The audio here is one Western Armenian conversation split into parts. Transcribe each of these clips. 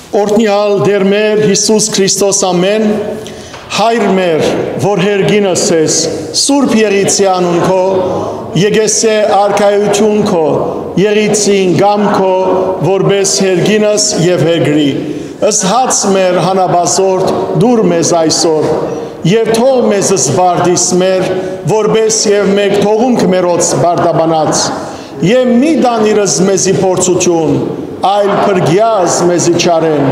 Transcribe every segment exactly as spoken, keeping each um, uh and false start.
Օրհնեալ Տէր մեր Յիսուս Քրիստոս, ամէն։ Հայր մեր, որ երկինս ես, սուրբ եղիցի անուն քո, եկեսե արքայութիւն քո, եղիցին կամ քո, որպես երկինս եւ երկրի։ Ըսհաց մեր հանապազորդ դուր մեզ այսօր, եւ թող մեզ զբարդիս մեր, որպես եւ մեկ թողունք մերոց բարդաբանած, եւ մի տանիրս մեզի փորձութիւն, այլ փրկեաս մեզի չարէն։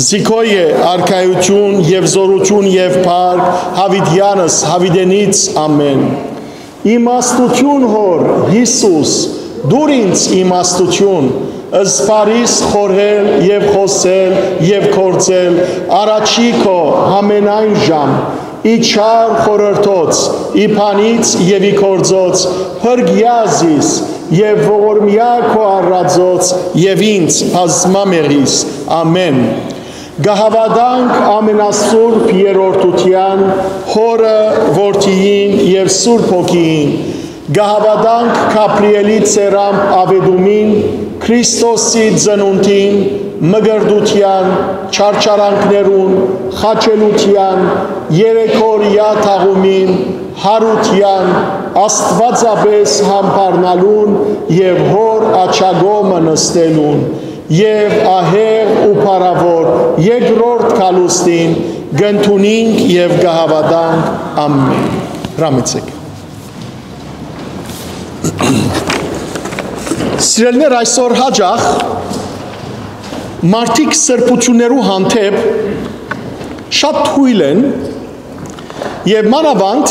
Զիքոյ է արքայութիւն եւ զօրութիւն եւ փառք, յաւիտեանս յաւիտենից, ամէն։ Իմաստութիւն, Հօր, Յիսուս, դուր ինձ իմաստութիւն, զբարիս խորհել եւ խօսել եւ գործել առաջի քո, ամենայն ժամ, ի չար խորհրդոց, ի բանից եւ ի գործոց, փրկեա զիս եւ ողորմեա քո առածոց եւ ինձ բազմամեղիս։ Ամէն։ Կը հաւատանք ամենասուրբ երրորդութեան, Հօրը, Որդիին եւ Սուրբ Հոգիին։ Կը հաւատանք Գաբրիէլի ծերամբ աւետումին, Քրիստոսի ծնունդին, մկրտութեան, չարչարանքներուն, խաչելութեան, երեքօրեայ թաղումին, յարութեան, աստուածապէս յամբարնալուն եւ Հօր աջակողմը նստելուն, եւ ահեղ ու փառաւոր երկրորդ գալուստին կ'ընդունինք եւ կը հաւատանք։ Ամէն։ Հրամեցէք։ Սիրելիներ, այսօր յաճախ մարդիկ սրբութիւններու հանդէպ շատ թոյլ են եւ մանաւանդ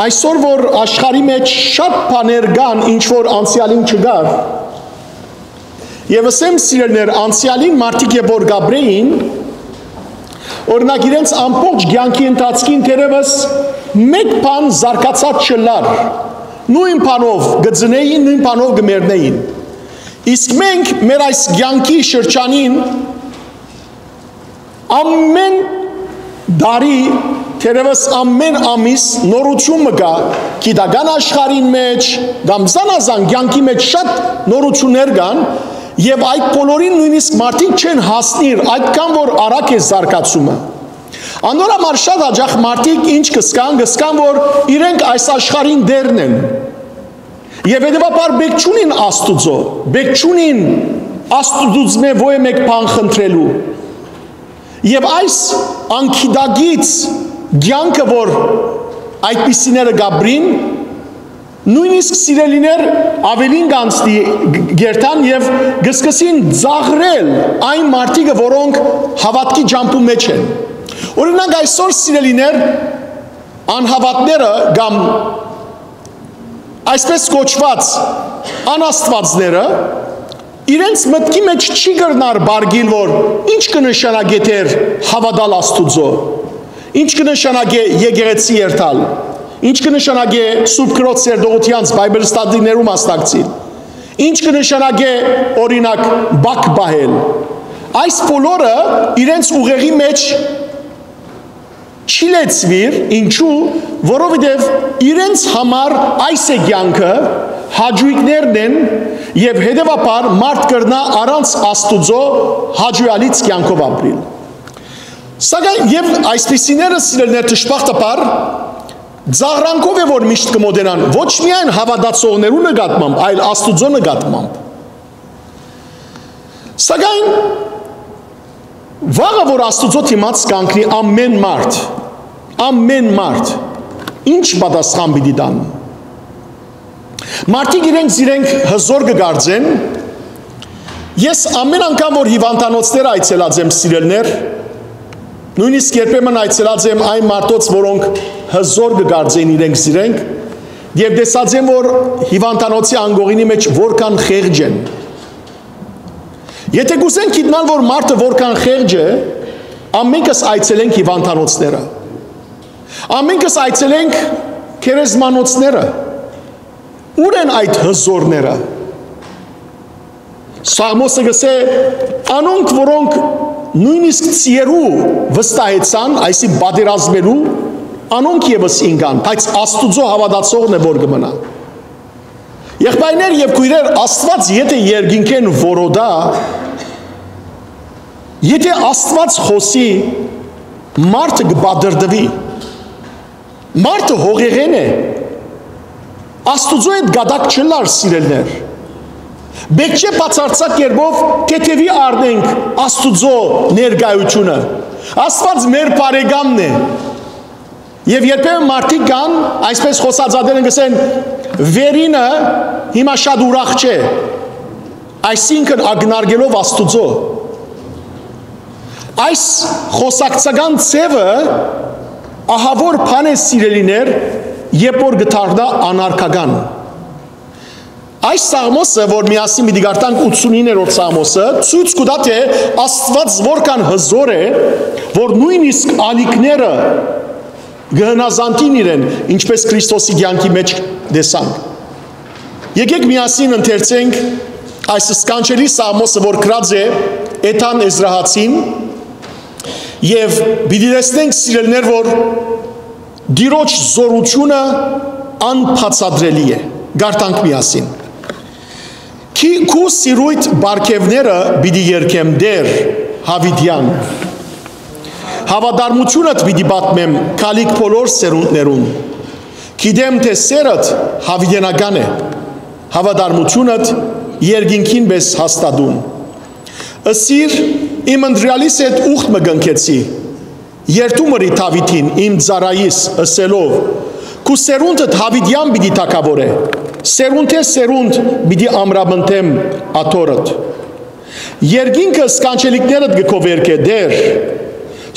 այսօր, որ աշխարհի մէջ շատ բաներ կան, ինչ որ անցեալին չկար, եւ ըսեմ, սիրելիներ, անցեալին մարդիկ երբ որ կ'ապրէին, օրինակ, իրենց ամբողջ կեանքի ընթացքին թերեւս մէկ բան զարգացած չըլլար, նոյն բանով կը ծնէին, նոյն բանով կը մեռնէին։ Իսկ մենք մեր այս կեանքի շրջանին ամէն տարի, թերեւս ամէն ամիս նորութիւն մը կայ, գիտական աշխարհին մէջ կամ զանազան կեանքի մէջ շատ նորութիւններ կան, եւ այդ բոլորին նոյնիսկ մարդիկ չեն հասնիր, այդքան որ արագ է զարգացումը։ Անոր համար շատ յաճախ մարդիկ ինչ կ'ըսկան, կ'ըսկան, որ իրենք այս աշխարհին տէրն են։ Եւ հետեւաբար պէք չունին Աստուծոյ, պէք չունին Աստուծմէ ոյ մէկ բան խնդրելու։ Եւ այս անգիտակից կեանքը, որ այդպիսիները կ'ապրին, նոյնիսկ սիրելիներ աւելին կ'անցնի գերտան եւ կ'սկսին ծաղրել այն մարդիկը, որոնք հաւատքի ճամբու մէջ են։ Օրինակ, այսօր, սիրելիներ, անհաւատները կամ այսպես կոչուած անաստուածները իրենց մտքի մէջ չի կրնար բարգիլ, որ ինչ կը նշանակէ դեռ հաւատալ Աստուծոյ, ինչ կը նշանակէ եկեղեցի երթալ, ինչ կը նշանակէ Սուրբ Քրոջ սերտողութեանց Bible study-ներու մասնակցիլ, ինչ կը նշանակէ, օրինակ, բակ պահել։ Այս բոլորը իրենց ուղեղի մէջ չի լեցուիր, ինչու, որովհետեւ իրենց համար այս է կեանքը, հաճոյքներն են, եւ հետեւաբար մարդ կրնայ առանց Աստուծոյ հաճոյալից կեանքով ապրիլ։ Սակայն եւ այսպիսիները, սիրելիներ, դժբախտաբար ծաղրանքով է, որ միշտ կը մոտենան ոչ միայն հաւատացողներու նկատմամբ, այլ Աստուծոյ նկատմամբ։ Սակայն վաղը, որ Աստուծոյ դիմաց կանգնի ամէն մարդ, ամէն մարդ, ինչ պատասխան պիտի տան։ Մարդիկ իրենք զիրենք հզոր կը կարծեն։ Ես ամէն անգամ, որ հիվանդանոցներ այցելած եմ, սիրելիներ, նոյնիսկ երբեմն այցելած եմ այն մարդոց, որոնք հզոր կը կարծեն իրենք զիրենք, եւ տեսած եմ, որ հիվանդանոցի անկողինի մէջ որքան խեղճ են։ Եթե կ'ուզենք գիտնալ, որ մարդը որքան խեղճ է, ամենքս այցելենք հիվանդանոցները, ամենքս այցելենք գերեզմանոցները։ Ո՞ւր են այդ հզորները։ Սաղմոսը կ'ըսէ, անոնք, որոնք նոյնիսկ ձիերու վստահեցան, այսինքն պատերազմելու, անոնք եւս ինկան, բայց Աստուծոյ հաւատացողն է, որ կը մնայ։ Եղբայրներ եւ քոյրեր, Աստուած եթէ երկինքէն որոտայ, Եթե Աստուած խօսի, մարդը կը պատրտուի։ Մարդը հողեղեն է։ Աստուծոյ հետ կատակ չըլլար, սիրելիներ։ Պէտք չէ բացարձակ կերպով թեթեւի առնենք Աստուծոյ ներկայութիւնը։ Աստուած մեր բարեկամն է։ Եւ երբեմն մարդիկ կան, այսպես խօսածներն կ'ըսեն, վերինը հիմա շատ ուրախ չէ, այսինքն՝ ակնարկելով Աստուծոյ։ Այս խօսակցական ձեւը ահաւոր բան է, սիրելիներ, երբ որ կը դառնայ անարգական։ Այս Սաղմոսը, որ միասին պիտի կարդանք, ութսունիններորդ Սաղմոսը, ցոյց կու տայ, թէ Աստուած որքան հզօր է, որ նոյնիսկ ալիքները կը հնազանդին իրեն, ինչպես Քրիստոսի կեանքի մէջ տեսանք։ Եկէք միասին ընթերցենք այս սքանչելի Սաղմոսը, որ գրած է Էթան Էզրահացին, եւ պիտի տեսնենք, սիրելիներ, որ Տիրոջ զօրութիւնը անբացատրելի է։ Կարդանք միասին։ Քի-, քու սիրոյթ պարգեւները պիտի երգեմ, Տէր, յաւիտեան։ Հաւատարմութիւնդ պիտի պատմեմ գալիք բոլոր սերունդներուն։ Գիտեմ թէ սէրդ յաւիտենական է, հաւատարմութիւնդ երկինքին պէս հաստատուն։ Ըսիր, իմ ընտրեալիս հետ ուխտ մը կնքեցի, երդում ըրի Դաւիթին, իմ ծառայիս, ըսելով. «Քու սերունդդ յաւիտեան պիտի թագաւորէ, սերունդէ սերունդ պիտի ամրապնդեմ աթոռդ»։ Երկինքը սքանչելիքներդ կը գովերգէ, Տէր,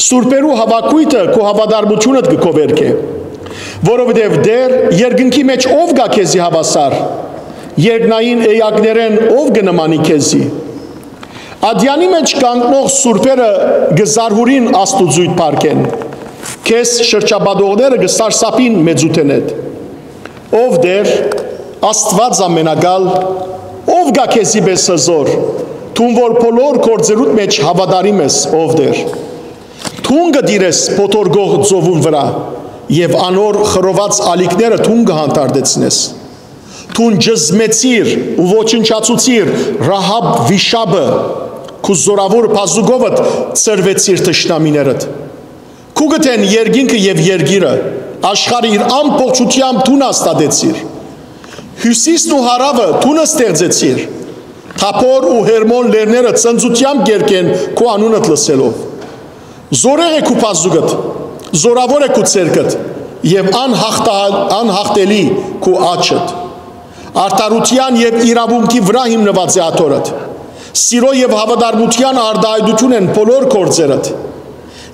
սուրբերու հաւաքոյթը քու հաւատարմութիւնդ կը գովերգէ։ Որովհետեւ, Տէր, երկնքի մէջ ո՞վ կայ քեզի հաւասար, երկնային էակներէն ո՞վ կը նմանի քեզի։ Ատեանի մէջ կանգնող սուրբերը կը զարհուրին Աստուծոյ փառքէն, քեզ շրջապատողները կը սարսափին մեծութենէդ։ Ով Տէր, Աստուած ամենակալ, ո՞վ կայ քեզի պէս հզօր, դուն որ բոլոր գործերուդ մէջ հաւատարիմ ես, ով Տէր։ Դուն կը տիրես փոթորկող ծովուն վրայ եւ անոր խռոված ալիքները դուն կը հանդարտեցնես։ Դուն ճզմեցիր ու ոչնչացուցիր Ռահաբ վիշապը, քու զօրաւոր բազուկովդ ցրուեցիր թշնամիներդ։ Քու գտեն երկինքը եւ երկիրը, աշխարհը իր ամբողջութեամբ դուն հաստատեցիր։ Հիւսիսն ու հարաւը դուն ստեղծեցիր։ Թաբոր ու Հերմոն լեռները ծնծութեամբ կ'երգեն քու անունդ լսելով։ Զօրեղ է քու բազուկդ, զօրաւոր է քու ձեռքդ եւ անյաղթահ-, անյաղթելի քու աջդ։ Արդարութեան եւ իրաւունքի վրայ հիմնուած է աթոռդ։ Սիրոյ եւ հաւատարմութեան արտահայտութիւն են բոլոր գործերդ։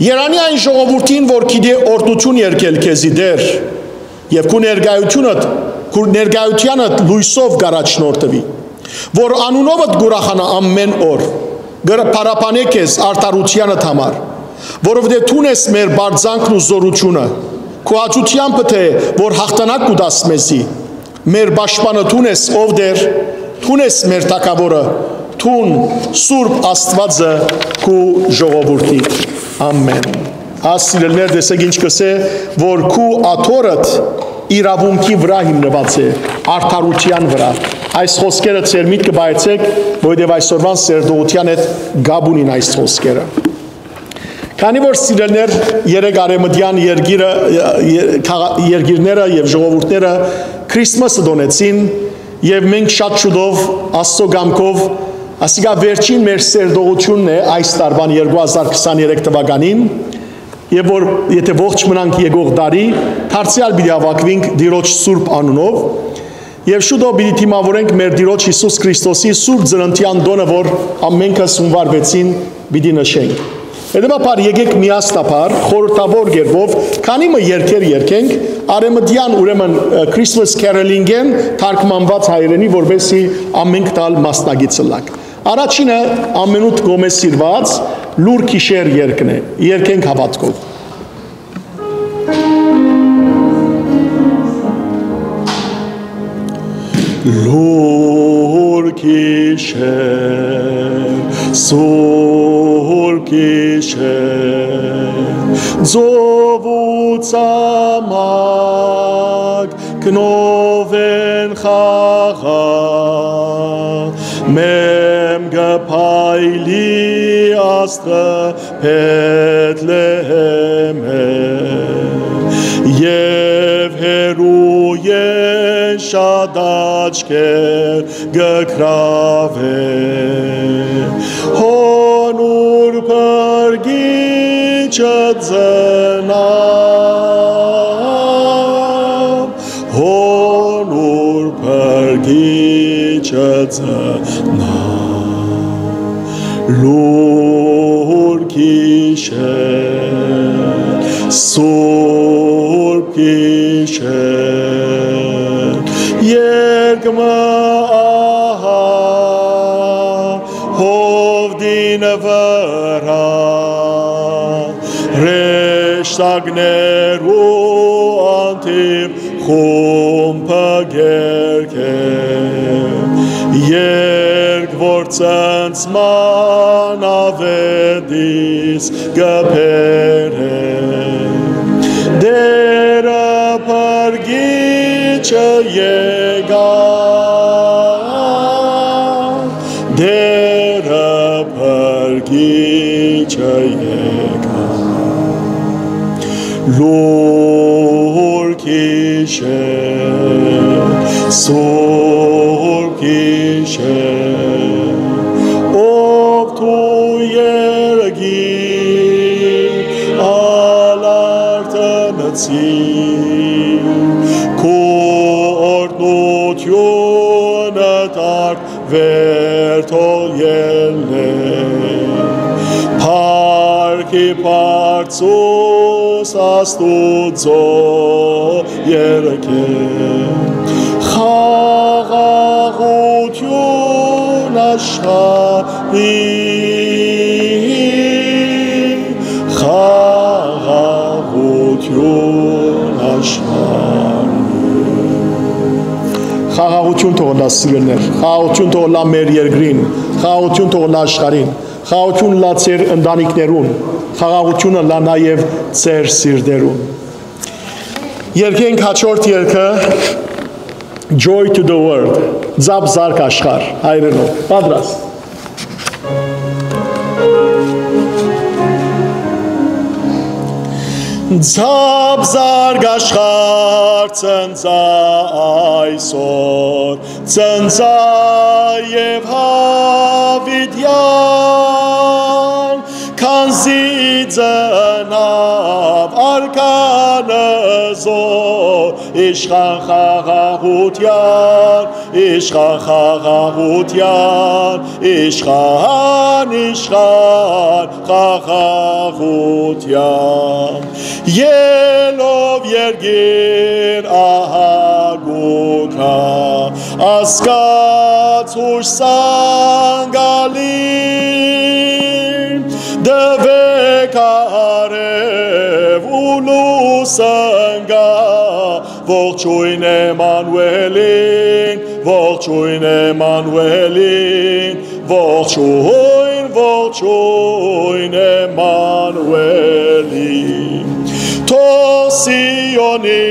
Երանի այն ժողովուրդին, որ գիտէ օրհնութիւն երգել քեզի, Տէր, եւ քու ներկայութիւնդ, քու ներկայութեանդ լոյսով կ'առաջնորդուի, որ անունովդ կ'ուրախանայ ամէն օր, կը փառաբանէ քեզ արդարութեանդ համար, որովհետեւ դուն ես մեր պարծանքն ու զօրութիւնը, քու աջութեամբդ է, որ յաղթանակ կու տաս մեզի։ Մեր պաշտպանը դուն ես, ով Տէր, դուն ես մեր թագաւորը, դուն Սուրբ Աստուածը քու ժողովուրդիդ։ Ամէն։ Աս սիրելիներ, տեսեք ինչ կ'ըսէ, որ քու աթոռդ իրաւունքի վրայ հիմնուած է, արդարութեան վրայ։ Այս խօսքերը ձեր միտքը պահեցէք, որովհետեւ այսօրուան սերտողութեան հետ կապ ունին այս խօսքերը։ Քանի որ, սիրելիներ, երեկ արեմտեան երկիրը, ե-, քաղա-, երկիրները եւ ժողովուրդները Քրիսմասը տոնեցին, եւ մենք շատ շուտով, Աստծո կամքով, ասիկա վերջին մեր սերտողությունն է այս տարուան երկու հազար քսաներեք թվականին, եւ որ, եթե ողջ մնանք եկող տարի, դարձեալ պիտի հաւաքուինք Տիրոջ Սուրբ Անունով, եւ շուտով պիտի դիմավորենք մեր Տիրոջ Յիսուս Քրիստոսի Սուրբ Ծննդեան տօնը, որ ամենքս հունուար վեցին պիտի նշենք։ Հետեւաբար, եկեք միասնաբար խորհրդավոր կերպով քանի մը երգեր երգենք, արեմտեան, ուրեմն, ը, Christmas caroling-ին թարգմանված հայերենի, որպեսզի ամենքդ ալ մասնակից ըլլաք։ Առաջինը, ամենուդ կողմէ սիրված, Լուռ գիշեր երգն է։ Երգենք հաւատքով։ Լուռ գիշեր, սուր գիշեր, ծովու ցամաք, գնով են խաղաղ, մեմ Փայլի աստղը Բեթլեհէմէն, եւ հեռուէն շատ աչքեր կը գրաւէ, հոն ուր փրկիչը ծնաւ, հոն ուր փրկիչը ծնաւ, լուր գիշեր, սուրբ գիշեր, երկ մը ահա հովտին վրայ, հրեշտակներու անդին խումբը կերկէ, երկ որ ցնցման աւետիս կը բերէ, Տէրը փրկիչը եկաւ, Տէրը փրկիչը եկաւ, լուր գիշեր, սուրբ գիշեր, ով քու երկիր ալ արթնցի, քու օրհնութիւնը դարձ վեր թող ելլէ, փառքի բարձրոց Աստուծոյ երկէ, խաղաղութիւն աշխարհի, խաղաղութիւն աշխարհի։ Խաղաղութիւն թող ըլլայ, սիրելիներ, խաղաղութիւն թող ըլլայ մեր երկրին, խաղաղութիւն թող ըլլայ աշխարհին, խաղաղութիւն ըլլայ ձեր ընտանիքներուն, խաղաղութիւն ըլլայ նաեւ ձեր սիրտերուն։ Երկենք հաջորդ երկը, Joy to the World, Ձապ զարկ աշխարհ, հայերէնով։ Պատրաստ։ Ձապ զարկ աշխարհ, ցնծա այսօր, ցնծա եւ յաւիտեան, քանզի ծնաւ արքան զոր, իշխան խաղաղութեան, իշխան խաղաղութեան, իշխան, իշխան խաղաղութեան։ Ելով երկիր ահա գուքա, ազգաց յոյս ցանկալի, տուէք արեւ ու լուսնկա, ողջոյն Էմանուէլին, ողջոյն Էմանուէլին, ողջոյն, ողջոյն Էմանուէլին։ Թող Սիոնի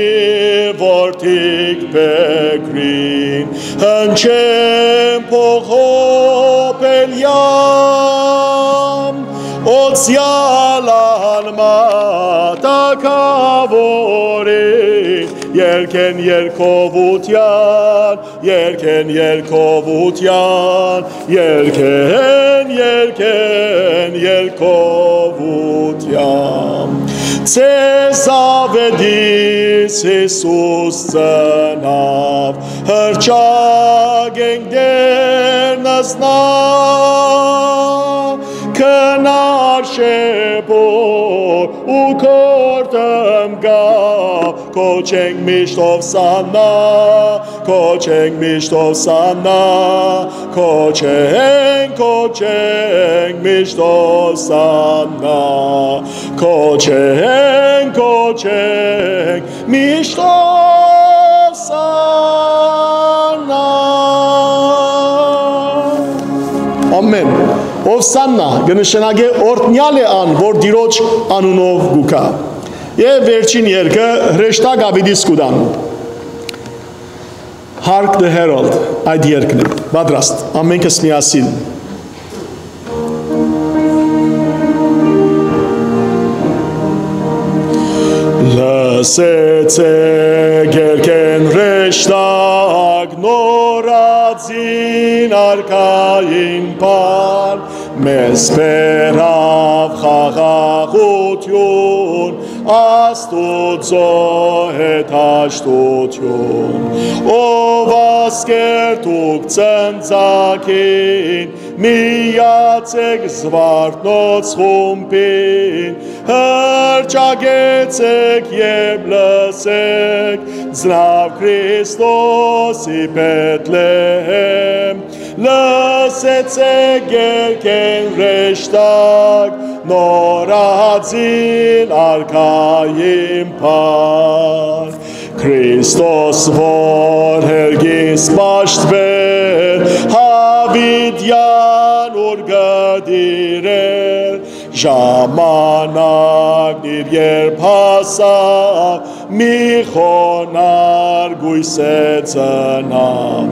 որդիք փեքրին, հնչեն փողոպելեան, օծեալ անմահ թագաւորին, երկեն երկովութեան, երկեն երկովութեան, երկեն, երկեն երկովութեան։ Ձեզ աւետիս Յիսուս ծնաւ, հռչակենք Տէր նզնա, քնար շեփոր ու կործան կայ, կոչենք միշտ Ովսաննա, կոչենք միշտ Ովսաննա, կոչենք, կոչենք միշտ Ովսաննա, կոչենք, կոչենք միշտ Ովսաննա։ Ամեն։ Ովսաննա կը նշանակէ օրհնեալ է ան, որ Տիրոջ անունով կու գայ։ Եւ վերջին երկը հրեշտակ աւետիս կու տան։ Hark the Herald, այդ երկն է։ Պատրաստ, ամենքս միասին։ Սեցե գերքեն հրեշտակ, նորածին արքային բան, մեզ բերաւ խաղաղութիւն, Աստուծոյ հետ հաշտութիւն, ով ասկեր դուք ծնծակին, միացեք զվարթնոց խումբին, հրճագեցեք եւ լսեք, ծնաւ Քրիստոսի Բեթլեհեմ, լսեցեք գերքեն հրեշտակ, նորածին արքային բան։ Քրիստոս որ հերգիս պաշտվեր, յաւիտեան ուր կը տիրեր, ժամանակն իր երբ հասաւ, մի խոնար կոյսէ ծնաւ,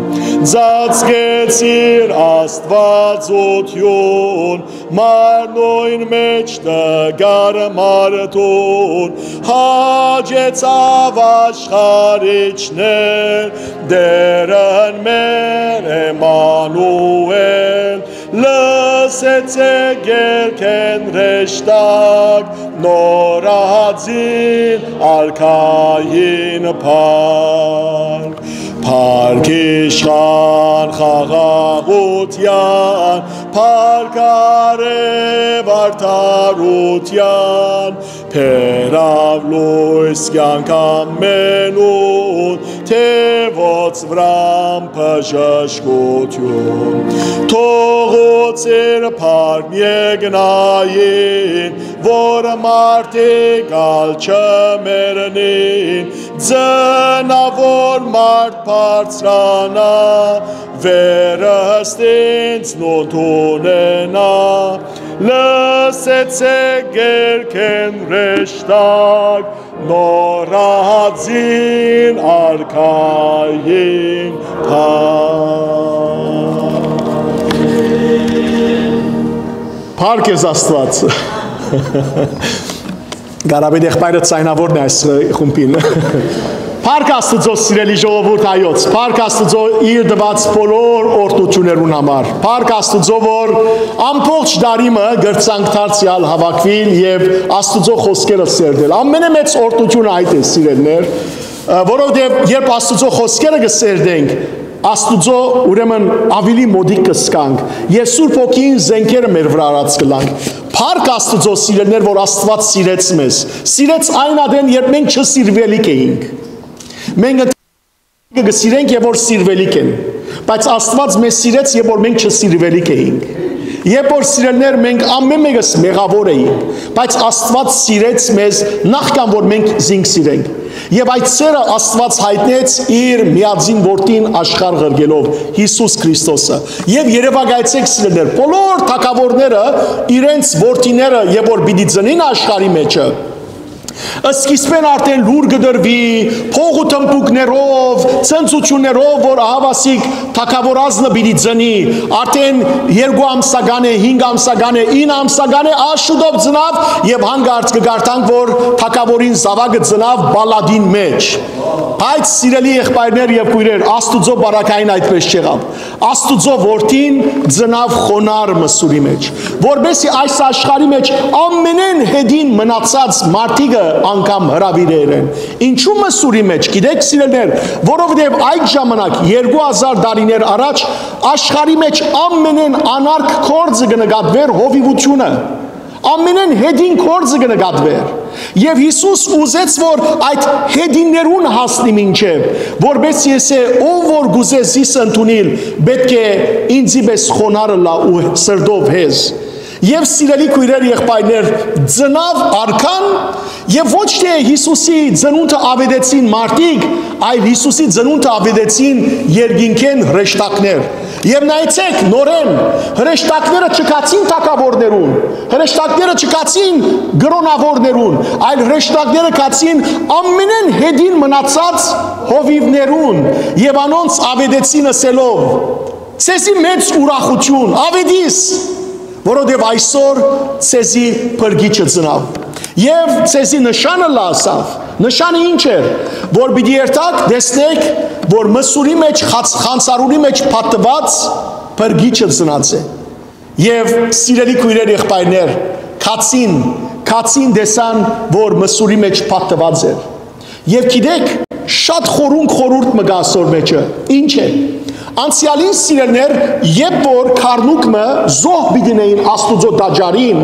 ծածկեց իր աստուածութիւն, մարմնոյն մէջ տկար մարդուն, հաճեցաւ աշխարհիչներ, Տէրն մեր Էմանուէլ, լսեցեք գերքեն հրեշտակ, նորածին արքային փառք։ Փառք իշխան խաղաղութեան, փառք արեւ արդարութեան, բերաւ լոյս կեանք ամենուն, թեւոց վրան բժշկութիւն։ Թողոց իր փառքն եկնային, որ մարդիկ ալ չմեռնին, ծնաւ որ մարդ բարձրանայ, վերստին ծնունդ ունենայ, լսեցեք գերքեն հրեշտակ, նորածին արքային փառք։ Փառք ես Աստուած։ Կարապետ եղբայրը ձայնավորն է այս խումբին։ Փառք Աստուծոյ, սիրելի ժողովուրդ հայոց, փառք Աստուծոյ իր տված բոլոր օրհնություններուն համար, փառք Աստուծոյ, որ ամբողջ տարի մը կրցանք դարձեալ հաւաքուիլ եւ Աստուծոյ խօսքերը սերտել։ Ամենէ մեծ օրհնությունը այդ է, սիրելիներ, որովհետեւ երբ Աստուծոյ խօսքերը կը սերտենք, Աստուծոյ ուրեմն աւելի մօտիկ կը զգանք եւ Սուրբ Հոգին զէնքերը մեր վրայ առած կ'ըլլանք։ Փառք Աստուծոյ, սիրելիներ, որ Աստուած սիրեց մեզ։ Սիրեց այն ատեն, երբ մենք չսիրուելիք էինք։ Մենք ընդ-, կը սիրենք եւ որ սիրուելիք են, բայց Աստուած մեզ սիրեց եւ որ մենք չսիրուելիք էինք։ Երբ որ, սիրելիներ, մենք ամեն մեկս մեղաւոր էինք, բայց Աստուած սիրեց մեզ նախքան որ մենք զինք սիրենք։ Եւ այդ սերը Աստուած յայտնեց իր միածին որդին աշխարհ ղրկելով, Յիսուս Քրիստոսը։ Եւ երեւակայեցէք, սիրելիներ, բոլոր թագաւորները իրենց որդիները, երբ որ պիտի ծնին աշխարհի մէջը, սկիզբէն արդեն լուր կը տրուի, փող ու թմբուկներով, ցնծութիւններով, որ ահաւասիկ թագաւորազնը պիտի ծնի, արդեն երկու ամսական է, հինգ ամսական է, ինը ամսական է, աշուտով ծնաւ եւ հանկարծ կը կարդանք, որ թագաւորին զաւակը ծնաւ պալատին մէջ։ Բայց, սիրելի եղբայրներ եւ քոյրեր, Աստուծոյ բարակային այդպես չեղաւ։ Աստուծոյ որդին ծնաւ խոնար մսուրի մէջ, որպեսզի այս աշխարհի մէջ ամենէն հետին մնացած մարդիկը անգամ հրաւիրեն։ Ինչու մսուրի մէջ, գիտեք, սիրելիներ, որովհետեւ այդ ժամանակ, երկու հազար տարիներ առաջ, աշխարհի մէջ ամենէն անարգ գործը կը նկատուէր հովիվութիւնը, ամենէն հետին գործը կը նկատուէր։ Եւ Յիսուս ուզեց, որ այդ հետիններուն հասնի մինչեւ, որպեսզի ըսէ, ով որ կ'ուզէ զիս ընդունիլ, պէտք է ինծի պէս խոնար ըլլայ ու սրտով հեզ։ Եւ, սիրելի քոյրեր, եղբայրներ, ծնաւ արքան, եւ ոչ թէ Յիսուսի ծնունդը աւետեցին մարդիկ, այլ Յիսուսի ծնունդը աւետեցին երկինքէն հրեշտակներ։ Եւ նայեցեք, նորէն, հրեշտակները չգացին թագաւորներուն, հրեշտակները չգացին կրօնաւորներուն, այլ հրեշտակները գացին ամենէն հետին մնացած հովիւներուն եւ անոնց աւետեցին ըսելով. «Ձեզի մեծ ուրախութիւն, աւետիս, որովհետեւ այսօր ձեզի փրկիչը ծնաւ եւ ձեզի նշանը լսաւ, Նշանը ինչ էր, որ պիտի երթաք, տեսնեք, որ մսուրի մեջ, խաց-, խանցարուրի մեջ փաթթուած փրկիչը ծնած է։ Եւ սիրելի քոյրեր, եղբայրներ, քացին, քացին տեսան, որ մսուրի մեջ փաթթուած էր։ Եւ գիտեք, շատ խորունկ խորհուրդ մը կա ասոր մեջը։ Ինչ է։ Անցեալին, սիրելիներ, երբ որ քառնուկ մը զոհ պիտի նեին Աստուծոյ տաճարին,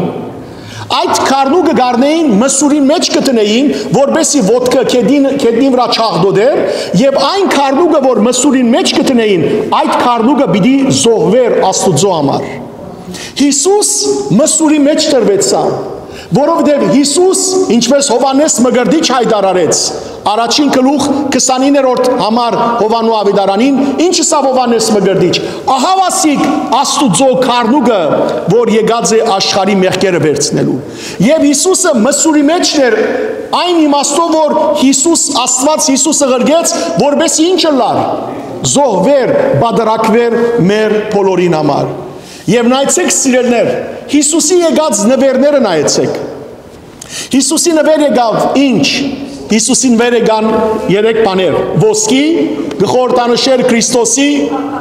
այդ քառնուկը կ'առնէին, մսուրին մեջ կը դնէին, որպէսզի ոտքը գետնին, գետնին վրայ չաղտոտէր, եւ այն քառնուկը, որ մսուրին մեջ կը դնէին, այդ քառնուկը պիտի զոհուէր Աստուծոյ համար։ Յիսուս մսուրի մեջ տրուեցաւ, որովհետեւ Յիսուս, ինչպէս Յովհաննէս Մկրտիչ յայտարարեց, առաջին գլուխ քսանիններորդ համար Յովհաննու աւետարանին, ինչ ըսաւ Յովհաննէս Մկրտիչ. «Ահա ասիկ Աստուծոյ քառնուկը, որ եկած է աշխարհի մեղքերը վերցնելու»։ Եւ Յիսուսը մսուրի մեջն էր, այն իմաստով, որ Յիսուս, Աստուած Յիսուսը ղրկեց, որպէսզի ինչ ըլլար, զոհուէր, պատարագուէր մեր բոլորին համար։ Եւ նայեցեք, սիրելիներ, Յիսուսի եկած նուէրները նայեցեք։ Յիսուսի նուէր եկաւ ինչ։ Յիսուսի նուէր եկան երեք բաներ. ոսկի, կը խորհրդանշէր Քրիստոսի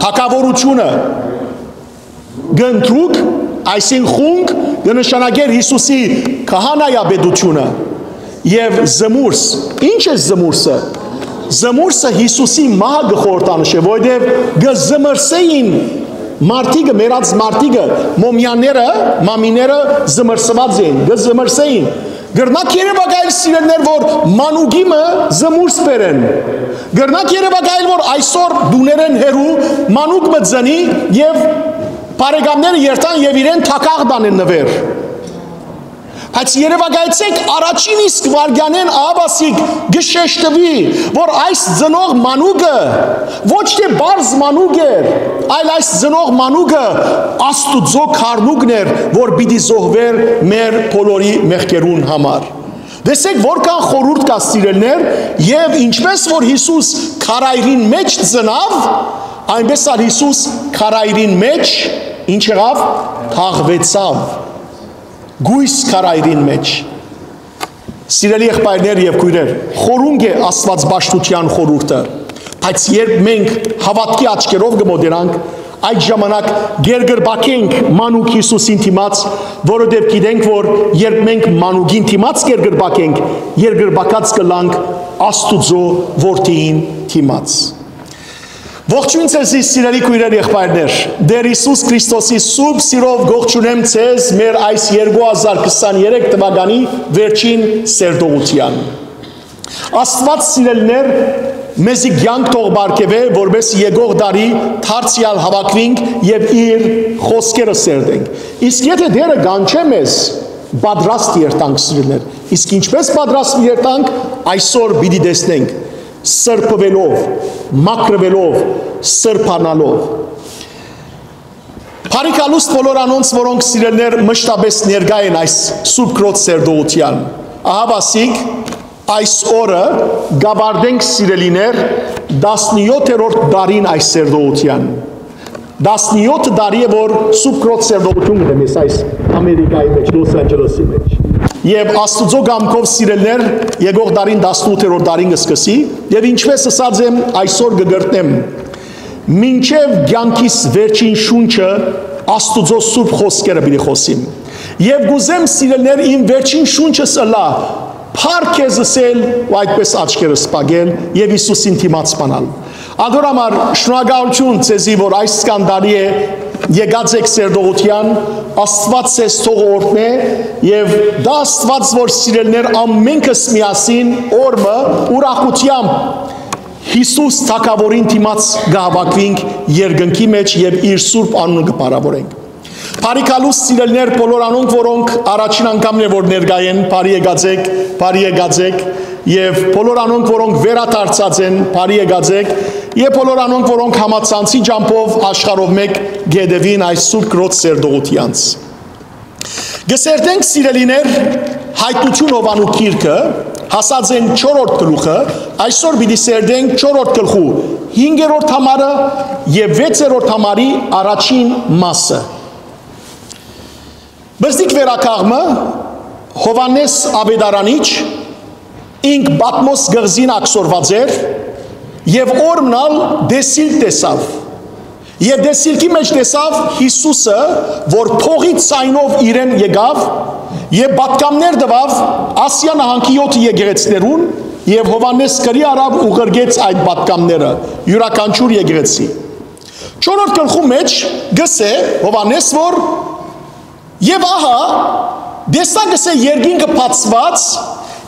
թագաւորութիւնը, կնդրուկ, այսինքն խունկ, կը նշանակէր Յիսուսի քահանայապետութիւնը, եւ զմուրս։ Ինչ է զմուրսը։ Զմուրսը Յիսուսի մահը կը խորհրդանշէ, որովհետեւ կը զմրսէին մարդիկը, մեռած մարդիկը, մոմյանները, մամիները զմրսուած էին, կը զմրսէին։ Կրնաք երեւակայել, սիրելիներ, որ մանուկի մը զմուրս բերեն։ Կրնաք երեւակայել, որ այսօր տուներէն հեռու մանուկ մը ծնի եւ բարեկամները երթան եւ իրեն թագաղ տանեն նուէր։ Բայց երեւակայեցէք, առաջին իսկ վայրկեանէն աբասիկ կը շեշտուի, որ այս ծնող մանուկը ոչ թէ պարզ մանուկ էր, այլ այս ծնող մանուկը Աստուծոյ քառնուկն էր, որ պիտի զոհուէր մեր բոլորի մեղքերուն համար։ Տեսեք, որքան խորհուրդ կայ, սիրելիներ, եւ ինչպէս որ Յիսուս քարայրին մեջ ծնաւ, այնպէս ալ Յիսուս քարայրին մեջ ինչ եղաւ, թաղուեցաւ, կոյս քարայրին մեջ։ Սիրելի եղբայրներ եւ քոյրեր, խորունկ է Աստուած պաշտութեան խորհուրդը, բայց երբ մենք հաւատքի աչքերով կը մոտենանք, այդ ժամանակ կերկրպագենք մանուկ Յիսուսին դիմաց, որովհետեւ գիտենք, որ երբ մենք մանուկին դիմաց կերկրպագենք, երկրպագած կ'ըլլանք Աստուծոյ որդիին դիմաց։ Ողջոյն ձեզի, սիրելի քոյրեր, եղբայրներ։ Տէր Յիսուս Քրիստոսի սուրբ սիրով կողջունեմ ձեզ մեր այս երկու հազար քսաներեք թուականի վերջին սերտողութեան։ Աստուած, սիրելիներ, մեզի կեանք թող պարգեւէ, որպէս եկող տարի դարձեալ հաւաքուինք եւ իր խօսքերը սերտենք։ Իսկ եթէ Տէրը կանչէ մեզ, պատրաստ երթանք, սիրելիներ։ Իսկ ինչպէս պատրաստ երթանք, այսօր պիտի տեսնենք, սրբուելով, մաքրուելով, սրբանալով։ Բարի գալուստ բոլոր անոնց, որոնք, սիրելիներ, մշտապէս ներկայ են այս Սուրբ Քրոց սերտողութեան։ Ահա ասիկ, այս օրը կ'աւարտենք, սիրելիներ, տասնեօթերորդ տարին այս սերտողութեան։ Տասնեօթ տարի է, որ Սուրբ Քրոց սերտողութիւն կ'ընեմ ես այս Ամերիկայի մեջ, Լոս Անջելեսի մեջ։ Եւ Աստուծոյ կամքով, սիրելիներ, եկող տարին տասնութերորդ տարին կ'սկսի, եւ ինչպէս ըսած եմ, այսօր կը կրկնեմ, մինչեւ կեանքիս վերջին շունչը Աստուծոյ սուրբ խօսքերը պիտի խօսիմ։ Եւ կ'ուզեմ, սիրելիներ, իմ վերջին շունչս ըլլայ փառք քեզ ըսել ու այդպէս աչքերս փակել եւ Յիսուսին դիմաց բանալ։ Ադոր համար շնորհակալութիւն ձեզի, որ այս կանդալի է եկած եք սերտողութեան, Աստուած ձեզ թող օրհնէ եւ դա Աստուած, որ, սիրելիներ, ամենքս միասին օրը ուրախութեամբ Յիսուս թագաւորին դիմաց կհաւաքուինք երկնքի մեջ եւ իր սուրբ անունը կփառաւորենք։ Բարի գալուստ, սիրելիներ, բոլոր անոնք, որոնք առաջին անգամն է, որ ներկայ են, բարի եկած եք, բարի եկած եք, եւ բոլոր անոնք, որոնք վերադարձած են, բարի եկած եք, եւ բոլոր անոնք, որոնք համացանցի ճամբով աշխարհով մեկ կ'ետեւին այս Սուրբ Քրոց սերտողութեանց։ Կը սերտենք, սիրելիներ, Հայտնութիւն Յովհաննու գիրքը, հասած ենք չորրորդ գլուխը, այսօր պիտի սերտենք չորրորդ գլխու հինգերորդ համարը եւ վեցերորդ համարի առաջին մասը։ Բզդիկ վերակաղմը Յովհաննէս Աւետարանիչ ինք Պատմոս կղզին ակսորուած էր, եւ օր մնալ տեսիլք տեսաւ։ Եւ տեսիլքի մէջ տեսաւ Յիսուսը, որ փողի ցայնով իրեն եկաւ եւ պատգամներ տուաւ Ասիա նահանգի յոթ եկեղեցիներուն, եւ Յովհաննէս գրի առաւ ու ղրկեց այդ պատգամները յուրաքանչիւր եկեղեցի։ Չորրորդ գլխու մէջ գսէ Յովհաննէս, որ «Եւ ահա, տեսայ, գսէ, երկինքը բացուած,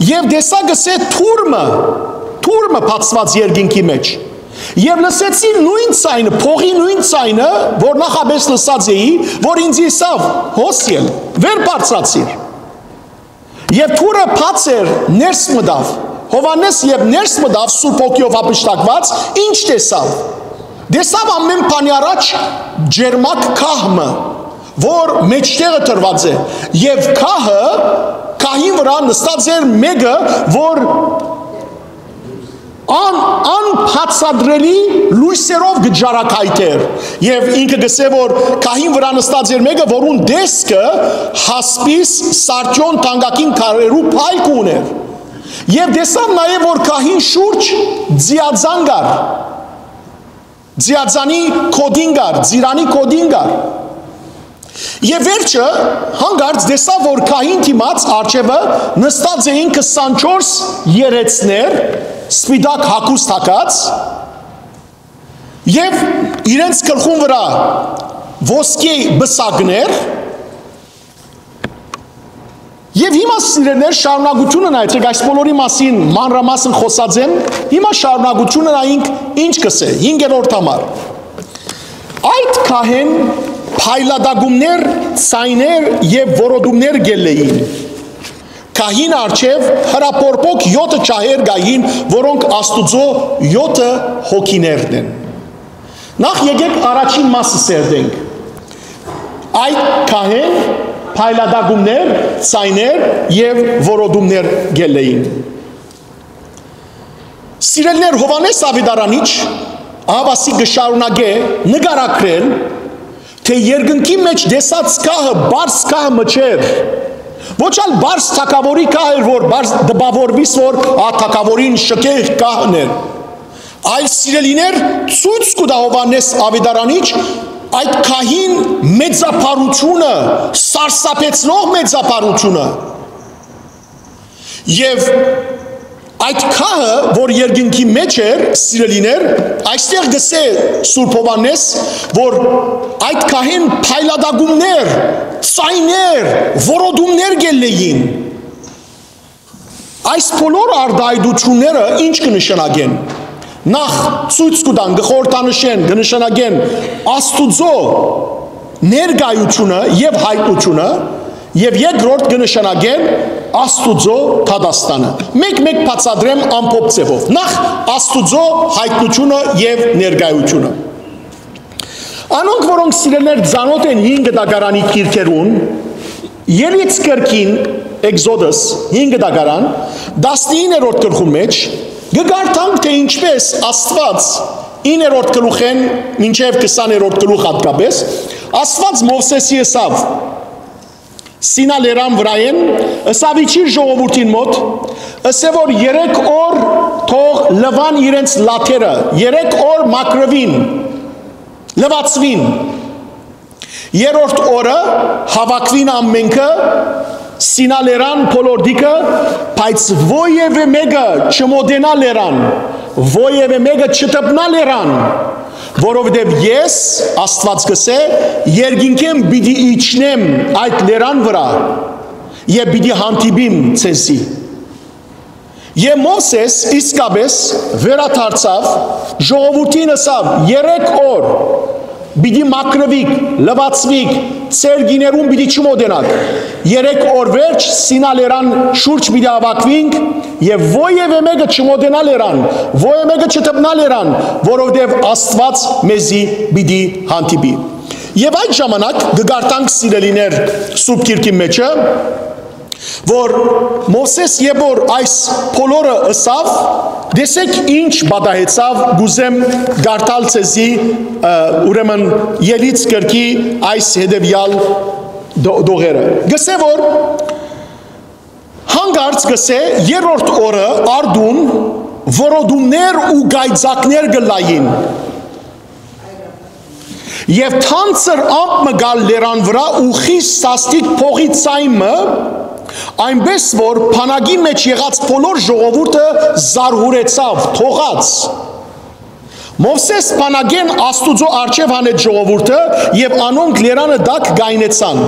եւ տեսայ, գսէ, թուր մը, թուր մը բացուած երկինքի մէջ։ Եւ լսեցի նոյն ցայնը, փողի նոյն ցայնը, որ նախապէս լսած էի, որ ինձ ըսաւ. "Հոս ել, վեր բարձրացիր"։ Եւ թուրը բաց էր, ներս մտաւ։ Յովհաննէս, երբ ներս մտաւ Սուրբ Հոգիով յափշտակուած, ինչ տեսաւ։ Տեսաւ ամէն բանի առաջ ջերմակ գահ մը, որ մէջտեղը դրուած է, եւ գահը, գահին վրայ նստած էր մէկը, որ ան-, անբացատրելի լոյսերով կը ջարագայթէր, եւ ինքը գսէ, որ գահին վրայ նստած էր մէկը, որուն տեսքը հասպիս սարդիոն թանկագին քարերու փայլք ունէր։ Եւ տեսաւ նաեւ, որ գահին շուրջ ձիաձան կար, ձիաձանի գօտին կար, ծիրանի գօտին կար։ Եւ վերջը, հանկարծ տեսաւ, որ գահին դիմաց առջեւը նստած էին քսանչորս երեցներ, սպիտակ հագուստ հագած, եւ իրենց գլխուն վրայ ոսկի պսակներ, Եւ հիմա, սիրելիներ, շարունակութիւնը նայեցեք, այս բոլորի մասին մանրամասն խօսած եմ, հիմա շարունակութիւնը նայենք ինչ կ'ըսէ, հինգերորդ համար։ Այդ գահէն փայլատակումներ, ցայներ եւ որոտումներ կ'ելլէին։ Գահին առջեւ հրապորփոք յոթը ջահեր կային, որոնք Աստուծոյ յոթը հոգիներն են։ Նախ եկեք առաջին մասը սերտենք։ Այդ գահէն փայլատակումներ, ցայներ եւ որոտումներ կ'ելլէին։ Սիրելիներ, Յովհաննէս Աւետարանիչ ահաւասիկ կը շարունակէ նկարագրել, թէ երկնքի մէջ տեսած գահը պարզ գահ մը չէր, ոչ ալ պարզ թագաւորի գահ էր, որ պարզ տպաւորուիս, որ ա թագաւորին շքեղ գահն էր, այլ, սիրելիներ, ցոյց կու տայ Յովհաննէս Աւետարանիչ այդ գահին մեծափառութիւնը, սարսափեցնող մեծափառութիւնը։ Եւ այդ գահը, որ երկնքի մէջ էր, սիրելիներ, այստեղ գսէ Սուրբ Յովհաննէս, որ այդ գահին փայլատակումներ, ցայներ, որոտումներ կ'ելլէին։ Այս բոլոր արտայայտութիւնները ինչ կը նշանակեն։ Նախ, ցոյց կու տան, կը խորհրդանշեն, կը նշանակեն Աստուծոյ ներկայութիւնը եւ յայտնութիւնը, եւ երկրորդ կը նշանակեն Աստուծոյ դատաստանը։ Մեկ-մեկ բացատրեմ ամբողջ ձեւով։ Նախ, Աստուծոյ յայտնութիւնը եւ ներկայութիւնը։ Անոնք, որոնք, սիրելիներ, ծանօթ են հին կտակարանի գիրքերուն, Ելից կրկին, Exodus, հին կտակարան, տասնիններորդ գլխու մէջ, կը կարդանք, թէ ինչպէս Աստուած իններորդ գլուխէն մինչեւ քսաներորդ գլուխ յատկապէս, Աստուած Մովսէսի ըսաւ. "Սինա լերան վրայէն, ըսաւ, իջիր ժողովուրդին մօտ, ըսէ որ երեք օր թող լուան իրենց լաթերը, երեք օր մաքրուին, լուացուին։ Երրորդ օրը հաւաքուին ամենքը Սինա լերան բոլոր դիկը, բայց ոեւէ մէկը չմոտենայ լերան, ոեւէ մէկը չդպնայ լերան, որովհետեւ ես, Աստուած կ'ըսէ, երկինքէն պիտի իջնեմ այդ լերան վրայ եւ պիտի հանդիպիմ ձեզի"։ Եւ Մովսէս իսկապէս վերադարձաւ, ժողովուրդին ըսաւ. "Երեք օր պիտի մաքրուիք, լուացուիք, ձեր կիներուն պիտի չմոտենաք։ Երեք օր վերջ Սինա լերան շուրջ պիտի հաւաքուինք եւ ոեւէ մէկը չմոտենայ լերան, ոեւէ մէկը չդպնայ լերան, որովհետեւ Աստուած մեզի պիտի հանդիպի"։ Եւ այդ ժամանակ կը կարդանք, սիրելիներ, Սուրբ Գիրքի մէջը, որ Մովսէս, երբ որ այս բոլորը ըսաւ, տեսեք ինչ պատահեցաւ, կ'ուզեմ կարդալ ձեզի, ը, ուրեմն, Ելից կրկի այս հետեւեալ դո-, դողերը։ Գսէ որ Հանկարծ կ'ըսէ, երրորդ օրը արտուն որոտումներ ու կայծակներ կ'ըլլային։ Եւ թանձր ամպ մը գալ լերան վրայ ու խիստ սաստիկ փողի ձայն մը, այնպէս որ բանակի մէջ եղած բոլոր ժողովուրդը զարհուրեցաւ, թողաց։ Մովսէս բանակէն Աստուծոյ առջեւ հանեց ժողովուրդը, եւ անոնք լերանը տակ կայնեցան։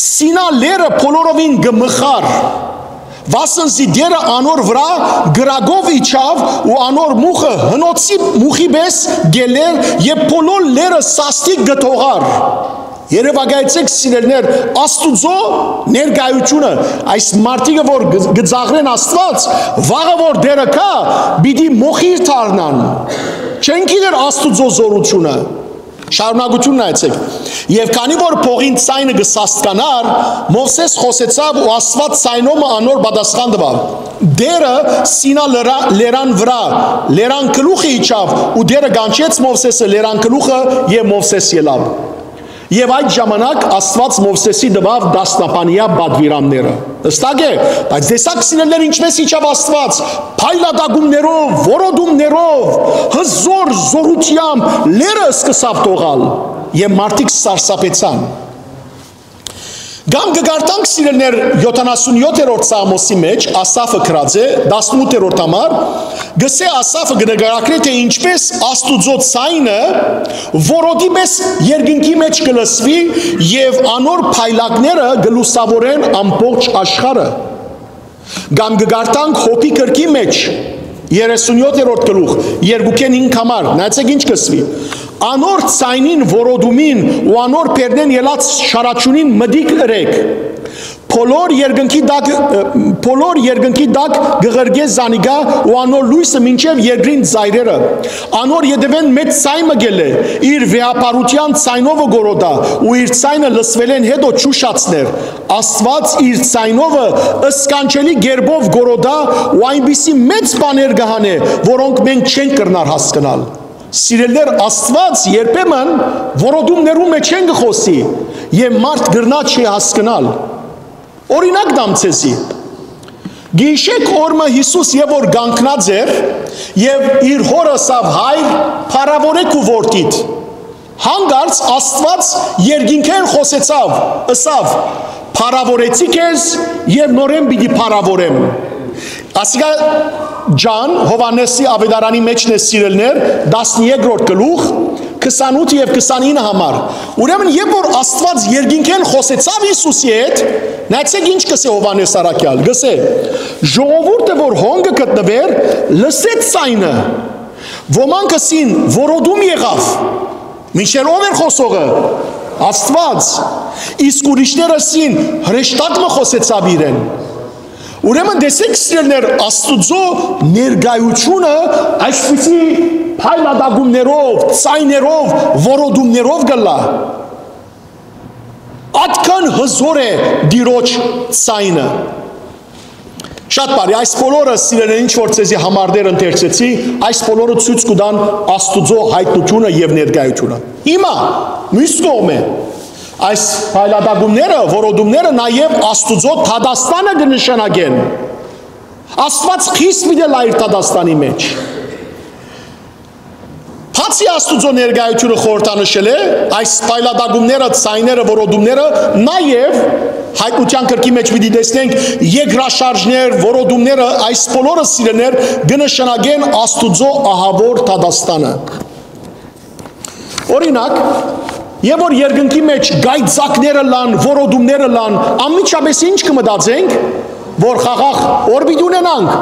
Սինա լերը բոլորովին կը մխար, վասն զի Տէրը անոր վրայ կրակով իջաւ ու անոր մուխը հնոցի մուխի պէս կ'ելլէր, եւ բոլոր լերը սաստիկ կը թողար։ Երեւակայեցէք, սիրելիներ, Աստուծոյ ներկայութիւնը, այս մարդիկը, որ կը, կը ծաղրեն Աստուած, վաղը որ Տէրը գայ, պիտի մոխիր դառնան։ Չեն գիտեր Աստուծոյ զօրութիւնը։ Շարունակութիւնը նայեցէք։ Եւ քանի որ փողին ձայնը կը սաստկանար, Մովսէս խօսեցաւ ու Աստուած ձայնով մը անոր պատասխան տուաւ։ Տէրը Սինա լերա-, լերան վրայ, լերան գլուխը իջաւ ու Տէրը կանչեց Մովսէսը լերան գլուխը, եւ Մովսէս ելաւ։ Եւ այդ ժամանակ Աստուած Մովսէսի տուաւ տասնապանեայ պատուիրանները։ Հստակ է, բայց տեսա՞ք, սիրելիներ, ինչպէս իջաւ Աստուած, փայլատակումներով, որոտումներով, հզոր զօրութեամբ լերը սկսաւ թողալ, եւ մարդիկ սարսափեցան։ Կամ կը կարդանք, սիրելիներ, յոթանասունյոթերորդ Սաղմոսի մէջ, Ասաֆը գրած է, տասնութերորդ համար, կ'ըսէ, Ասաֆը կը նկարագրէ, թէ ինչպէս Աստուծոյ ձայնը որոտի պէս երկնքի մէջ կը լսուի եւ անոր փայլակները կը լուսաւորեն ամբողջ աշխարհը։ Կամ կը կարդանք Յոբի գրքի մէջ, երեսունյոթերորդ գլուխ, երկուքէն հինգ համար, նայեցէք ինչ կ'ըսուի. «Անոր ձայնին որոտումին ու անոր բերնէն ելած շարաչունին մտիկ ըրէք։ Բոլոր երկնքի տակ, ը, բոլոր երկնքի տակ կը ղրկէ զանիկա ու անոր լոյսը մինչեւ երկրին ծայրերը։ Անոր ետեւէն մեծ ձայն մը կ'ելլէ, իր վեհափառութեան ձայնովը կ'որոտայ ու իր ձայնը լսուելէն յետոյ չուշացներ։ Աստուած իր ձայնովը սքանչելի կերպով կ'որոտայ ու այնպիսի մեծ բաներ կը հանէ, որոնք մենք չենք կրնար հասկնալ»։ Սիրելիներ, Աստուած երբեմն որոտումներու մէջ են կը խօսի եւ մարդ կրնայ չի հասկնալ։ Օրինակ տամ ձեզի։ Գիշեք օր մը Յիսուս երբ որ կանգնած էր եւ իր հօրը ըսաւ. «Հայր, փառաւորէ քու որդիդ»։ Հանկարծ Աստուած երկինքէն խօսեցաւ, ըսաւ. «Փառաւորեցի քեզ եւ նորէն պիտի փառաւորեմ»։ Ասիկա Ջան Յովհաննէսի աւետարանի մէջն է, սիրելիներ, տասներկրորդ գլուխ, քսանութ եւ քսանինը համար։ Ուրեմն, երբ որ Աստուած երկինքէն խօսեցաւ Յիսուսի հետ, նայեցէք ինչ կ'ըսէ Յովհաննէս առաքեալ, կ'ըսէ. «Ժողովուրդը, որ հոն կը գտնուէր, լսեց ձայնը։ Ոմանք ըսին. "Որոտում եղաւ"։ Մինչդեռ ո՞վ էր խօսողը։ Աստուած։ Իսկ ուրիշներ ըսին. "Հրեշտակ մը խօսեցաւ իրեն"։ Ուրեմն տեսեք, սիրելիներ, Աստուծոյ ներկայութիւնը այսպիսի փայլատակումներով, ձայներով, որոտումներով կ'ըլլայ։ Ատկան հզոր է Տիրոջ ձայնը։ Շատ բարի, այս բոլորը, սիրելիներ, ինչ որ ձեզի համարներ ընթերցեցի, այս բոլորը ցոյց կու տան Աստուծոյ յայտնութիւնը եւ ներկայութիւնը։ Հիմա, միւս կողմէ, այս փայլատակումները, որոտումները նաեւ Աստուծոյ դատաստանը կը նշանակեն։ Աստուած խիստ պիտի ըլլայ իր դատաստանի մէջ։ Բացի Աստուծոյ ներկայութիւնը խորհրդանշելէ, այս փայլատակումները, ձայները, որոտումները, նաեւ Յայտնութեան գրքի մէջ պիտի տեսնենք երկրաշարժներ, որոտումները, այս բոլորը, սիրելիներ, կը նշանակեն Աստուծոյ ահաւոր դատաստանը։ Օրինակ, երբ որ երկնքի մէջ կայծակները ըլլան, որոտումները ըլլան, անմիջապէս ինչ կը մտածենք, որ խաղաղ օր պիտի ունենանք,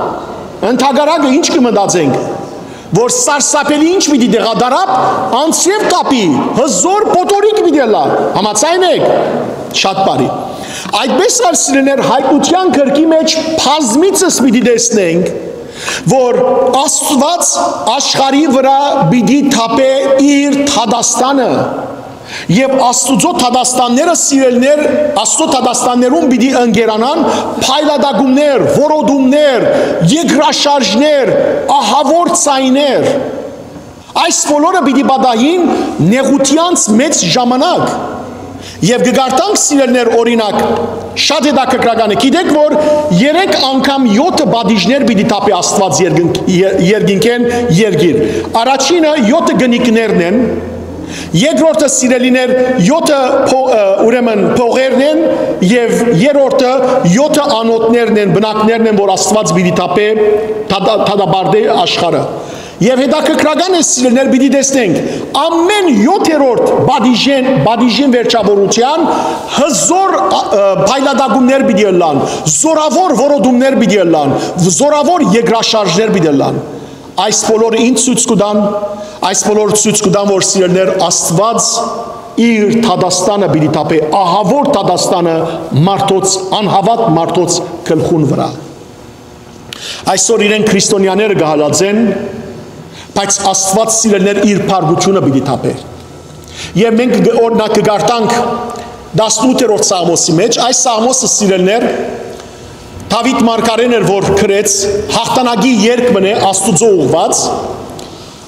ընդհակառակը ինչ կը մտածենք, որ սարսափելի ինչ պիտի դեղադարապ անձրեւ կապի, հզոր փոթորիկ պիտի ըլլայ։ Համաձայն եք։ Շատ բարի։ Այդպես ալ, սիրելիներ, Յայտնութեան գրքի մէջ բազմիցս պիտի տեսնենք, որ Աստուած աշխարհի վրայ պիտի թափէ իր դատաստանը, եւ Աստուծոյ դատաստանները, սիրելիներ, Աստուծոյ դատաստաններուն պիտի ընկերանան փայլատակումներ, որոտումներ, երկրաշարժներ, ահաւոր ձայներ։ Այս բոլորը պիտի պատահին նեղութեանց մեծ ժամանակ։ Եւ կը կարդանք, սիրելիներ, օրինակ, շատ հետաքրքրական է։ Գիտեք, որ երեք անգամ յոթը պատիժներ պիտի թափէ Աստուած երկնք-, ե-, երկինքէն երկիր։ Առաջինը յոթը կնիկներն են, երկրորդը, սիրելիներ, յոթը փո-, ը, ուրեմն փողերն են, եւ երրորդը յոթը անոթներն են, բնակներն են, որ Աստուած պիտի թափէ, թադա-, թադապարտէ աշխարհը։ Եւ հետաքրքրական է, սիրելիներ, պիտի տեսնենք, ամէն յոթերորդ պատիժեն, պատիժին վերջավորութեան հզոր, ը, փայլատակումներ պիտի ըլլան, զորաւոր որոտումներ պիտի ըլլան, զորաւոր երկրաշարժներ պիտի ըլլան։ Այս բոլորը ինչ ցոյց կու տան, այս բոլորը ցոյց կու տան, որ, սիրելիներ, Աստուած իր դատաստանը պիտի թափէ, ահաւոր դատաստանը մարդոց, անհաւատ մարդոց գլխուն վրայ։ Այսօր իրեն քրիստոնեաները կը հալածեն, բայց Աստուած, սիրելիներ, իր փառքութիւնը պիտի թափէ։ Եւ մենք, օրինակ, կը կարդանք տասնութերորդ Սաղմոսի մէջ, այս Սաղմոսը, սիրելիներ, Դաւիթ մարգարէն էր, որ գրեց, յաղթանակի երգ մըն է Աստուծոյ ուղղուած,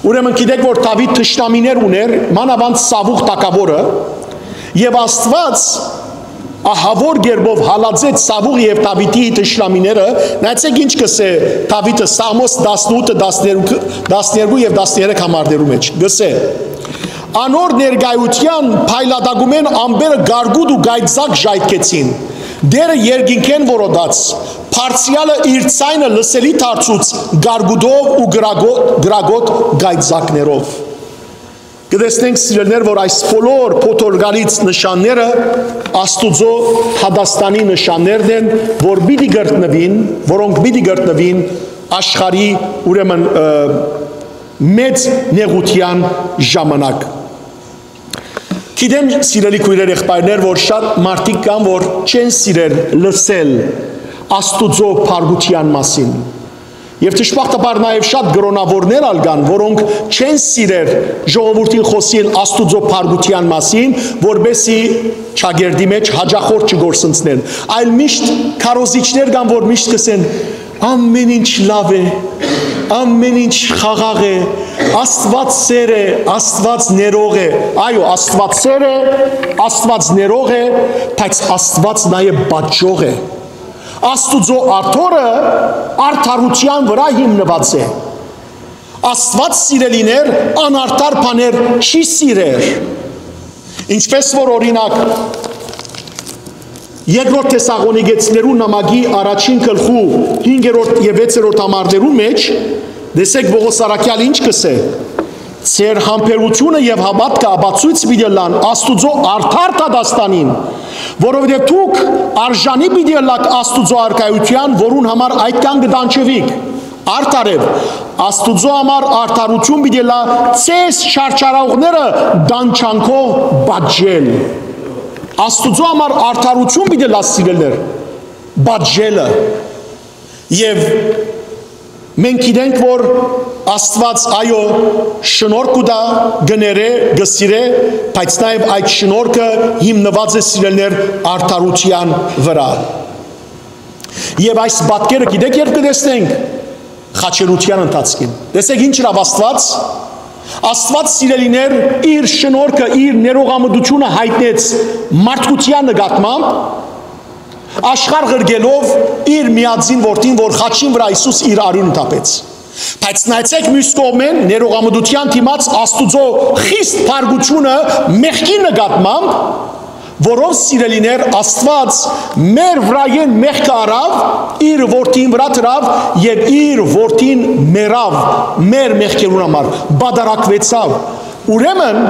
ուրեմն գիտեք, որ Դաւիթ թշնամիներ ունէր, մանաւանդ Սաւուղ թագաւորը, եւ Աստուած ահաւոր կերպով հալածեց Սաւուղ եւ Դաւիթի թշնամիները։ Նայեցէք ինչ կ'ըսէ Դաւիթը Սաղմոս տասնութը, տասներկու, տասներկու եւ տասներեք համարներու մէջ։ Կ'ըսէ. «Անոր ներկայութեան փայլատակումէն ամպերը գարգուտ ու գայծակ ժայթքեցին։ Տէրը երկինքէն որոտաց, Բարձրեալը իր ձայնը լսելի դարձուց գարգուտով ու կրակոտ, կրակոտ գայծակներով»։ Կը տեսնենք, սիրելիներ, որ այս բոլոր փոթորկալից նշանները Աստուծոյ դատաստանի նշաններն են, որ պիտի կրկնուին, որոնք պիտի կրկնուին աշխարհի, ուրեմն, ը, մեծ նեղութեան ժամանակ։ Գիտեմ, սիրելի քոյրեր, եղբայրներ, որ շատ մարդիկ կան, որ չեն սիրեր լսել Աստուծոյ փառքութեան մասին։ Եւ դժբախտաբար նաեւ շատ կրօնաւորներ ալ կան, որոնք չեն սիրեր ժողովուրդին խօսիլ Աստուծոյ փառքութեան մասին, որպեսզի ճակերտի մէջ յաճախորդ չկորսնցնեն, այլ միշտ քարոզիչներ կան, որ միշտ կ'ըսեն. «Ամէն ինչ լաւ է, ամէն ինչ խաղաղ է, Աստուած սէր է, Աստուած ներող է»։ Այո, Աստուած սէր է, Աստուած ներող է, բայց Աստուած նաեւ պատժող է։ Աստուծոյ աթոռը արդարութեան վրայ հիմնուած է։ Աստուած, սիրելիներ, անարդար բաներ չի սիրեր։ Ինչպես որ, օրինակ, երկրորդ Թեսաղոնիկեցիներու նամակի առաջին գլխու հինգերորդ եւ վեցերորդ համարներու մէջ, տեսեք, Պողոս առաքեալ ինչ կ'ըսէ. «Ձեր համբերութիւնը եւ հաւատքը ապացոյց պիտի ըլլան Աստուծոյ արդար դատաստանին, որովհետեւ դուք արժանի պիտի ըլլաք Աստուծոյ առկայութեան, որուն համար այդքան կը տանջուիք»։ Արդարեւ, Աստուծոյ համար արդարութիւն պիտի ըլլայ ձեզ չարչարողները տանջանքով պատժել։ Աստուծոյ համար արդարութիւն պիտի ըլլայ, սիրելիներ, պատժելը։ Եւ մենք գիտենք, որ Աստուած, այո, շնորհք կու տայ, կը ներէ, կը սիրէ, բայց նաեւ այդ շնորհքը հիմնուած է, սիրելիներ, արդարութեան վրայ։ Եւ այս պատկերը գիտեք երբ կը տեսնենք, խաչելութեան ընթացքին։ Տեսեք ինչ ըրաւ Աստուած։ Աստուած, սիրելիներ, իր շնորհքը, իր ներողամտությունը յայտնեց մարդկութեան նկատմամբ, աշխարհ ղրկելով իր միածին որդին, որ խաչին վրայ Յիսուս իր արիւնը թափեց։ Բայց նայեցեք, միւս կողմէն, ներողամտության դիմաց Աստուծոյ խիստ փառքութիւնը մեղքի նկատմամբ, որով, սիրելիներ, Աստուած մեր վրայէն մեղքը առաւ, իր որդին վրայ դրաւ եւ իր որդին մեռաւ մեր մեղքերուն համար, բադարակուեցաւ։ Ուրեմն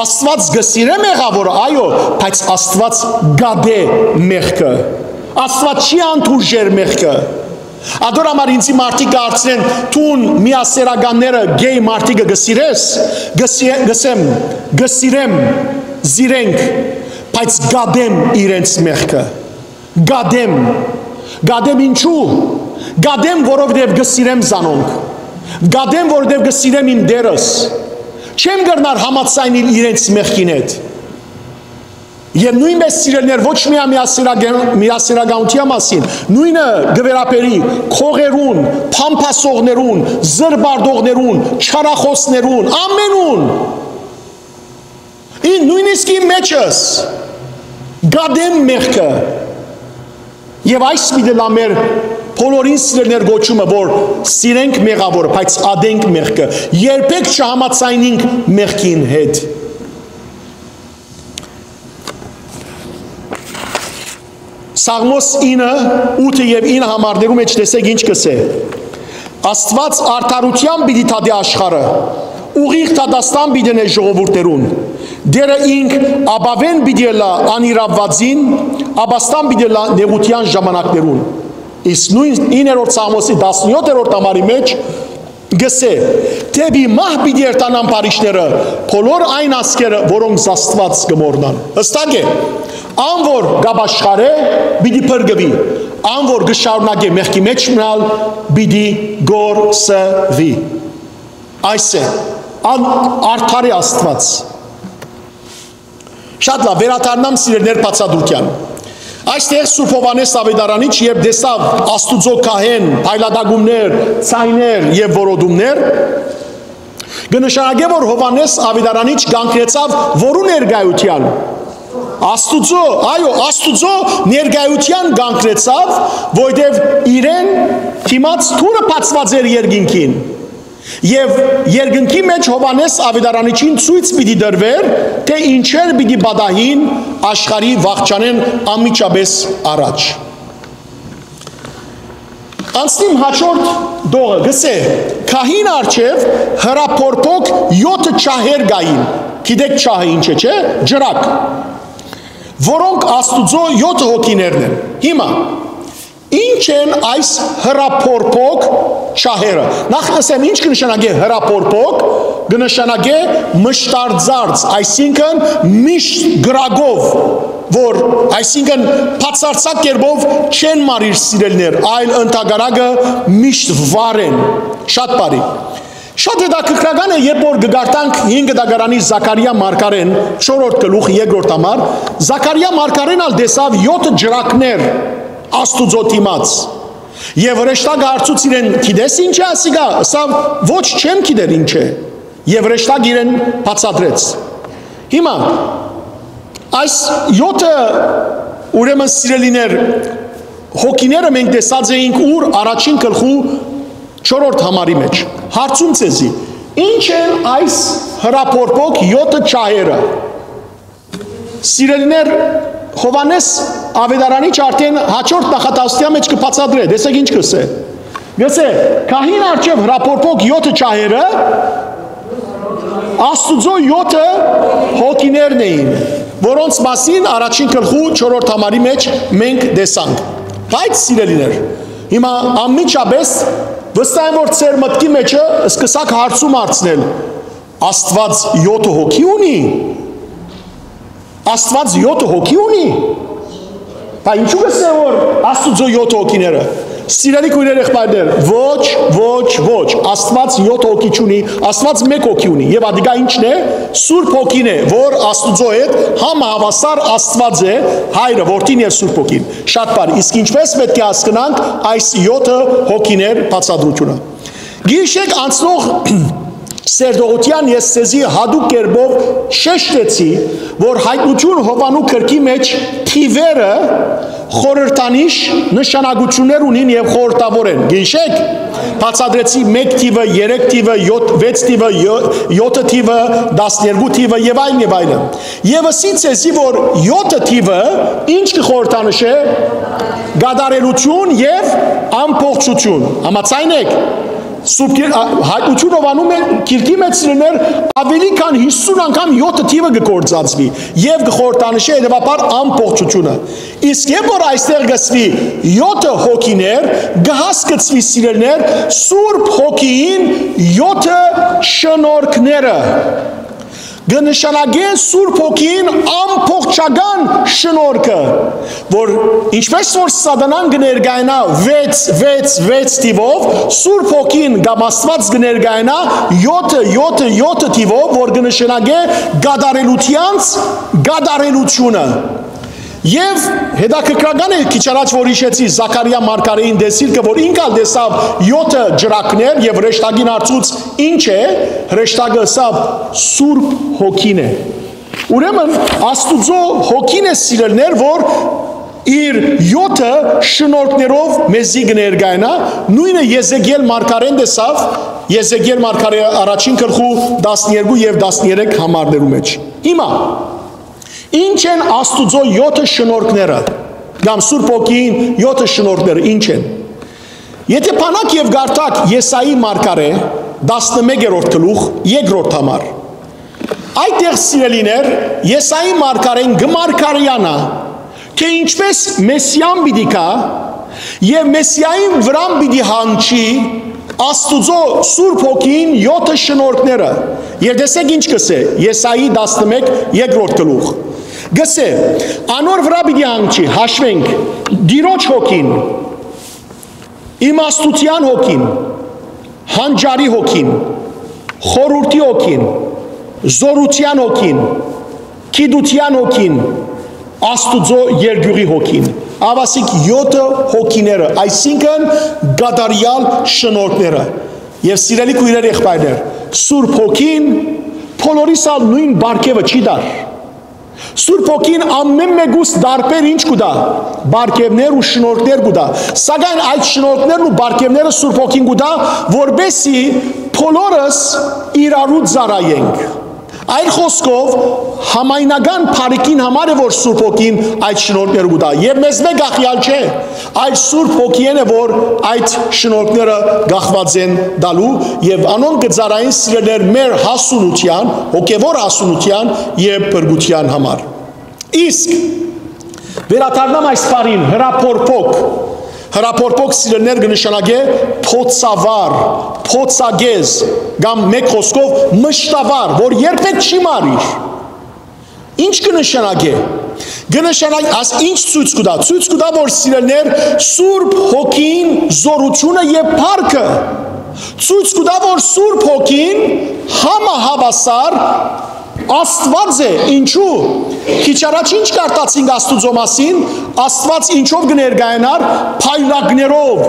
Աստուած կը սիրէ մեղաւորը, այո, բայց Աստուած կատէ մեղքը։ Աստուած չի անդուրժեր մեղքը։ Ատոր համար ինձի մարդիկ կը հարցնեն. «Դուն միասերականները, գեյ մարդիկը կը սիրես»։ Կը սի-, կ'ըսեմ. «Կը սիրեմ զիրենք, բայց կատեմ իրենց մեղքը»։ Կատեմ։ Կատեմ ինչու՞։ Կատեմ, որովհետեւ կը սիրեմ զանոնք։ Կատեմ, որովհետեւ կը սիրեմ իմ Տերս։ Չեմ կրնար համաձայնել իրենց մեղքին հետ։ Եւ նոյնպէս, սիրելիներ, ոչ միայն միասերական-, միասերականութեան մասին, նոյնը կը վերաբերի քողերուն, փամփասողներուն, զրպարտողներուն, չարախօսներուն, ամենուն։ Ին նոյնիսկ իմ մեջս։ կ'ատեմ մեղքը։ Եւ այս պիտի լա մեր բոլորին, սիրելիներ, կոչումը, որ սիրենք մեղաւորը, բայց ատենք մեղքը։ Երբեք չհամաձայնինք մեղքին հետ։ Սաղմոս ինը, ութը եւ ինը համարներու մէջ տեսեք ինչ կ'ըսէ. «Աստուած արդարութեան պիտի դատէ աշխարհը, ուղիղ դատաստան պիտի ընէ ժողովուրդներուն։ Տէրը ինք ապաւէն պիտի ըլլայ անիրաւուածին, ապաստան պիտի ըլլայ նեղութեան ժամանակներուն»։ Իսկ նոյն իններորդ Սաղմոսի տասնեօթերորդ համարի մէջ կ'ըսէ. «Դէպի մահ պիտի երթան ամբարիշները, բոլոր այն ազգերը, որոնք զաստուած կը մոռնան»։ Հստակ է, ան որ կ'ապաշխարէ, պիտի փրկուի, ան որ կը շարունակէ մեղքի մէջ մնալ, պիտի կորսուի։ Այս է, ան արդար է Աստուած։ Շատ լավ, վերադառնամ, սիրելիներ, բացատրութեան։ Այստեղ Սուրբ Յովհաննէս Աւետարանիչ, երբ տեսաւ Աստուծոյ քահէն, փայլատակումներ, ձայներ եւ որոտումներ, կը նշանակէ, որ Յովհաննէս Աւետարանիչ կանգնեցաւ որու ներկայութեան։ Աստուծոյ, այո, Աստուծոյ ներկայութեան կանգնեցաւ, որտեւ իրեն դիմաց դուռը բացուած էր երկինքին։ Եւ երկնքի մէջ Յովհաննէս Աւետարանիչին ցոյց պիտի տրուէր, թէ ինչեր պիտի պատահին աշխարհի վախճանէն անմիջապէս առաջ։ Անցնիմ հաջորդ դողը, կ'ըսէ. «Քահին առջեւ հրապորփոք եօթը ջահեր կային»։ Գիտեք ջահը ինչ է, չէ՞։ Ջրակ, որոնք Աստուծոյ եօթը հոգիներն են։ Հիմա, ի՞նչ են այս հրապորփոք ջահերը։ Նախ, ըսեմ, ինչ կը նշանակէ հրապորփոք, կը նշանակէ մշտարձարձ, այսինքն՝ միշտ կրակով, որ, այսինքն՝ բացարձակ կերպով չեն մարիր, սիրելիներ, այլ ընդհակառակը՝ միշտ վառ են։ Շատ բարի։ Շատ հետաքրքրական է, երբ որ կը կարդանք հինգ դագարանի Զաքարիա մարգարէն, չորրորդ գլուխ, երկրորդ համար, Զաքարիա մարգարէն ալ տեսաւ եօթը ջրակներ Աստուծոյ դիմաց։ Եւ հրեշտակը հարցուց իրեն. «Գիտես ինչ է ասիկա»։ Ըսաւ. «Ոչ, չեմ գիտեր ինչ է»։ Եւ հրեշտակը իրեն բացատրեց։ Հիմա, այս եօթը, ուրեմն, սիրելիներ, հոգիները մենք տեսած էինք ուր, առաջին գլխու չորրորդ համարի մէջ։ Հարցում ձեզի. ի՞նչ են այս հրապորփոք եօթը ջահերը։ Սիրելիներ, Յովհաննէս Աւետարանիչ արդեն հաջորդ նախատասության մէջ կը բացատրէ։ Տեսեք ինչ կ'ըսէ։ Կ'ըսէ. «Քահին առջեւ հրապորփոք եօթը ջահերը Աստուծոյ եօթը հոգիներն էին, որոնց մասին առաջին գլխու չորրորդ համարի մէջ մենք տեսանք»։ Բայց, սիրելիներ, հիմա անմիջապէս վստահ եմ, որ ձեր մտքի մէջը սկսաք հարցում հարցնել. «Աստուած եօթը հոգի ունի»։ Աստուած եօթը հոգի ունի։ Բա ինչու՞ կ'ըսէ, որ Աստուծոյ եօթը հոգիները։ Սիրելի քոյրեր, եղբայրներ, ոչ, ոչ, ոչ, Աստուած եօթ հոգի չունի, Աստուած մէկ հոգի ունի, եւ ատիկա ի՞նչն է։ Սուրբ Հոգին է, որ Աստուծոյ հետ համահաւասար Աստուած է, Հայրը, Որդին եւ Սուրբ Հոգին։ Շատ բարի։ Իսկ ինչպե՞ս պէտք է հասկնանք այս եօթը հոգիներ բացատրութիւնը։ Գիշեր անցնող սերտողութեան ես ձեզի յատուկ կերպով շեշտեցի, որ Յայտնութիւն Յովհաննու գրքի մէջ թիվերը խորհրդանիշ նշանակութիւններ ունին եւ խորհրդավոր են։ Գիշեր, բացատրեցի մեկ թիվը, երեք թիվը, յոթ, վեց թիվը, յո-, յոթը թիվը, տասներկու թիվը եւ այլն եւ այլն։ Եւս ի ձեզի, որ յոթը թիվը ինչ կը խորհրդանշէ, կատարելութիւն եւ ամբողջութիւն։ Համաձայն եք։ Սուրբ Գիր-, ա, Յայտնութիւն Յովհաննու մէ-, գիրքի մէջ, սիրելիներ, աւելի քան հիսուն անգամ յոթը թիվը կը գործածուի եւ կը խորհրդանշէ հետեւաբար ամբողջութիւնը։ Իսկ երբ որ այստեղ կ'ըսուի յոթը հոգիներ, կը հասկցուի, սիրելիներ, Սուրբ Հոգին յոթը շնորհքները։ Կը նշանակէ Սուրբ Հոգին ամբողջական շնորհքը, որ ինչպես որ Սատանան կը ներկայանայ վեց, վեց, վեց թիվով, Սուրբ Հոգին կամ Աստուած կը ներկայանայ յոթը, յոթը, յոթը թիվով, որ կը նշանակէ կատարելութեանց կատարելութիւնը։ Եւ հետաքրքրական է, քիչ առաջ որ յիշեցի Զաքարիա մարգարէին տեսիլքը, որ ինք ալ տեսաւ յոթը ջրակներ եւ հրեշտակին հարցուց. «Ի՞նչ է»։ Հրեշտակը ըսաւ. «Սուրբ Հոգին է»։ Ուրեմն Աստուծոյ հոգին է, սիրելիներ, որ իր յոթը շնորհքներով մեզի կը ներկայանայ, նոյնը Եզեկիել մարգարէն տեսաւ, Եզեկիել մարգարէ առաջին գլխու տասներկու եւ տասներեք համարներու մէջ։ Հիմա, ի՞նչ են Աստուծոյ յոթը շնորհքները, կամ Սուրբ Հոգին յոթը շնորհքները ի՞նչ են։ Եթէ բանաք եւ կարդաք Եսայի մարգարէ, տասնմեկերորդ գլուխ, երկրորդ համար, այդտեղ, սիրելիներ, Եսայի մարգարէն կը մարգարեանայ, թէ ինչպէս Մեսիան պիտի գայ եւ Մեսիային վրան պիտի հանգչի Աստուծոյ Սուրբ Հոգին յոթը շնորհքները։ Եւ տեսեք ինչ կ'ըսէ Եսայի տասնմէկ, երկրորդ գլուխ։ Կ'ըսէ. «Անոր վրայ պիտի հանգչի», հաշուենք, Տիրոջ Հոգին, իմաստութեան Հոգին, հանճարի Հոգին, խորհուրդի Հոգին, զօրութեան Հոգին, գիտութեան Հոգին, Աստուծոյ երկիւղի Հոգին։ Ահա ասիկա յոթը հոգիները, այսինքն՝ կատարեալ շնորհքները։ Եւ սիրելի քոյրեր, եղբայրներ, Սուրբ Հոգին բոլորիս ալ նոյն պարգեւը չի տար։ Սուրբ Հոգին ամէն մէկուս տարբեր ինչ կու տայ, պարգեւներ ու շնորհքներ կու տայ, սակայն այդ շնորհքներն ու պարգեւները Սուրբ Հոգին կու տայ, որպէսզի բոլորս իրարու ծառայենք։ Այլ խօսքով, համայնական բարիքին համար է, որ Սուրբ Հոգին այդ շնորհքները կու տայ։ Եւ մեզմէ կախեալ չէ, այլ Սուրբ Հոգիէն է, որ այդ շնորհքները կախուած են տալու, եւ անոնք կը ծառայեն, սիրելիներ, մեր հասունութեան, հոգեւոր հասունութեան եւ փրկութեան համար։ Իսկ վերադառնամ այս բառին, հրապորփոք։ Հրապորփոք, սիրելիներ, կը նշանակէ փոցավառ, փոցագեզ, կամ մէկ խօսքով՝ մշտավառ, որ երբեք չի մարիր։ Ինչ կը նշանակէ։ Կը նշանակէ, աս ինչ ցոյց կու տայ, ցոյց կու տայ, որ, սիրելիներ, Սուրբ Հոգին զօրութիւնը եւ փառքը ցոյց կու տայ, որ Սուրբ Հոգին համահաւասար Աստուած է։ Ինչու՞։ Քիչ առաջ ինչ կարդացինք Աստուծոյ մասին, Աստուած ինչով կը ներկայանար, փայլակներով,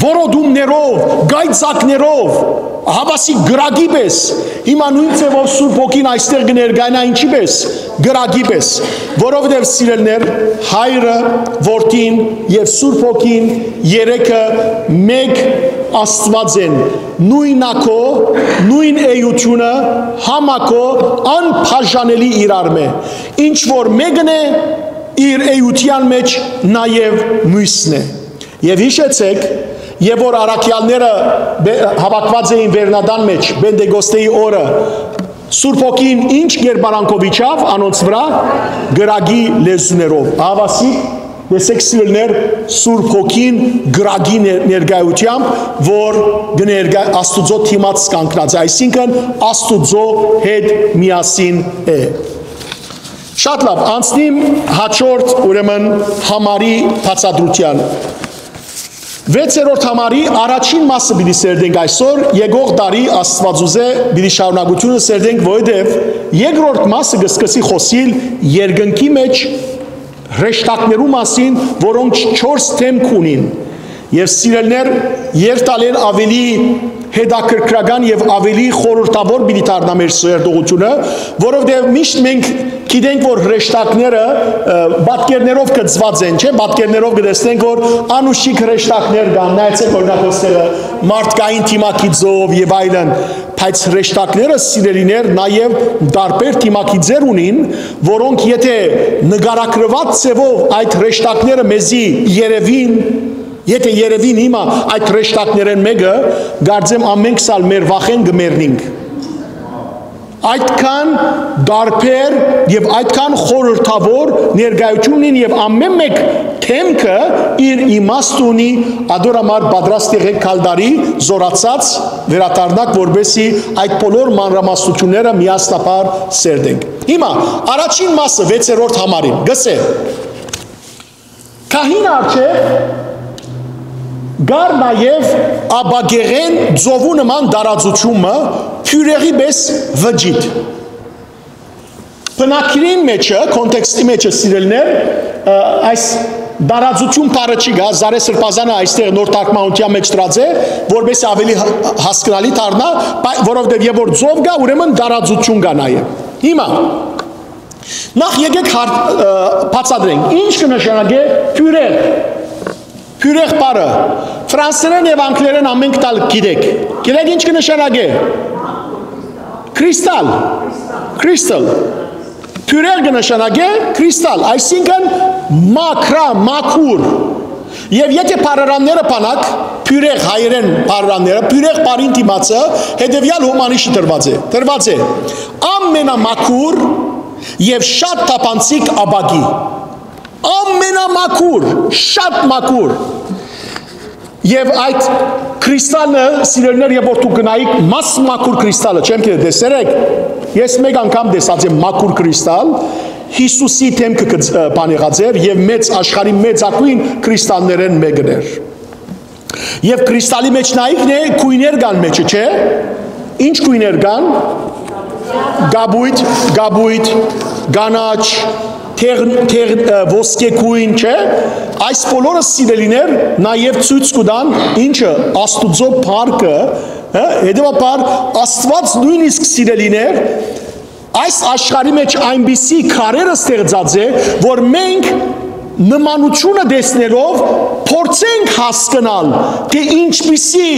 որոտումներով, կայծակներով, ահա ասիկա կրակի պէս։ Հիմա նոյն ձեւով Սուրբ Հոգին այստեղ կը ներկայանայ ինչի պէս, կրակի պէս, որովհետեւ, սիրելիներ, Հայրը, Որդին եւ Սուրբ Հոգին երեքը մէկ Աստուած են, նոյնակո, նոյն էությունը, համակո, անբաժանելի իրարմէ։ Ինչ որ մէկն է, իր էության մէջ նաեւ միւսն է։ Եւ յիշեցէք, եւ որ առաքեալները բե-, հաւաքուած էին վերնատան մէջ Պենտեկոստեի օրը, Սուրբ Հոգին ինչ կերպարանքով իջաւ անոնց վրայ, կրակի լեզուներով։ Ահա ասիկա, տեսեք, սիրելիներ, Սուրբ Հոգին կրակի ներ-, ներկայութեամբ, որ կը ներկայ-, Աստուծոյ դիմաց կանգնած է, այսինքն՝ Աստուծոյ հետ միասին է։ Շատ լաւ, անցնիմ հաջորդ, ուրեմն, համարի բացատրութեան։ Վեցերորդ համարի առաջին մասը պիտի սերտենք այսօր, եկող տարի Աստուածուզէ պիտի շարունակութիւնը սերտենք, որովհետեւ երկրորդ մասը կը սկսի խօսիլ երկնքի մէջ հրեշտակներու մասին, որոնք չորս դէմք ունին։ Եւ, սիրելիներ, երթալեն ավելի հետաքրքրական եւ ավելի խորհրդավոր պիտի դառնայ մեր սերտողութիւնը, որովհետեւ միշտ մենք գիտենք, որ հրեշտակները, ը, պատկերներով կցուած են, չէ՞, պատկերներով կտեսնենք, որ անուշիկ հրեշտակներ կան, նայեցեք, օրինակ, ոստեղը մարդկային թիմակիցով եւ այլն, բայց հրեշտակները, սիրելիներ, նաեւ տարբեր թիմակիցեր ունին, որոնք, եթե նկարագրուած ձևով այդ հրեշտակները մեզի երևին, եթե երևին հիմա այդ հրեշտակներէն մէկը, կարծեմ, ամենքս ալ մեր վախէն կը մեռնինք։ Այդքան տարբեր եւ այդքան խորհրդավոր ներկայութիւն ունին, եւ ամէն մէկ դէմքը իր իմաստը ունի, ադոր համար պատրաստ եղեք քալդարի զորացած վերադառնաք, որպեսզի այդ բոլոր մանրամասնությունները միասնաբար սերտենք։ Հիմա առաջին մասը վեցերորդ համարին գսե. Քահին առջեւ կար նաեւ ապակեղեն ծովու նման տարածութիւն մը, բիւրեղի պէս վճիտ։ Բնագիրին մեջը, կոնտեքստի մեջը, սիրելիներ, ը, այս տարածութիւն բառը չի գա, Զարե Սրբազանը այստեղ նոր թարգմանութեան մեջ դրած է, որպեսզի ավելի հ-, հասկնալի դառնայ, բայց որովհետեւ երբ որ ծով կայ, ուրեմն տարածութիւն կայ նաեւ։ Հիմա, Նախ եկեք հարց, ը, բացատրենք։ Ինչ կը նշանակէ բիւրեղ։ Բիւրեղ բառը։ Ֆրանսերէն եւ անգլերէն ամէնքդ ալ գիտեք։ Գիտեք ինչ կը նշանակէ։ Քրիստալ։ Քրիստալ։ Բիւրեղ կը նշանակէ քրիստալ, այսինքն մաքրայ, մաքուր։ Եւ եթե բառարանները բանաք, բիւրեղ հայերէն բառարանները, բիւրեղ բառին դիմացը հետեւեալ հոմանիշը տրուած է։ Տրուած է. ամենամաքուր եւ շատ թափանցիկ ապակի։ Ամենամաքուր, շատ մաքուր։ Եւ այդ քրիստալը, սիրելիներ, երբ որ դուք գնայիք, մաս մաքուր քրիստալը, չեմ գիտեր, տեսեր եք, ես մեկ անգամ տեսած եմ մաքուր քրիստալ, Յիսուսի դէմքը կը ծ-, ը, բան եղած էր, եւ մեծ, աշխարհի մեծագոյն քրիստալներէն մէկն էր։ Եւ քրիստալի մէջ նայիքն է, գոյներ կան մէջը, չէ՞։ Ինչ գոյներ կան։ Կապոյտ, կապոյտ, կանաչ, թեղ-, թեղ-, ը, ոսկեգոյն, չէ՞։ Այս բոլորը, սիրելիներ, նաեւ ցոյց կու տան ինչը, Աստուծոյ փառքը, հա, հետեւաբար Աստուած նոյնիսկ, սիրելիներ, այս աշխարհի մէջ այնպիսի քարերը ստեղծած է, որ մենք նմանութիւնը տեսնելով փորձենք հասկնալ, թէ ինչպիսի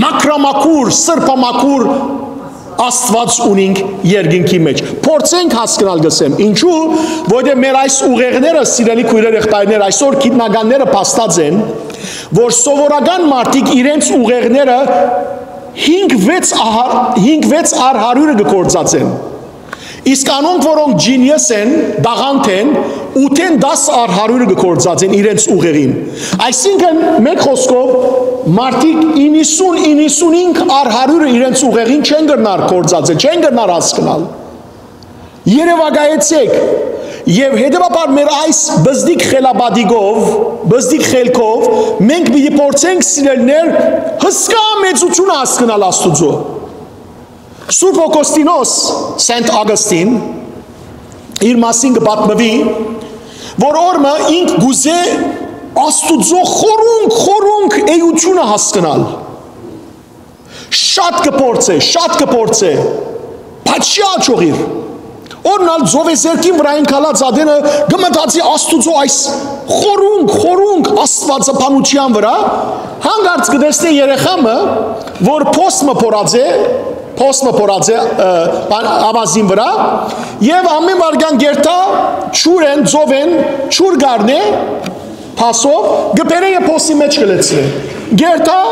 մաքրամաքուր, սրբամաքուր Աստուած ունինք երկնքի մէջ։ Փորձենք հասկնալ, կ'ըսեմ, ինչու, որովհետեւ մեր այս ուղեղները, սիրելի քոյրեր, եղբայրներ, այսօր գիտնականները փաստած են, որ սովորական մարդիկ իրենց ուղեղները հինգ վեց ահար-, հինգ վեց առ հարիւրը կը գործածեն։ Իսկ անոնք, որոնք genius են, տաղանդ են, ութեն տաս առ հարիւրը կը գործածեն իրենց ուղեղին։ Այսինքն, մէկ խօսքով, մարդիկ իննսուն, իննսունհինգ առ հարիւրը իրենց ուղեղին չեն կրնար գործածել, չեն կրնար հասկնալ։ Երեւակայեցէք, եւ հետեւաբար մեր այս բզդիկ խելապատիկով, բզդիկ խելքով մենք պիտի փորձենք, սիրելիներ, հսկայ մեծութիւնը հասկնալ Աստուծոյ։ Սուրբ Օգոստինոս, Սենթ Ագըստին, իր մասին կը պատմուի, որ օրը ինք կ'ուզէ Աստուծոյ խորունկ, խորունկ էութիւնը հասկնալ։ Շատ կը փորձէ, շատ կը փորձէ, բայց չի աջողիր։ Օրհնալ ծովեզերքին վրայ ինք ալած ատենը կը մտածի Աստուծոյ այս խորունկ, խորունկ աստուածաբանութեան վրայ, հանկարծ կը տեսնէ երեխայ մը, որ փոս մը փորած է, փոս մը փորած է, ը, բան, ավազին վրայ, եւ ամէն վայրկեան կ'երթայ ջուրէն, ծովէն, ջուր կ'առնէ, փոսով, կը բերէ եւ փոսի մէջ կը լեցնէ։ Կ'երթայ,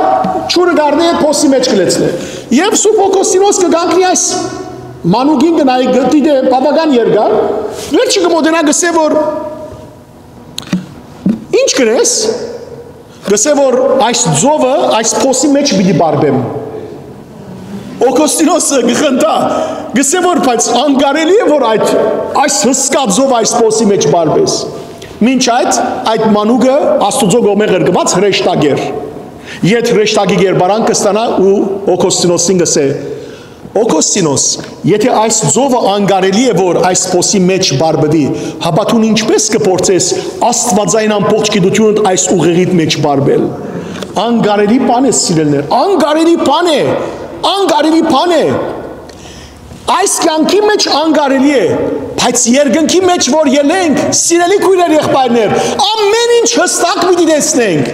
ջուրը կ'առնէ, փոսի մէջ կը լեցնէ։ Եւ Սուրբ Օգոստինոս կը կանգնի այս մանուկին, կը նայի, կը դիտէ բաւական երկար, վերջը կը մօտենայ, կ'ըսէ որ, «Ի՞նչ կ'ընես»։ Կ'ըսէ որ, «Այս ծովը այս փոսի մէջ պիտի պարպեմ»։ Օգոստինոսը կը խնդայ, կ'ըսէ որ, «Բայց անկարելի է որ այդ, այս հսկայ ծովը այս փոսի մէջ պարպես»։ Մինչ այդ, այդ մանուկը Աստուծոյ կողմէ ղրկուած հրեշտակ էր։ Յետ հրեշտակի կերպարանք կը ստանայ ու Օգոստինոսին կ'ըսէ. «Օգոստինոս, եթե այս ծովը անկարելի է որ այս փոսի մէջ պարպուի, հապա դուն ինչպէս կը փորձես աստուածային ամբողջ գիտութիւնդ այս ուղեղիդ մէջ պարպել»։ Անկարելի բան է, սիրելիներ, անկարելի բան է, անկարելի բան է։ Այս կեանքի մէջ անկարելի է, բայց երկնքի մէջ որ ելենք, սիրելի քոյրեր, եղբայրներ, ամէն ինչ հստակ պիտի տեսնենք,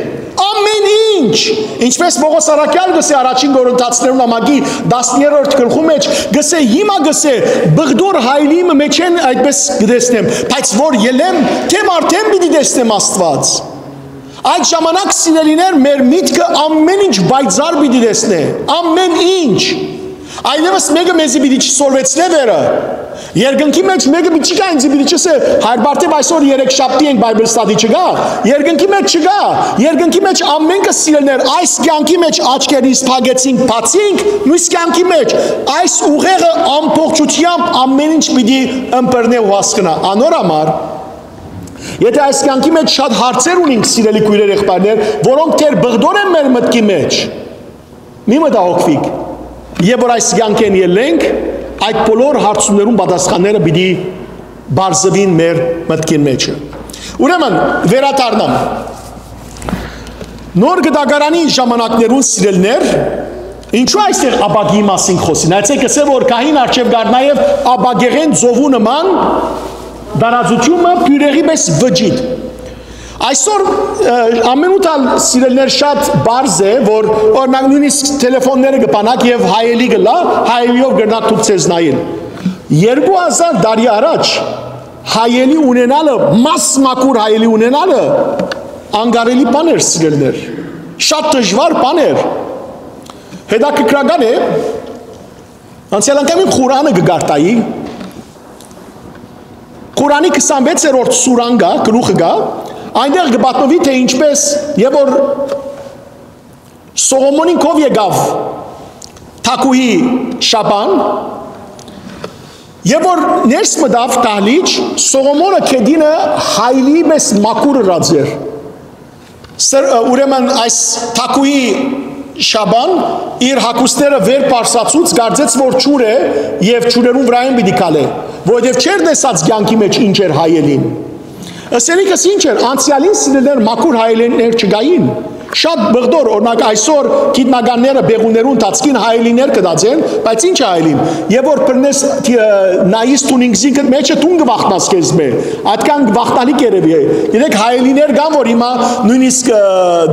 ամէն ինչ։ Ինչպես Պողոս առաքյալ կ'ըսէ առաջին Կորինթացիներուն ամակի տասներորդ գլխու մէջ, կ'ըսէ, հիմա կ'ըսէ, բղդոր հայլի մը մէջէն այդպես կը տեսնեմ, բայց որ ելեմ, թէ արդէն պիտի տեսնեմ Աստուած։ Այդ ժամանակ, սիրելիներ, մեր միտքը ամէն ինչ պայծառ պիտի տեսնէ, ամէն ինչ։ Այլեւս մէկը մեզի պիտի չսորվեցնէ վերը։ Երկնքի մէջ մէկը պիտի չի գայ ինձի պիտի չըսէ, «Հայր Բարթեւ, այսօր երեքշաբթի ենք, Bible study չկա»։ Երկնքի մէջ չկա։ Երկնքի մէջ ամէնքը, սիրելիներ, այս կեանքի մէջ աչքերնիս փակեցինք, բացինք, մյուս կեանքի մէջ այս ուղեղը ամբողջությամբ ամէն ինչ պիտի ըմբռնէ ու հասկնայ։ Անոր համար, եթե այս կեանքի մէջ շատ հարցեր ունենք, սիրելի քոյրեր, եղբայրներ, որոնք դեռ բղդոր են մեր մտքի մէջ, մի մտահոգուիք, եւ որ այս կեանքէն ելլենք, այդ բոլոր հարցումներուն պատասխանները պիտի բարձվին մեր մտքին մէջը։ Ուրեմն, վերադառնամ։ Նոր կտակարանի ժամանակներուն, սիրելիներ, Ինչու այստեղ ապակիի մասին կ'խօսի։ Նայեցէք, կ'ըսէ որ քահին առջեւ կ'առնայ եւ ապակեղէն ծովու նման տարածութիւնը բիւրեղի պէս վճիտ։ Այսօր, ը, ամենուր ալ, սիրելիներ, շատ պարզ է, որ, օրինակ, նոյնիսկ թելեֆոնները կը բանաք եւ հայելի կ'ըլլայ, հայելիով կրնաք դուք ձեզ նայել։ Երկու հազար տարի առաջ հայելի ունենալը, մաս մաքուր հայելի ունենալը անկարելի բան էր, սիրելիներ։ Շատ դժուար բան էր։ Հետաքրքրական է, անցեալ անգամ իմ Ղուրանը կը կարդայի, Ղուրանի քսանվեցերորդ սուրան կայ, գլուխը կայ, այնտեղ կը պատմուի, թէ ինչպէս եւ որ Սողոմոնին քով եկաւ թագուհի Շաբան, եւ որ ներս մտաւ դահլիճ, Սողոմոնը գետինը հայելիի պէս մաքուր ըրած էր։ Սր-, ուրեմն այս թագուհի Շաբան իր հագուստները վեր պարսացուց, կարծեց որ ջուր է եւ ջուրերուն վրայէն պիտի քալէ, որովհետեւ չէր տեսած կեանքի մէջ ինչ էր հայելին։ Ըսելիքս ինչ էր, անցեալին, սիրելիներ, մաքուր հայելիներ չկային։ Շատ բղդոր, օրինակ, այսօր գիտնականները բեղուներու ընթացքին հայելիներ կը դածեն, բայց ինչ հայելին։ Եւ որ բռնես, ը, նայիս դուն ինքզինքդ մէջը, դուն կը վախնաս քեզմէ։ Ատկան վախնալի կերեւի է։ Գիտեք, հայելիներ կան, որ հիմա նոյնիսկ, ը,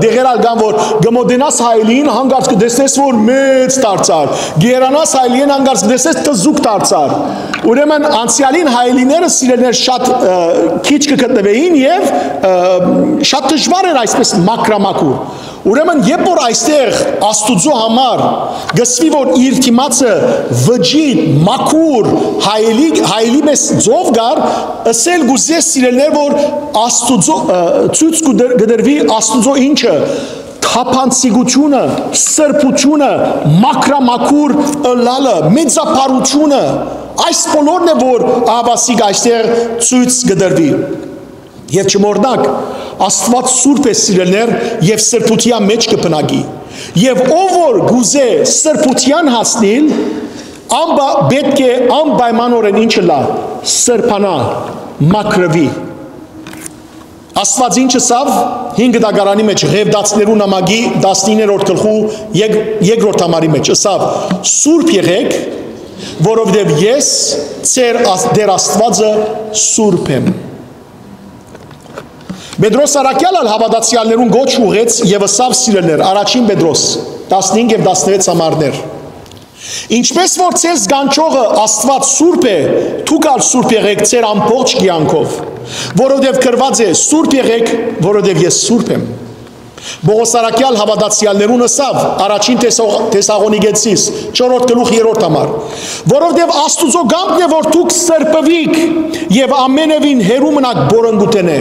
դեղեր ալ կան, որ կը մոտենաս հայելին, հանկարծ կը տեսնես, որ մեծ դարձար։ Գերանաս հայելին, հանկարծ կը տեսնես, թզուկ դարձար։ Ուրեմն անցեալին հայելիները, սիրելիներ, շատ, ը, քիչ կը գտնուէին եւ, ը, շատ դժուար էր այսպես մաքրամաքուր։ Ուրեմն, երբ որ այստեղ Աստուծոյ համար կ'ըսուի, որ իր դիմացը վճիտ, մաքուր, հայելի, հայելի պէս ծով կար, ըսել կ'ուզէ, սիրելիներ, որ Աստուծոյ, ը, ցոյց կու դր-, կը դրուի Աստուծոյ ինչը, թափանցիկութիւնը, սրբութիւնը, մաքրամաքուր ըլլալը, մեծափառութիւնը, այս բոլորն է, որ ահաւասիկ այստեղ ցոյց կը դրուի։ Եւ չմոռնաք, Աստուած սուրբ է, սիրելիներ, եւ սրբութեան մէջ կը բնակի։ Եւ ով որ կ'ուզէ սրբութեան հասնիլ, անպա-, պէտք է անպայմանօրէն ինչ ըլլայ, սրբանայ, մաքրուի։ Աստուած ինչ ըսաւ հին գտակարանի մէջ, Ղեւտացիներու նամակի տասնիններորդ գլխու եկ-, երկրորդ համարի մէջ, ըսաւ. «Սուրբ եղէք, որովհետեւ ես, ձեր Ա-, Տէր Աստուածը, սուրբ եմ»։ Պետրոս առաքեալ ալ հաւատացեալներուն կոչ ուղղեց եւ ըսաւ, սիրելիներ, առաջին Պետրոս, տասնհինգ եւ տասնվեց համարներ. «Ինչպէս որ ձեզ կանչողը Աստուած սուրբ է, դուք ալ սուրբ եղէք ձեր ամբողջ կեանքով, որովհետեւ գրուած է. "Սուրբ եղէք, որովհետեւ ես սուրբ եմ"»։ Պողոս առաքեալ հաւատացեալներուն ըսաւ, առաջին Թեսաղ-, Թեսաղոնիկեցիս, չորրորդ գլուխ, երրորդ համար. «Որովհետեւ Աստուծոյ կամքն է, որ դուք սրբուիք եւ ամենեւին հեռու մնաք պոռնկութենէ»։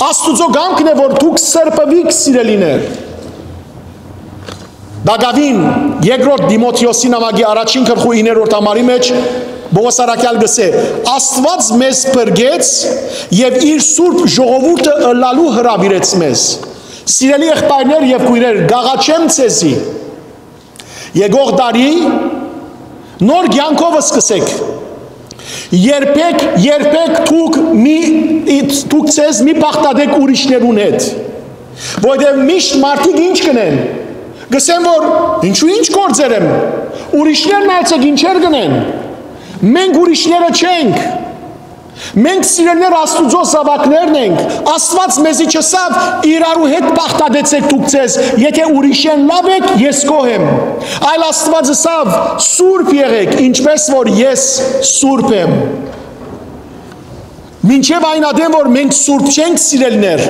Աստուծոյ կամքն է, որ դուք սրբուիք, սիրելիներ։ Տակաւին, երկրորդ Տիմոթէոսի նամակի առաջին գլխու իններորդ համարի մէջ Պողոս առաքեալ կ'ըսէ. «Աստուած մեզ փրկեց եւ իր սուրբ ժողովուրդը ըլլալու հրաւիրեց մեզ»։ Սիրելի եղբայրներ եւ քոյրեր, կ'աղաչեմ ձեզի, եկող տարի նոր կեանքով սկսէք։ Երբեք, երբեք դուք մի, դուք ձեզ մի բաղդատէք ուրիշներուն հետ, որովհետեւ միշտ մարդիկ ինչ կ'ընեն, կ'ըսեն, որ ինչու, ինչ գործեր եմ, ուրիշներն այցեք ինչեր կ'ընեն, մենք ուրիշները չենք։ Մենք, սիրելիներ, Աստուծոյ զաւակներն ենք։ Աստուած մեզի չըսաւ. «Իրարու հետ բաղդատեցէք դուք ձեզ, եթէ ուրիշէն լաւ էք, ես գոհ եմ»։ Այլ Աստուած ըսաւ. «Սուրբ եղէք, ինչպէս որ ես սուրբ եմ»։ Մինչեւ այն ատեն, որ մենք սուրբ չենք, սիրելիներ,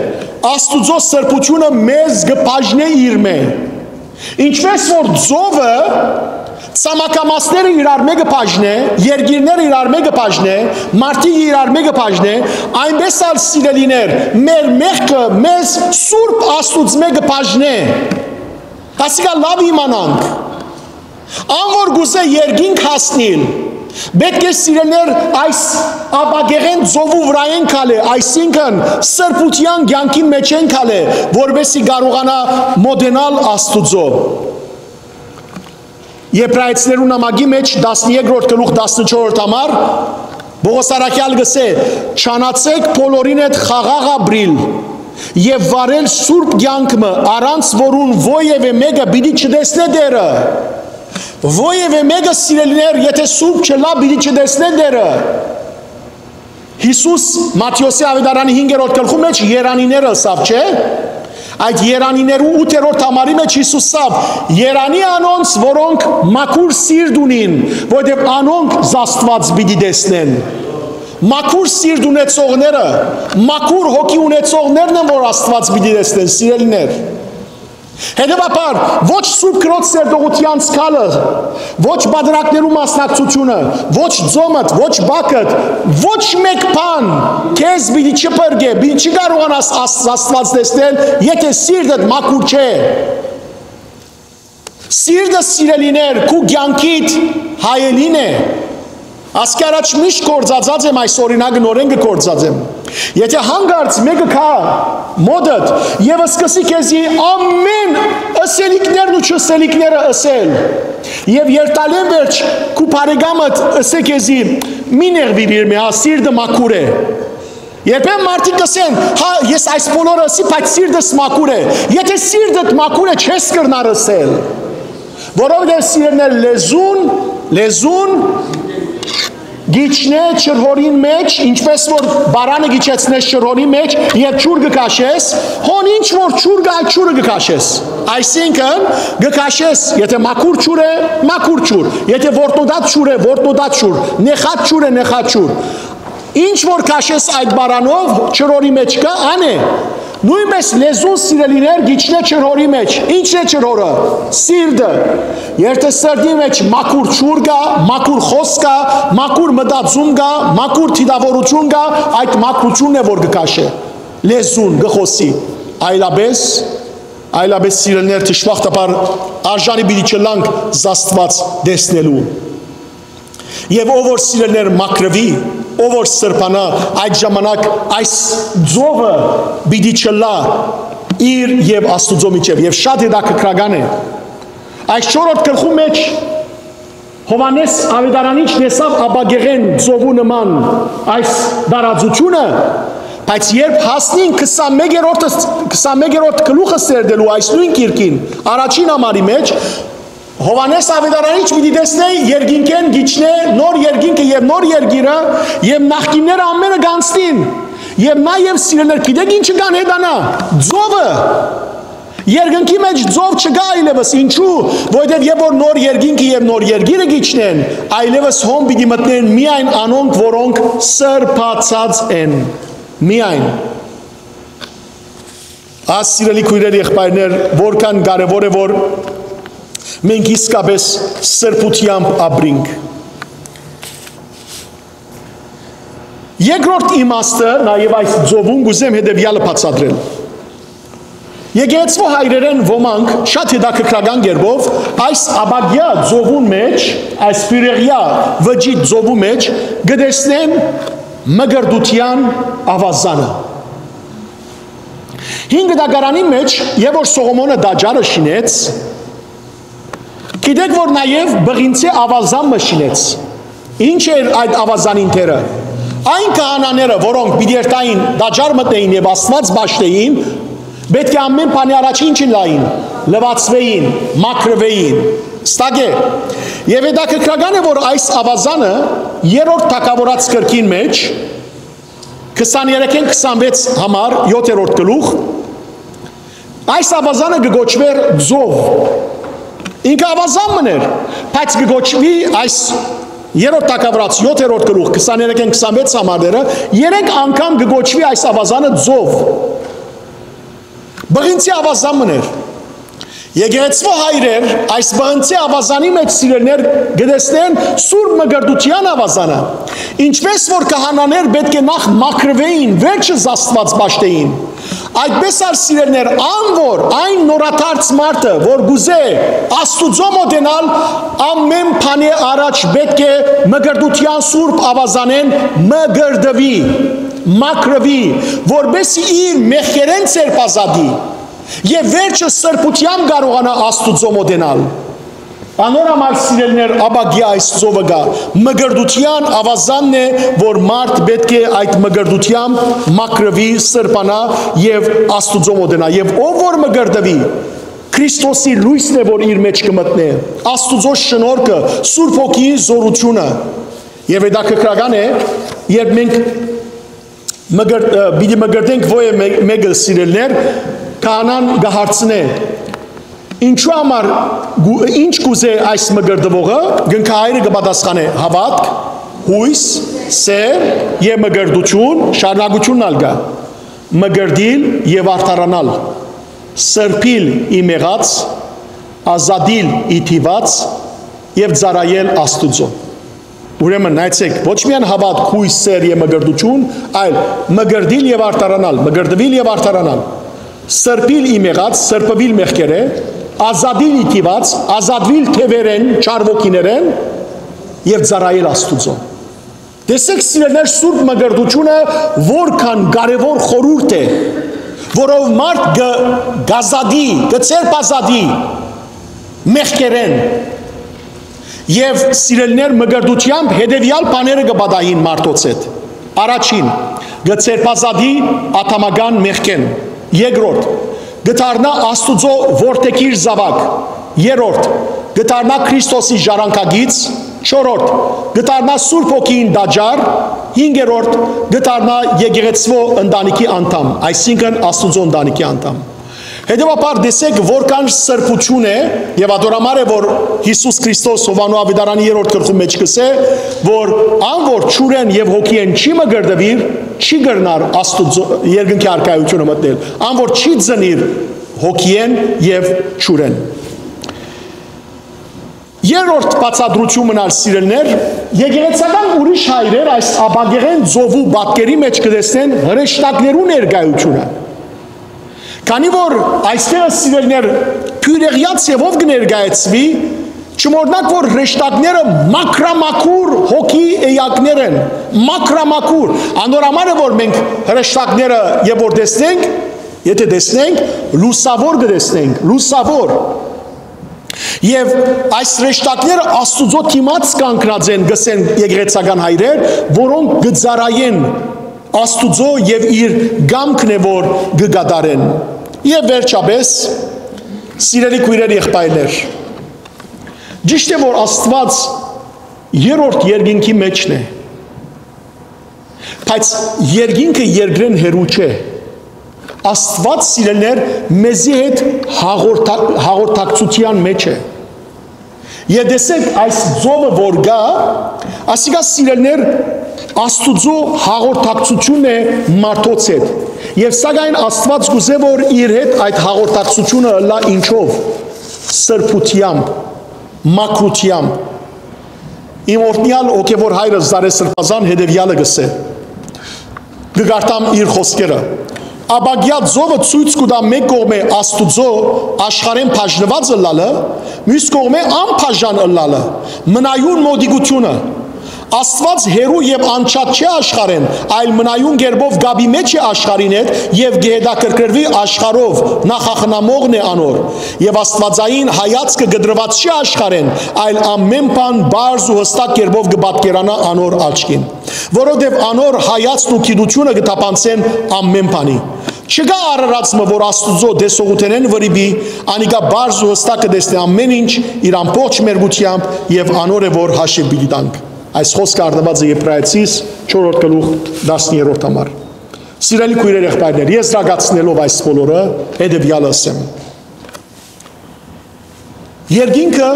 Աստուծոյ սրբութիւնը մեզ կը բաժնէ իրմէ։ Ինչպէս որ ծովը ցամաքամասները իրար մէկը բաժնէ, երկիրները իրար մէկը բաժնէ, մարդիկ իրար մէկը բաժնէ, այնպէս ալ, սիրելիներ, մեր մեղքը մեզ սուրբ Աստուծմէ կը բաժնէ։ Ասիկա լաւ իմանանք։ Ան որ կ'ուզէ երկինք հասնիլ, պէտք է, սիրելիներ, այս ապակեղէն ծովու վրայէն քալէ, այսինքն սրբութեան կեանքին մէջէն քալէ, որպէսզի կարողանայ մոտենալ Աստուծոյ։ Եբրայեցիներու նամակի մէջ տասներկրորդ գլուխ, տասնչորսերորդ համար, Պողոս առաքեալ կ'ըսէ. «Չանացէք բոլորին հետ խաղաղ ապրիլ եւ վարել սուրբ կեանք մը, առանց որուն ոեւէ մէկը պիտի չտեսնէ Տէրը»։ Որեւէ մեկը, սիրելիներ, եթե սուրբ չըլլայ, պիտի չտեսնէ Տէրը։ Յիսուս Մատթէոսի աւետարանի հինգերորդ գլխու մէջ երանիները ըսաւ, չէ՞։ Այդ երանիներու ութերորդ համարի մէջ Յիսուս ըսաւ. «Երանի անոնց, որոնք մաքուր սիրտ ունին, որովհետեւ անոնք Աստուած պիտի տեսնեն»։ Մաքուր սիրտ ունեցողները, մաքուր հոգի ունեցողներն են, որ Աստուած պիտի տեսնեն, սիրելիներ։ Հետեւաբար, ոչ Սուրբ Գրոց սերտողութեան սքալը, ոչ պատրակներու մասնակցությունը, ոչ ծոմդ, ոչ բակդ, ոչ մէկ բան քեզ պիտի չփրկէ, պիտի չկարողանաս Աս-, Աստուած տեսնել, եթե սիրտդ մաքուր չէ։ Սիրտը, սիրելիներ, քու կեանքիդ հայելին է։ Ասկի առաջ միշտ գործածած եմ այս օրինակը, նորէն կը գործածեմ։ Եթե հանկարծ մէկը գայ մօտդ եւ սկսի քեզի ամէն ըսելիքներն ու չըսելիքները ըսել, եւ երթալէն վերջ քու բարեկամդ ըսէ քեզի. «Մի նեղուիր, մէ, հա, սիրտը մաքուր է»։ Երբեմն մարդիկ կ'ըսեն. «Հա, ես այս բոլորը ըսի, բայց սիրտս մաքուր է»։ Եթե սիրտդ մաքուր է, չես կրնար ըսել։ Որովհետեւ, սիրելիներ, լեզուն, լեզուն գիչնէ ջրհորին մէջ, ինչպէս որ պարանը գիչեցնես ջրհորի մէջ եւ ջուր կը քաշես, հոն ինչ որ ջուր կայ, ջուրը կը քաշես։ Այսինքն, կը քաշես, եթե մաքուր ջուր է, մաքուր ջուր, եթե որտնոտած ջուր է, որտնոտած ջուր, նեխած ջուր է, նեխած ջուր։ Ինչ որ քաշես այդ պարանով, ջրհորի մէջ կայ, ան է։ Նոյնպէս լեզուն, սիրելիներ, գիչնէ ջրհորի մէջ։ Ի՞նչն է ջրհորը։ Սիրտը։ Երթը սրտի մէջ մաքուր ջուր կայ, մաքուր խօսք կայ, մաքուր մտածում կայ, մաքուր դիտաւորութիւն կայ, այդ մաքրութիւնն է, որ կը քաշէ։ Լեզուն կը խօսի։ Այլապէս, այլապէս, սիրելիներ, դժբախտաբար արժանի պիտի չըլլանք Աստուած տեսնելու։ Եւ ով որ, սիրելիներ, մաքրուի, ով որ սրբանայ, այդ ժամանակ այս ծովը պիտի չըլլայ իր եւ Աստուծոյ միջեւ։ Եւ շատ հետաքրքրական է։ Այս չորրորդ գլխու մէջ Յովհաննէս աւետարանիչն տեսաւ ապակեղէն ծովու նման այս տարածութիւնը, բայց երբ հասնին քսանմեկերորդ, քսանմեկերորդ գլուխը սերտելու այս նոյն գիրքին, առաջին համարի մէջ, Յովհաննէս աւետարանիչ պիտի տեսնէ երկինքէն գիչնէ նոր երկինքը եւ նոր երկիրը, եւ նախկինները ամէնքը կ'անցնին։ Եւ նաեւ, սիրելիներ, գիտեք ի՞նչը կ'անհետանայ։ Ծովը։ Երկնքի մէջ ծով չկայ այլեւս։ Ինչու՞։ Որովհետեւ երբ որ նոր երկինքը եւ նոր երկիրը գիչնեն, այլեւս հոն պիտի մտնեն միայն անոնք, որոնք սրբացած են։ Միայն։ Այս, սիրելի քոյրեր, եղբայրներ, որքան կարեւոր է, որ մենք իսկապես սրբութեամբ ապրինք։ Երկրորդ իմաստը նաեւ այս ծովուն կ'ուզեմ հետեւեալը բացատրել։ Եկեղեցւոյ հայրերէն ոմանք շատ հետաքրքրական կերպով այս ապակեայ ծովուն մէջ, այս բիւրեղեայ վճիռ ծովու մէջ կը տեսնեն մկրտութեան աւազանը։ Հին Կտակարանի մէջ, երբ որ Սողոմոնը տաճարը շինեց, գիտեք որ նաեւ պղինցէ աւազան մը շինեց։ Ի՞նչ էր այդ աւազանին դերը։ Այն քահանաները, որոնք պիտի երթային, տաճար մտնեին եւ Աստուած պաշտէին, պէտք է ամէն բանի առաջ ի՞նչ ըլլային, լուացուէին, մաքրուէին։ Ստակէ։ Եւ հետաքրքրական է, որ այս աւազանը երրորդ թագաւորաց գրքին մէջ, քսաներեքէն քսանվեց համար, յոթերորդ գլուխ, այս աւազանը կը կոչուէր ծով։ Ինքը աւազան մըն էր, բայց կը կոչուի այս երրորդ թագաւորաց յոթերորդ գլուխ, քսաներեքէն քսանվեց համարները, երեք անգամ կը կոչուի այս աւազանը ծով։ Պղինցի աւազան մըն էր։ Եկեղեցւոյ հայրեր այս պղնցի աւազանի մէջ, սիրելիներ, կը տեսնեն Սուրբ Մկրտութեան աւազանը, ինչպէս որ քահանաներ պէտք է նախ մաքրուէին, վերջը Աստուած պաշտէին։ Այդպէս ալ, սիրելիներ, ան որ այն նորադարձ մարդը, որ կ'ուզէ Աստուծոյ մօտենալ, ամէն բանի առաջ պէտք է մկրտութեան Սուրբ Աւազանէն մկրտուի, մաքրուի, որպէս զի իր մեղքերէն ձերբազատի եւ վերջը սրբութեամբ կարողանայ Աստուծոյ մօտենալ։ Անոր համար, սիրելիներ, ապակեայ այս ծովը կայ, մկրտութեան աւազանն է, որ մարդ պէտք է այդ մկրտութեամբ մաքրուի, սրբանայ եւ Աստուծոյ մօտենայ։ Եւ ով որ մկրտուի, Քրիստոսի լոյսն է, որ իր մէջ կը մտնէ, Աստուծոյ շնորհքը, Սուրբ Հոգիի զօրութիւնը։ Եւ հետաքրքրական է, երբ մենք մկրտ-, ը, պիտի մկրտենք ոեւ մե-, մեկը, սիրելիներ, քահանան կը հարցնէ. «Ինչու համար գու-, ինչ կուզէ այս մկրտուողը»։ Կնքահայրը կը պատասխանէ. «Հաւատք, յոյս, սէր եւ մկրտութիւն», շարունակութիւնն ալ կայ. «Մկրտիլ եւ արդարանալ, սրբիլ ի մեղած, ազատիլ ի դիւած եւ ծառայել Աստուծոյ»։ Ուրեմն, նայեցէք, ոչ միայն հաւատք, յոյս, սէր եւ մկրտութիւն, այլ մկրտիլ եւ արդարանալ, մկրտուիլ եւ արդարանալ, սրբիլ ի մեղած, սրբուիլ մեղքերէ, ազատիլ ի դիւած, ազատուիլ թեւերէն, չար ոգիներէն, եւ ծառայել Աստուծոյ։ Տեսեք, սիրելիներ, սուրբ մկրտութիւնը որքան կարեւոր խորհուրդ է, որով մարդ կը, կազատի, կը ձերբազատի մեղքերէն։ Եւ, սիրելիներ, մկրտութեամբ հետեւեալ բաները կը պատահին մարդոց հետ։ Առաջին, կը ձերբազատի ադամական մեղքէն։ Երկրորդ, կը դառնայ Աստուծոյ որդեգիր զաւակ։ Երրորդ, կը դառնայ Քրիստոսի ժառանգագիծ։ Չորրորդ, կը դառնայ Սուրբ Հոգիին տաճար։ Հինգերորդ, կը դառնայ եկեղեցւոյ ընտանիքի անդամ, այսինքն Աստուծոյ ընտանիքի անդամ։ Հետեւաբար, տեսեք, որքան սրբութիւն է, եւ ատոր համար է, որ Յիսուս Քրիստոս Յովհաննու աւետարանի երրորդ գլխու մէջ կ'ըսէ, որ ան որ ջուրէն եւ հոգիէն չի մկրտուիր, չի կրնար Աստուծոյ երկնքի արքայութիւնը մտնել, ան որ չի ծնիր հոգիէն եւ ջուրէն։ Երրորդ բացատրութիւնն ալ, սիրելիներ, եկեղեցական ուրիշ հայրեր այս ապագեղէն ծովու պատկերի մէջ կը տեսնեն հրեշտակներու ներկայութիւնը։ Քանի որ այստեղ, սիրելիներ, բիւրեղեաց ձեւով կը ներկայացուի, չմոռնաք, որ հրեշտակները մաքրամաքուր հոգի էակներ են, մաքրամաքուր։ Անոր համար է, որ մենք հրեշտակները, երբ որ տեսնենք, եթե տեսնենք, լուսաւոր կը տեսնենք, լուսաւոր։ Եւ այս հրեշտակները Աստուծոյ դիմաց կանգնած են, կ'ըսեն եկեղեցական հայրեր, որոնք կը ծառայեն Աստուծոյ եւ իր կամքն է, որ կը կատարեն։ Եւ վերջապէս, սիրելի քոյրեր, եղբայրներ, ճիշդ է, որ Աստուած երրորդ երկինքի մէջն է, բայց երկինքը երկրէն հեռու չէ։ Աստուած, սիրելիներ, մեզի հետ հաղորդա-, հաղորդակցութեան մէջ է։ Եւ տեսեք, այս ծովը որ կայ, ասիկա, սիրելիներ, Աստուծոյ հաղորդակցութիւնն է մարդոց հետ։ Եւ սակայն Աստուած կ'ուզէ, որ իր հետ այդ հաղորդակցութիւնը ըլլայ ինչով։ Սրբութեամբ, մաքրութեամբ։ Իմ օրհնեալ հոգեւոր հայրս Զարե Սրբազան հետեւեալը կ'ըսէ, կը կարդամ իր խօսքերը. «Ապագեայ ծովը ցոյց կու տայ մէկ կողմէ Աստուծոյ աշխարհէն բաժնուած ըլլալը, միւս կողմէ անբաժան ըլլալը, մնայուն մօտիկութիւնը։ Աստուած հեռու եւ անջատ չէ աշխարհէն, այլ մնայուն կերպով կապի մէջ է աշխարհին հետ եւ կը հետաքրքրուի աշխարհով, նախախնամողն է անոր։ Եւ աստուածային հայացքը կտրուած չէ աշխարհէն, այլ ամէն բան պարզ ու յստակ կերպով կը պատկերանայ անոր աչքին, որովհետեւ անոր հայացքն ու գիտութիւնը կը թափանցեն ամէն բանի։ Չկայ արարած մը, որ Աստուծոյ տեսողութենէն վրիպի, անիկա պարզ ու յստակ կը տեսնէ ամէն ինչ իր ամբողջ մերկութեամբ եւ անոր է, որ հաշիւ պիտի տանք»։ Այս խօսքը առնուած է Եբրայեցիս չորրորդ գլուխ, տասներորդ համար։ Սիրելի քոյրեր, եղբայրներ, եզրակացնելով այս բոլորը, հետեւեալը ըսեմ. երկինքը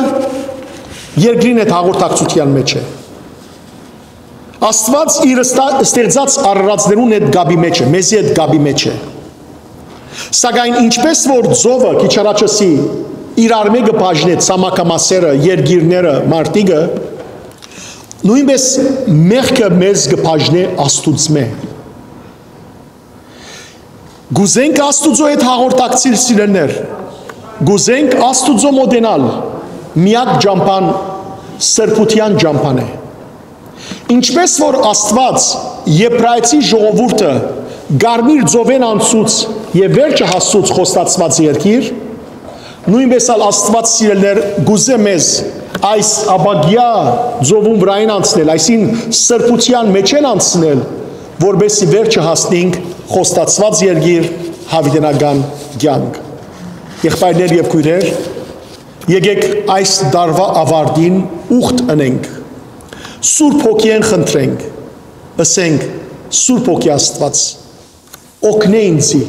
երկրին հետ հաղորդակցության մեջ է։ Աստուած իր ստա-, ստեղծած արարածներուն հետ կապի մեջ է, մեզի հետ կապի մեջ է։ Սակայն ինչպես որ ծովը, քիչ առաջ ըսի, իրար մէկը բաժնեց ցամաքամասերը, երկիրները, մարդիկը, նոյնպես մեղքը մեզ կը բաժնէ Աստուծմէ։ Կուզենք Աստուծոյ հետ հաղորդակցիլ, սիրելիներ, կուզենք Աստուծոյ մոտենալ, միակ ճամբան սրբութեան ճամբան է։ Ինչպես որ Աստուած Եբրայեցի ժողովուրդը Կարմիր ծովէն անցուց եւ վերջը հասցուց խոստացուած երկիր, նոյնպես ալ Աստուած, սիրելիներ, կուզէ մեզ այս ապագեայ ծովուն վրայէն անցնել, այսին սրբութեան մէջէն անցնել, որպեսզի վերջը հասնենք խոստացուած երկիր, յաւիտենական կեանք։ Եղբայրներ եւ քոյրեր, եկեք այս տարուայ աւարտին ուխտ ընենք, Սուրբ Հոգիէն խնդրենք, ըսենք. «Սուրբ Հոգի Աստուած, օգնէ ինծի,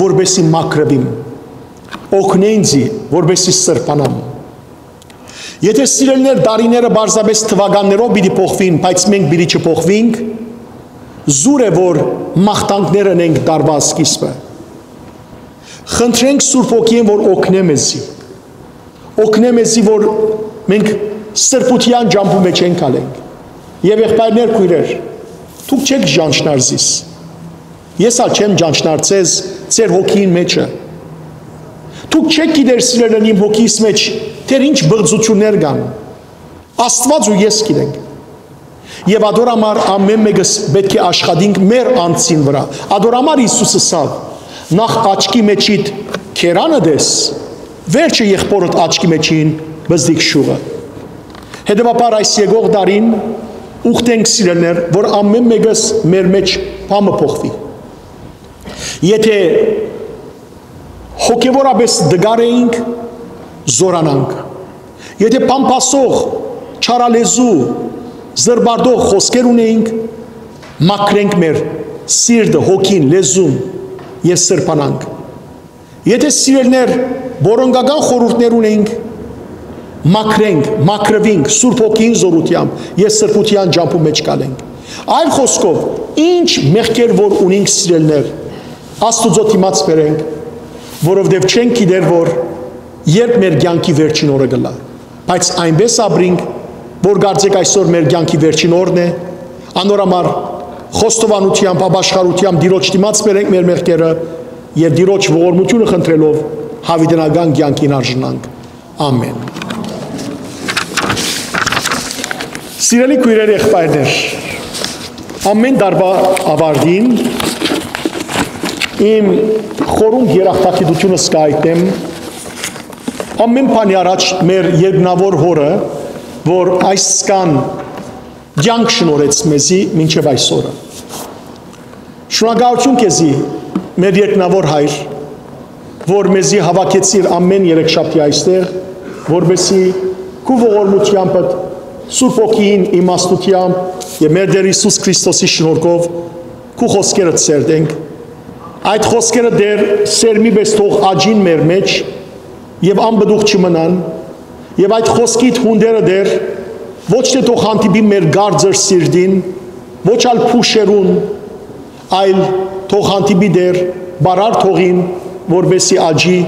որպեսզի մաքրուիմ, օգնէ ինծի, որպեսզի սրբանամ»։ Եթէ, սիրելիներ, տարիները պարզապէս թուականներով պիտի փոխուին, բայց մենք պիտի չփոխուինք, զուր է որ մաղթանքներ ընենք տարուայ սկիզբը։ Խնդրենք Սուրբ Հոգիէն, որ օգնէ մեզի, օգնէ մեզի, որ մենք սրբութեան ճամբու մէջ ենք ալենք։ Եւ, եղբայրներ, քոյրեր, դուք չէք ճանչնար զիս, ես ալ չեմ ճանչնար ձեզ, ձեր հոգիին մէջը։ Դուք չէք գիտեր, սիրելին, իմ հոգիս մէջ դեռ ինչ բղծութիւններ կան։ Աստուած ու ես գիտենք։ Եւ ատոր համար ամէն մէկս պէտք է աշխատենք մեր անձին վրայ։ Ատոր համար Յիսուս ըսաւ. «Նախ աչքի մէջիդ քերանը տես, վերջը եղբորդ աչքի մէջին բզդիկ շուղը»։ Հետեւաբար, այս եկող տարին ուխտենք, սիրելիներ, որ ամէն մէկս մեր մէջ բան մը փոխուի։ Եթէ հոգեւորապէս տկար էինք, զօրանանք։ Եթէ բամբասող, չարալեզու, զրպարտող խօսքեր ունեինք, մաքրենք մեր սիրտը, հոգին, լեզուն եւ սրբանանք։ Եթէ, սիրելիներ, որոնկական խորհուրդներ ունենք, մաքրենք, մաքրուինք Սուրբ Հոգին զօրութեամբ եւ սրբութեան ճամբու մէջ գալենք։ Այլ խօսքով, ինչ մեղքեր որ ունենք, սիրելիներ, Աստուծոյ դիմաց բերենք, որովհետեւ չենք գիտեր որ երբ մեր կեանքի վերջին օրը կ'ըլլայ, բայց այնպէս ապրինք, որ կարծեք այսօր մեր կեանքի վերջին օրն է, անոր համար խոստովանութեամբ, ապաշխարութեամբ Տիրոջ դիմաց բերենք մեր մեղքերը եւ Տիրոջ ողորմութիւնը խնդրելով՝ յաւիտենական կեանքին արժանանք։ Ամէն։ Սիրելի քոյրեր, եղբայրներ, ամէն տարուայ աւարտին իմ խորունկ երախտագիտութիւնս կ'այտնեմ ամէն բանի առաջ մեր երկնաւոր Հօրը, որ այսքան կեանք շնորհեց մեզի մինչեւ այսօրը։ Շնորհակալութիւն քեզի, մեր երկնաւոր Հայր, որ մեզի հաւաքեցիր ամէն երեքշաբթի այստեղ, որպեսզի քու ողորմութեամբդ, Սուրբ Հոգիին իմաստութեամբ եւ մեր Տէր Յիսուս Քրիստոսի շնորհքով քու խօսքերդ սերտենք։ Այդ խօսքերը, Տէր, սերմի պէս թող աճին մեր մէջ եւ անպտուղ չմնան, եւ այդ խօսքիդ հունտերը, Տէր, ոչ թէ թող հանդիպի մեր կարծր սիրտին, ոչ ալ փուշերուն, այլ թող հանդիպի, Տէր, բարար թողին, որպեսզի աճի,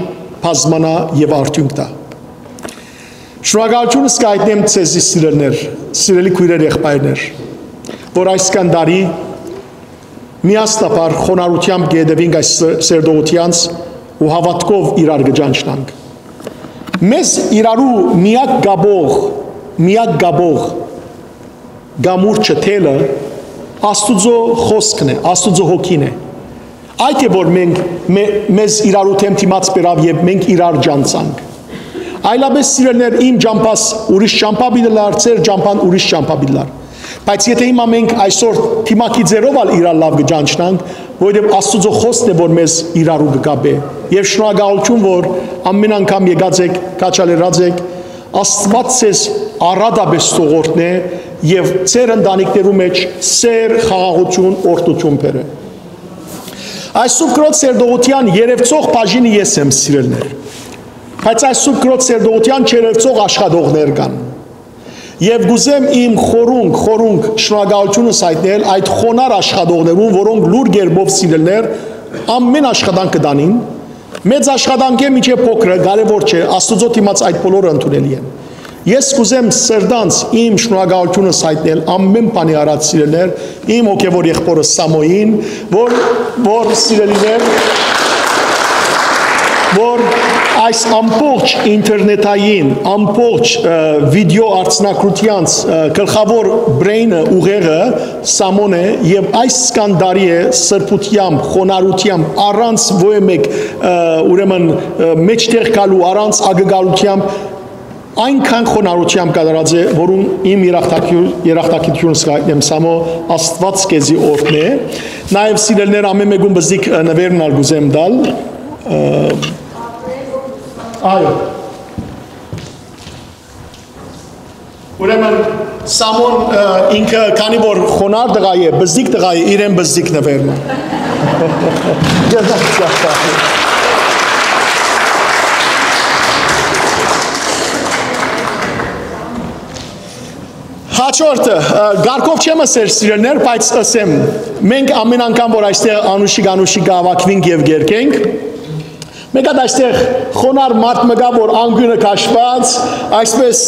բազմանայ եւ արդիւնք տայ։ Շնորհակալութիւնս կ'այտնեմ ձեզի, սիրելիներ, սիրելի քոյրեր, եղբայրներ, որ այսքան տարի միասնաբար խոնարհութեամբ կ'հետեւինք այս սերտողութեանց ու հաւատքով իրար կը ճանչնանք։ Մեզ իրարու միակ կապող, միակ կապող կամուրջը, թելը Աստուծոյ խօսքն է, Աստուծոյ Հոգին է։ Այդ է որ մենք մե-, մեզ իրարու դէմ դիմաց բերաւ եւ մենք իրար ճանցանք։ Այլապէս, սիրելիներ, իմ ճամբաս ուրիշ ճամբայ պիտի լար, ձեր ճամբան ուրիշ ճամբայ պիտի լար։ Բայց եթէ հիմա մենք այսօր դիմագիծերով ալ իրար լաւ կը ճանչնանք, որովհետեւ Աստուծոյ խօսքն է որ մեզ իրարու կը կապէ։ Եւ շնորհակալութիւն որ ամէն անգամ եկած էք, քաջալերած էք, Աստուած ձեզ առատապէս թող օրհնէ եւ ձեր ընտանիքներու մէջ սեր, խաղաղութիւն, օրհնութիւն բերէ։ Այս Սուրբ Կրոց սերտողութեան երեւցող բաժինը ես եմ, սիրելիներ։ Բայց այս Սուրբ Կրոց սերտողութեան չերեւցող աշխատողներ կան։ Եւ կ'ուզեմ իմ խորունկ, խորունկ շնորհակալութիւնս յայտնել այդ խոնար աշխատողներուն, որոնք լուր կերպով, սիրելիներ, ամէն աշխատանքը տանին, մեծ աշխատանքը մինչեւ փոքրը, կարեւոր չէ, Աստուծոյ դիմաց այդ բոլորը ընդունելի են։ Ես կ'ուզեմ սրտանց իմ շնորհակալութիւնս յայտնել ամէն բանի առաջ, սիրելիներ, իմ հոգեւոր եղբորը Սամոյին, որ, որ, սիրելիներ, որ այս ամբողջ ինտերնետային, ամբողջ, ը, վիդեո արձանագրութեանց, ը, գլխաւոր brain-ը, ուղեղը Սամոն է, եւ այս կան տարի է սրբութեամբ, խոնարհութեամբ, առանց ոյ մէկ, ը, ուրեմն, ը, մեջտեղ գալու, առանց ակնկալութեամբ, այնքան խոնարհութեամբ կատարած է, որուն իմ երախտագի-, երախտագիտութիւնս կ'այտնեմ, Սամո, Աստուած քեզի օրհնէ։ Նաեւ, սիրելիներ, ամէն մէկուն բզիկ, ը, նուէրն ալ կ'ուզեմ տալ, ը, Այո։ Ուրեմն Սամոն, ը, ինքը, քանի որ խոնար տղայ է, բզդիկ տղայ է, իրեն բզդիկ նուէր մը։ Հաջորդը, ը, կարգով չեմ ըսեր, սիրելիներ, բայց ըսեմ, մենք ամեն անգամ, որ այստեղ անուշիկ-անուշիկ կհաւաքուինք եւ կերկենք, մէկ հատ այստեղ խոնար մարդ մը կայ, որ անկիւնը քաշուած, այսպէս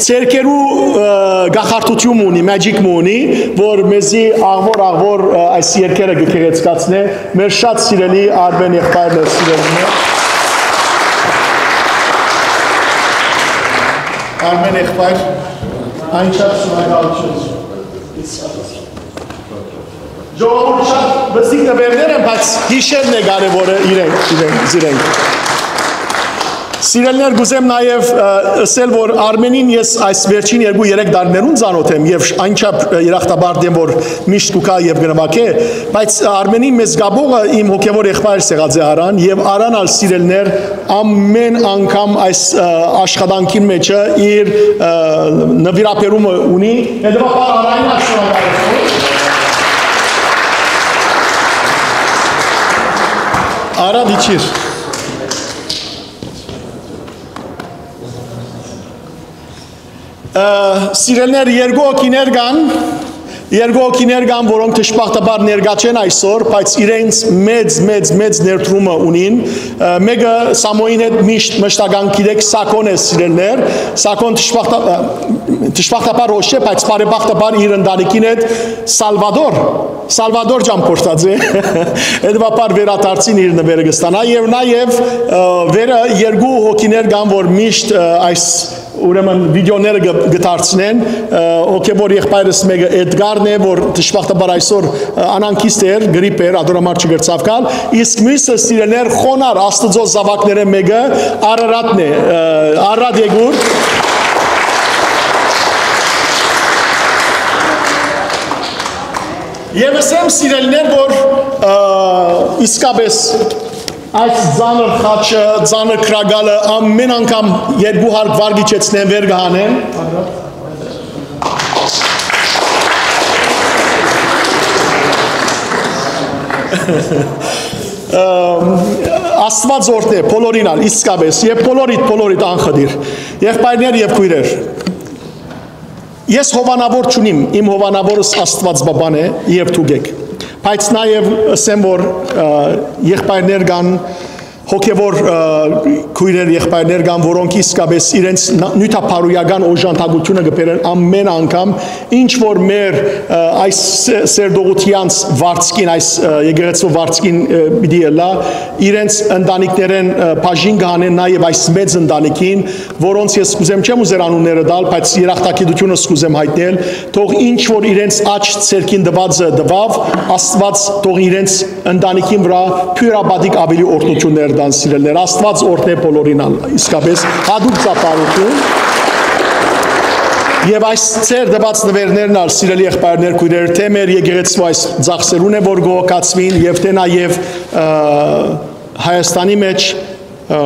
ձեռքերու, ը, կախարդութիւն մը ունի, magic մը ունի, որ մեզի աղվոր-աղվոր, ը, այս երգերը կը գեղեցկացնէ, մեր շատ սիրելի Արմէն եղբայրն է, սիրելիներ։ Արմէն եղբայր, անչափ շնորհակալութիւն։ Ժողովուրդ, շատ բզդիկ նուէրներ են, բայց յիշերն է կարեւորը իրենք, իրենք, իրենք։ Սիրելիներ, կուզեմ նաեւ, ը, ըսել, որ Արմենին ես այս վերջին երկու-երեք տարիներուն ծանօթ եմ եւ շ-, անչափ, ը, երախտապարտ եմ, որ միշտ կու գայ եւ կը նուագէ, բայց Արմենին մեծ կապողը իմ հոգեւոր եղբայրս եղած է Արան, եւ Արան ալ, սիրելիներ, ամէն անգամ այս, ը, աշխատանքին մէջը իր, ը, նուիրաբերումը ունի, հետեւաբար Արային ալ շնորհակալություն։ Արա դիչիր։ Ը, սիրելիներ, երկու հոգիներ կան, երկու հոգիներ կան, որոնք դժբախտաբար ներկայ չեն այսօր, բայց իրենց մեծ, մեծ, մեծ ներդրումը ունին։ Ը, մէկը Սամոյին հետ միշտ մշտական գիտեք, Սակոն է, սիրելիներ, Սակոն դժբախտա-, ը, դժբախտաբար ոչ չէ, բայց բարեբախտաբար իր ընտանիքին հետ Սալվադոր, Սալվադոր ճամփորդած է, հետեւաբար վերադարձին իր նվերը կստանայ եւ նաեւ, ը, վերը երկու հոգիներ կան, որ միշտ, ը, այս ուրեմն վիդեոները կը, կը դարձնեն, ը, հոգեւոր եղբայրս մէկը Էդգարն է, որ դժբախտաբար այսօր, ը, անհանգիստ էր, գրիպ էր, ատորամար չկրցաւ գալ, իսկ միւսը, սիրելիներ, խոնար Աստուծոյ զաւակներէն մէկը Արարատն է, ը, Արարատ Եկուր։ Եվ ըսեմ, սիրելիներ, որ, ը, իսկապես այս ծանր խաչը, ծանր կրակալը ամէն անգամ երկու հարկ վարկ իջեցնեն, վեր կը հանեն։ Ը, Աստուած օրհնէ բոլորին ալ, իսկապես, եւ բոլորիդ, բոլորիդ անխտիր, եղբայրներ եւ քոյրեր։ Ես հովանաւոր չունիմ, իմ հովանաւորս Աստուած Պապան է եւ դուք էք։ Բայց նաեւ ըսեմ, որ, ը, եղբայրներ կան, հոգեւոր, ը, քոյրեր, եղբայրներ կան, որոնք իսկապես իրենց ն-, նիւթապարոյական օժանդակութիւնը կը բերեն ամէն անգամ, ինչ որ մեր, ը, այս սե-, սերտողութեանց վարձքին, այս, ը, եկեղեցու վարձքին, ը, պիտի ըլլայ, իրենց ընտանիքներէն, ը, բաժին կը հանեն նաեւ այս մեծ ընտանիքին, որոնց ես կուզեմ, չեմ ուզեր անունները տալ, բայց երախտագիտութիւնս կուզեմ յայտնել, թող ինչ որ իրենց աջ ձեռքին տուածը տուաւ, Աստուած թող իրենց ընտանիքին վրայ բիւրապատիկ աւելի օրհնութիւններ տան, սիրելիներ։ Աստուած օրհնէ բոլորին ալ, իսկապես յատուկ ծափարութիւն։ Եւ այս ձեր տուած նուէրներն ալ, սիրելի եղբայրներ, քոյրեր, թէ մեր եկեղեցու այս ծախսերուն է, որ կը հոգացուին, եւ թէ նաեւ, ը, Հայաստանի մէջ, ը,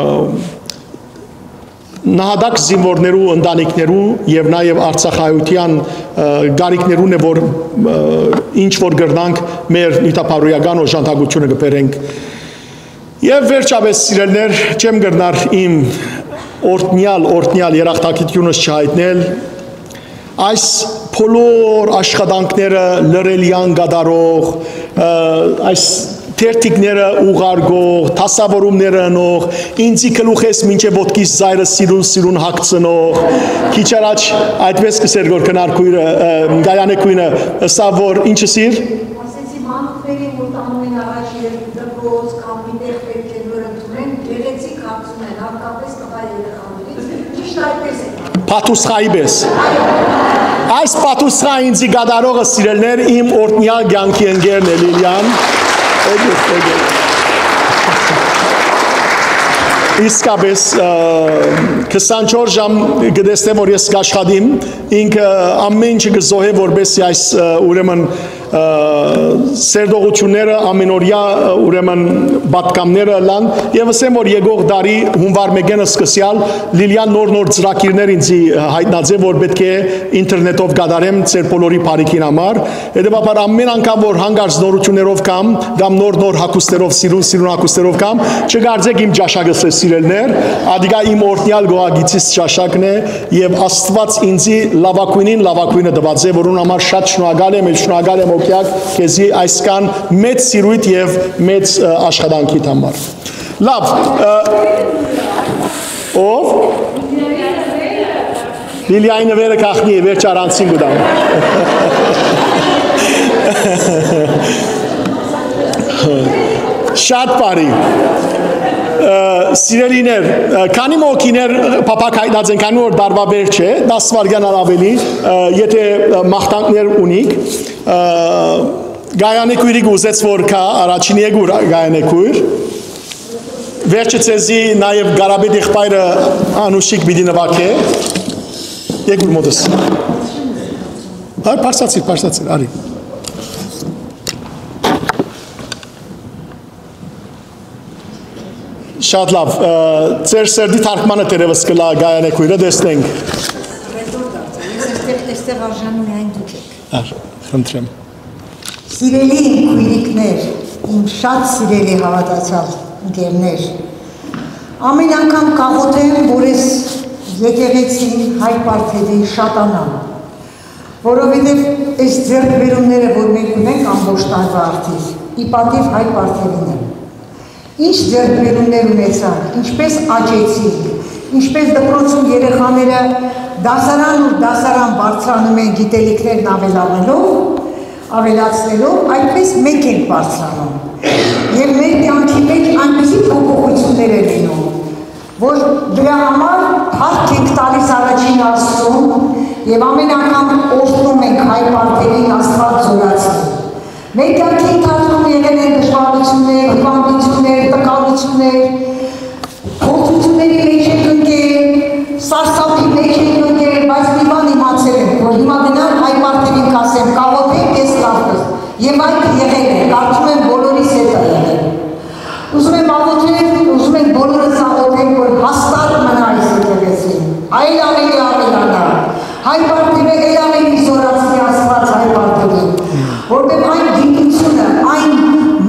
նահատակ զինուորներու ընտանիքներու եւ նաեւ արցախայութեան, ը, կարիքներուն է, որ, ը, ինչ որ կրնանք, մեր նիւթապարոյական օժանդակութիւնը կը բերենք։ Եւ վերջապէս, սիրելիներ, չեմ կրնար իմ օրհնեալ, օրհնեալ երախտագիտութիւնս չյայտնել այս բոլոր աշխատանքները լռելեան կատարող, ը, այս թերթիկները ուղարկող, դասաւորումները ընող, ինծի գլուխէս մինչեւ ոտքիս ծայրը սիրուն-սիրուն հագցնող, քիչ առաջ այդպես կ'ըսէր, որ քնար քոյրը, ը, Գայանե քոյնը, ըսաւ, որ ինչ ըսիր։ Ասեցի, մանուկներին, որ տանում են առաջ երկու դպրոց կամ մի տեղ պէտք է նոր ընդունեն, գեղեցիկ հագցում են, հատկապես տղայ երեխաներին, միշտ այդպես է։ Պատուսխայի պէս։ Այս պատուսխա ինձի կատարողը, սիրելիներ, իմ օրհնեալ կեանքի ընկերն է, Լիլիան։ Էգուր, էգուր։ Իսկապես, ը, քսանչորս ժամ կը տեսնեմ, որ ես կաշխատիմ, ինքը ամեն ինչը կը զոհէ, որպեսզի այս, ը, ուրեմն, ը, սերտողութիւնները ամենօրեայ, ը, ուրեմն պատգամները ըլլան, եւ ըսեմ, որ եկող տարի հունուար մէկէն սկսեալ Լիլիան նոր-նոր ծրագիրներ ինձի յայտնած է, որ պէտք է ինտերնետով կատարեմ ձեր բոլորի բարիքին համար։ Հետեւաբար, ամեն անգամ որ հանկարծ նորութիւններով կամ, կամ նոր-նոր հագուստներով, սիրուն-սիրուն հագուստներով կամ, չկարծէք իմ ճաշակս է, սիրելիներ, ատիկա իմ օրհնեալ գոհագիծիս ճաշակն է, եւ Աստուած ինձի լաւագոյնին լաւագոյնը տուած է, որուն համար շատ շնորհակալ եմ, եւ շնորհակալ եմ, Օկեակ, քեզի այսքան մեծ սիրոյթ եւ մեծ, ը, աշխատանքիդ համար։ Լաւ, ը, ով։ Լիլիայի նուերը գախնի է, վերջ առանցին կու տամ։ Շատ բարի։ Ը, սիրելիներ, ը, քանի մոքիներ փափակ հայտնած են, քանի որ տարուա վերջ է, տաս վայրկեան առ ավելի, ը, եթե, ը, մաղթանքներ ունիք, ը, Գայանե քոյրիկ ուզեց որ գայ, առաջին եկուր Գայանե քոյր։ Վերջը ձեզի նաեւ Գարապետ եղբայրը Անուշիկ պիտի նուագէ։ Եկուր մօտս։ Արի, բարձացիր, բարձացիր, արի։ Շատ լաւ, ը, ձեր սերտի թարգմանը դերևս կլա Գայանե քոյրը, տեսնենք։ Ես այստեղ, այստեղ արժանի միայն դուք եք։ Ար, խնդրեմ։ Սիրելի քոյրիկներ, իմ շատ սիրելի հաւատացյալ ընկերներ, ամեն անգամ կաղոթեմ, որ ես եկեղեցին, հայ պարթեւին շատանամ, որովհետեւ այս ձեռքբերումները, որ մենք ունենք ամբողջ տարուա արդիվ, ի պատիւ հայ պարթեւին են։ Ինչ ձեռքբերումներ ունեցանք, ինչպես աճեցինք, ինչպես դպրոցում երեխաները դասարան ու դասարան բարձրանում են գիտելիքներն ավելանելով, ավելացնելով, այդպես մենք ենք բարձրանում։ Եվ մեր կյանքի մեջ այնպիսի փոփոխություններ են լինում, որ դրա համար փառք ենք տալիս առաջին Աստծուն, եւ ամեն անգամ օրհնում ենք հայ պարթերին Աստուած զորացնի։ Մեր կյանքի ընթացքում եղել են դժվարություններ, հիվանդություններ, տկարություններ, փորձությունների մեջ ենք ընկել, սարսափի մեջ ենք ընկել, բայց մի բան իմացել ենք, որ հիմա գնամ հայ պարթերին կ'ասեմ, կաղոթեք, ես կաղթեմ։ Եւ այդ եղել է, կարծում եմ, բոլորիս հետ է եղել։ Ուզում եմ աղոթել, ուզում եմ բոլորս աղոթենք, որ հաստատ մնայ այս եկեղեցին, այլ ավելի ավելանայ, հայ պարթերը էլ ավելի զորացնի Աստուած հայ պարթերին, որտեղ այն գիտությունը, այն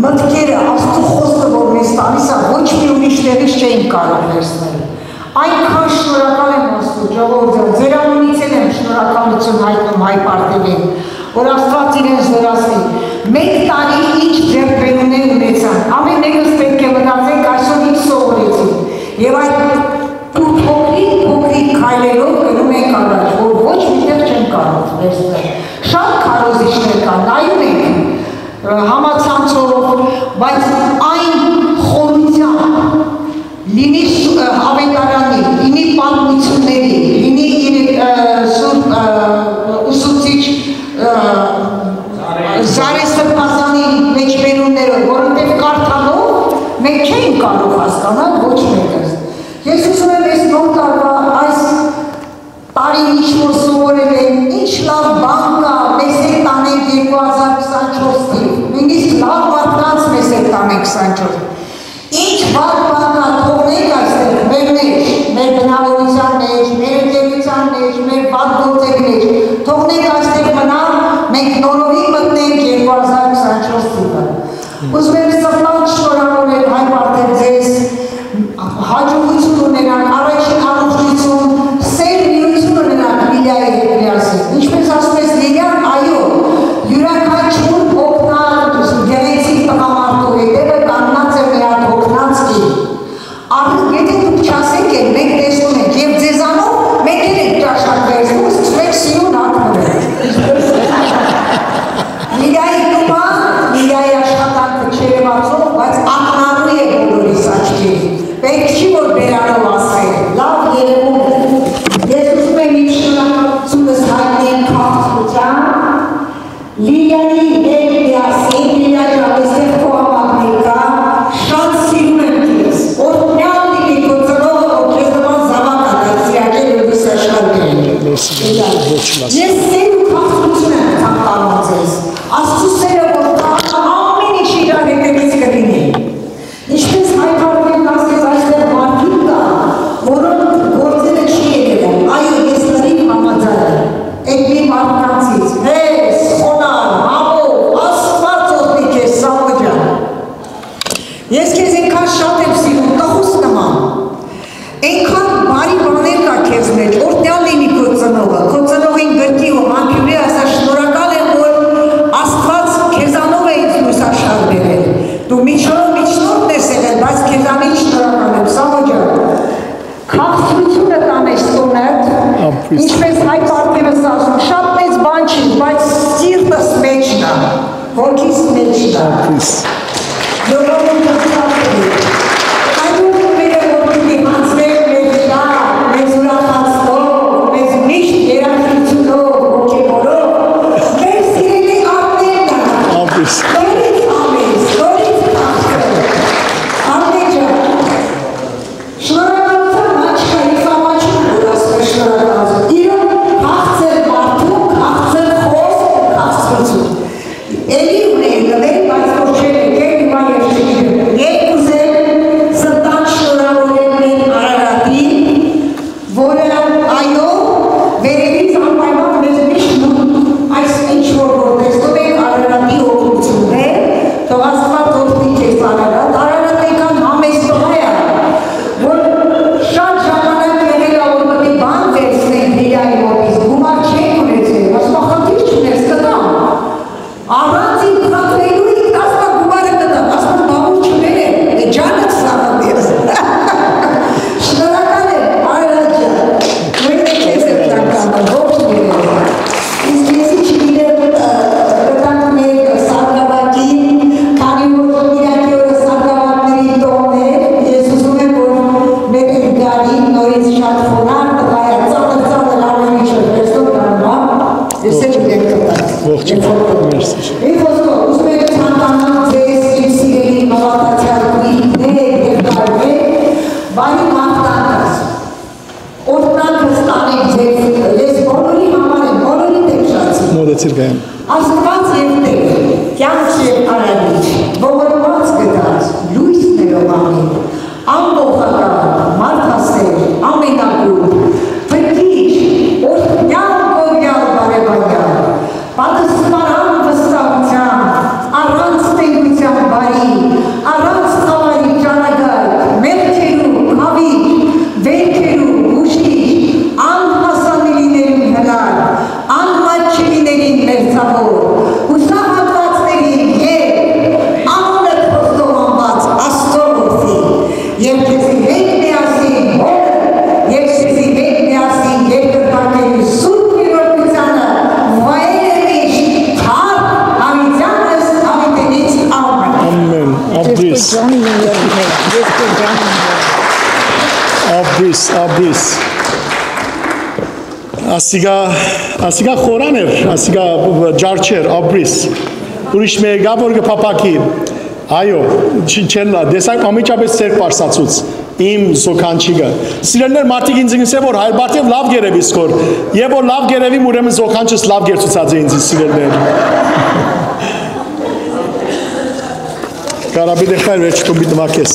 մտքերը, Աստուծո խոսքը, որ մեզ տալիս է, ոչ մի ուրիշ տեղից չէինք կարող վերցնել։ Այնքան շնորհակալ եմ Աստծո, ժողովուրդ, ձեր անունից էլ եմ շնորհակալություն հայտնում հայ պարթերին, որ Աստուած իրեն զորացնի։ Մեկ տարի ինչ ձեռքբերումներ ունեցան, ամեն մեկս պէտք է մտածենք այսօր ինչ սովորեցինք, եւ այդ փոքրիկ-փոքրիկ քայլերով գնում ենք առաջ, որ ոչ միտեղ չենք կարող վերցնել։ Շատ քարոզիչներ կան, նայում ենք, ը, համացանցով, բայց այն խորությամբ, լինի ս-, ը, ավետարանի, լինի պատմությունների, լինի իր, ը, սուրբ, ը, ուսուցիչ, ը, Զարե Սրբազանի մեջբերումներով, որովհետեւ կարդալով մենք չենք կարող հասկանալ ոչ մեկը։ Ես ուզում եմ այս նոր տարվա, այս տարին ինչ որ սովորել ենք, ինչ լաւ բան կա, մեզ հետ տանենք երկու հազար քսանչորս թիվ, նույնիսկ լաւ մարդկանց մեզ հետ տանենք քսանչորս։ Ինչ վատ բան կա, թողնենք այստեղ, մեր մեջ, մեր բնավորության մեջ, մեր ընկերության մեջ, մեր վատ գործերի մեջ, թողնենք այստեղ մնա, մենք նորովի մտնենք երկու հազար քսանչորս թիվը։ Ուզում եմ սրտանց շնորհավորել, հայ պարթեր, ձեզ, հաջողություն ունենաք, առաջին առողջություն, սեր միություն ունենաք Լիլիայի հետ միասին։ Ինչպես ասում ես, Լիլիան, այո, յուրաքանչյուր օգնած, գեղեցիկ տղամարդու հետևը կանգնած է մի հատ հոգնած կին։ Արդեն եթե դուք չասեք էլ, մենք տեսնում ենք, եւ ձեզանով մենք էլ ենք ճաշակ վերցնում, սկսում ենք սիրուն հագնել։ Լիլիայի տունը, Լիլիայի աշխատանքը չերևացող, բայց ակնառու է բոլորիս աչքերին։ Պետք չի, որ բերանով ասեն, լաւ երևում է։ Ես ուզում եմ իմ շնորհակալությունս հայտնեմ քաղաքացիության, Լիլիայի հետ միասին, Լիլիա ջան, այստեղ քո համակրիկա, շատ սիրում եմ քեզ։ Օրհնյալ լինի քո ծնողը, որ քեզ նման Պլիզ։ Ժողովուրդ, հաց է։ Այո, մերը որ պիտի յանցնեն մեզ շահ, մեզ ուրախացնող, մեզ միշտ երաժշտությունով ոգևորող, մեր սիրելի Արմենն է։ Ապրես։ Նորից ամիս, նորից քաղցր։ Արմեն ջան, շնորհակալության մաչկա, ես ամաչում եմ, որ ասում է շնորհակալություն։ Իրոք քաղցր մարդու, քաղցր խոսք ու քաղցրություն։ Էլի ունեի նվեր, բայց որ չեմ եկել, հիմա ես չգիտեմ։ Ես կ'ուզեմ սրտան շնորհավորել մեր Արարատին, որը, այո, վերևից անպայման մեզ միշտ մուտ այս ինչ որ որ տեսնում ենք Արարատի օգնություններ, թող Աստված օգնի քեզ, Արարատ, Արարատ, այնքան համեստ տղայ ա, որ շատ ժամանակ եղել ա, որ մտի բան վերցնենք Հիլայի մոտից, գումար չենք ունեցել, ասում ա, խնդիր չունես, կտամ։ Առանց իմ խնդրելու ինքն ասում ա, գումարը կտամ, ասում ա, բա որ չուներ է, է ջանդ սաղ ես։ Շնորհակալ եմ, Արարատ ջան, նույնը քեզ եմ շնորհակալ, ողջ լինես։ Իսկ ես ինչ գիտեմ, ը, կտանք մեր սարկավագին, քանի որ կիրակի օրը սարկավագների տոնն է, ես ուզում եմ, որ մեր Էդգարին նորից շատ խոնարհ տղայ ա, ծանր-ծանր ամեն ինչ էր, տեսնող կարմա, ես էլ իրեն կտանք։ Ողջ, մերսի։ Մի խոսքով, ուզում եմ ցանկանալ ձեզ, իմ սիրելի հաւատացյալ քույրեր եւ տարիներ, բարի մաղթանք, օրհնանք ստանենք ձեզ, ես բոլորի համար եմ, բոլորի դեմ շացի։ Մոտեցիր գայեմ։ Աստուած եւ Տէր, կեանք եւ արարիչ, ողորմած կտած, լոյս ներողամիտ, ամբողջական, մարդասեր, ամենակուլ, փրկիչ, օրհնեալ, գովեալ, բարեբայանալ, պատսպարան վստահութեան, առանց տենգութեան բարի, առանց խաւարի ճարագայթ, մեղքերու քաւիչ, վէնքերու բուժիչ, անհասանելիներուն հնար, անմատչելիներին մերձաւոր, յուսահատուածներին ել, անունդ խոստովանուած Աստուծոյ որդի, եւ քեզի հետ միասին հօրը, եւ քեզի հետ միասին երկրպագերու սուրբ գերորդությանը վայելե միշտ, թարք Դաւիթեանս Դաւիթենից, ամեն։ Ամեն։ Ապրես։ Ապրես, ապրես։ Ասիկա, ասիկա խորան էր, ասիկա ջարդեր, ապրես։ Ուրիշ մեկը որ կը փափաքի։ Այո, չ-, չեն լա, տեսակ անմիջապես ձեր պարսացուց, իմ զոքանչիկը։ Սիրելիներ, մարդիկ ինձ կ'ըսեն, որ Հայր Բարթեւ լաւ կ'երեւի սքոր, եւ որ լաւ կ'երեւի, ուրեմն զոքանչս լաւ կերցուցած է ինձ, սիրելիներ։ Կարապի դեխայր վերջ կոմպի տվա քեզ։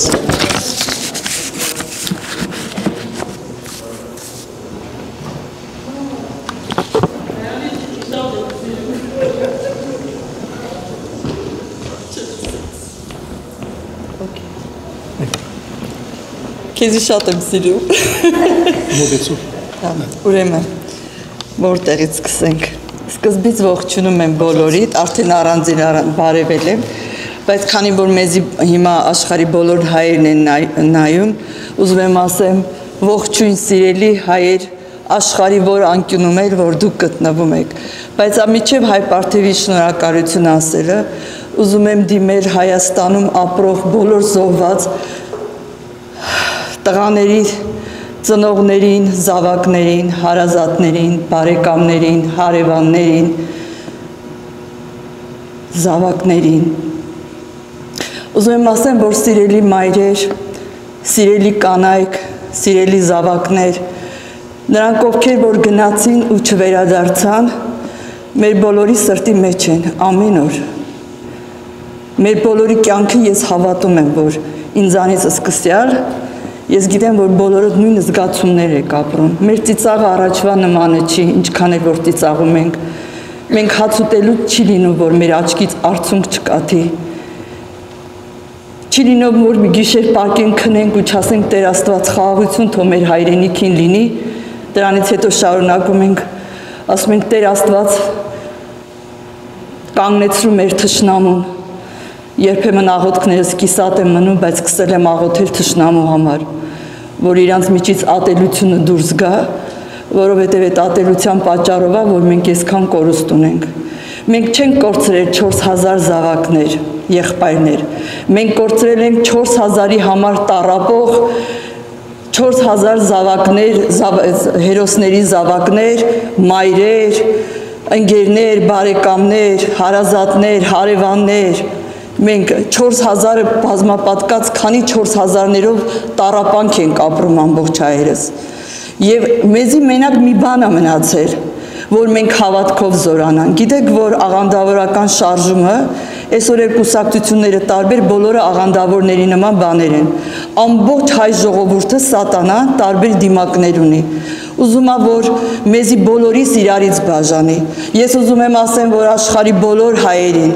Քեզի շատ եմ սիրում։ Մոտեցու։ Հա, ուրեմն, որտեղից սկսենք։ Սկզբից ողջունում եմ բոլորիդ, արդեն առանձին առան բարևել եմ, բայց քանի որ մեզի հիմա աշխարհի բոլոր հայերն են նայ-, նայում, ուզում եմ ասեմ, ողջույն, սիրելի հայեր, աշխարհի որ անկիւնում եք, որ դուք գտնվում եք, բայց անմիջեւ Հայր Բարթեւի շնորհակալություն ասելը, ուզում եմ դիմել Հայաստանում ապրող բոլոր զոհված տղաների ծնողներին, զաւակներին, հարազատներին, բարեկամներին, հարեւաններին, զաւակներին։ Ուզում եմ ասեմ, որ սիրելի մայրեր, սիրելի կանայք, սիրելի զաւակներ, նրանք, ովքեր որ գնացին ու չվերադարձան, մեր բոլորի սրտի մեջ են ամեն օր։ Մեր բոլորի կեանքը ես հաւատում եմ, որ ինձանից սկսեալ, ես գիտեմ, որ բոլորդ նոյն զգացումներ եք ապրում։ Մեր ծիծաղը առաջվա նմանը չի, ինչքան էլ որ ծիծաղում ենք։ Մենք հաց ուտելուց չի լինում, որ մեր աչքից արցունք չկաթի։ Չի լինում, որ մի գիշեր պարկեն քնենք ու չասենք, «Տէր Աստուած, խաղաղություն թող մեր հայրենիքին լինի»։ Դրանից հետո շարունակում ենք, ասում ենք, «Տէր Աստուած, կանգնեցրու մեր թշնամուն»։ Երբեմն աղոթքներս կիսատ են մնում, բայց կսել եմ աղոթել թշնամու համար, որ իրանց միջից ատելությունը դուրս գայ, որովհետև այդ ատելության պատճառով ա, որ մենք այսքան կորուստ ունենք։ Մենք չենք կորցրել չորս հազար զաւակներ, եղբայրներ։ Մենք կորցրել ենք չորս հազարի համար տառապող, չորս հազար զաւակներ, զաւ-, հերոսների զաւակներ, մայրեր, ընկերներ, բարեկամներ, հարազատներ, հարեւաններ։ Մենք չորս հազարը բազմապատկած, քանի չորս հազարներով տառապանք ենք ապրում ամբողջ հայերս։ Եւ մեզի մենակ մի բան ա մնացել, որ մենք հաւատքով զօրանանք։ Գիտեք, որ աղանդաւորական շարժումը, այսօր էլ կուսակցութիւնները տարբեր, բոլորը աղանդաւորների նման բաներ են։ Ամբողջ հայ ժողովուրդը սատանա տարբեր դիմակներ ունի։ Ուզում ա, որ մեզի բոլորիս իրարից բաժանի։ Ես ուզում եմ ասեմ, որ աշխարհի բոլոր հայերին,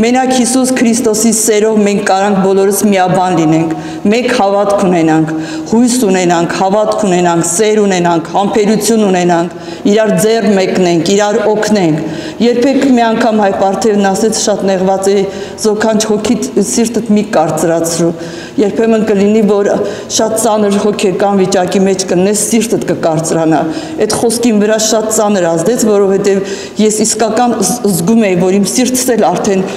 մենակ Յիսուս Քրիստոսի սերով մենք կարանք բոլորս միաբան լինենք, մեկ հաւատք ունենանք, յոյս ունենանք, հաւատք ունենանք, սեր ունենանք, համբերություն ունենանք, իրար ձեռ մեկնենք, իրար օգնենք։ Երբեք մի անգամ հայ պարթեւն ասեց, շատ նեղված է, զոքանչ հոգիդ, սիրտդ մի կարծրացրու։ Երբեմն կը լինի, որ շատ ծանր հոգեկան վիճակի մէջ կ'ընես, սիրտդ կը կարծրանայ։ Այդ խօսքին վրայ շատ ծանր ազդեց, որովհետեւ ես իսկական զ-, զգում էի, որ իմ սիրտս էլ արդեն,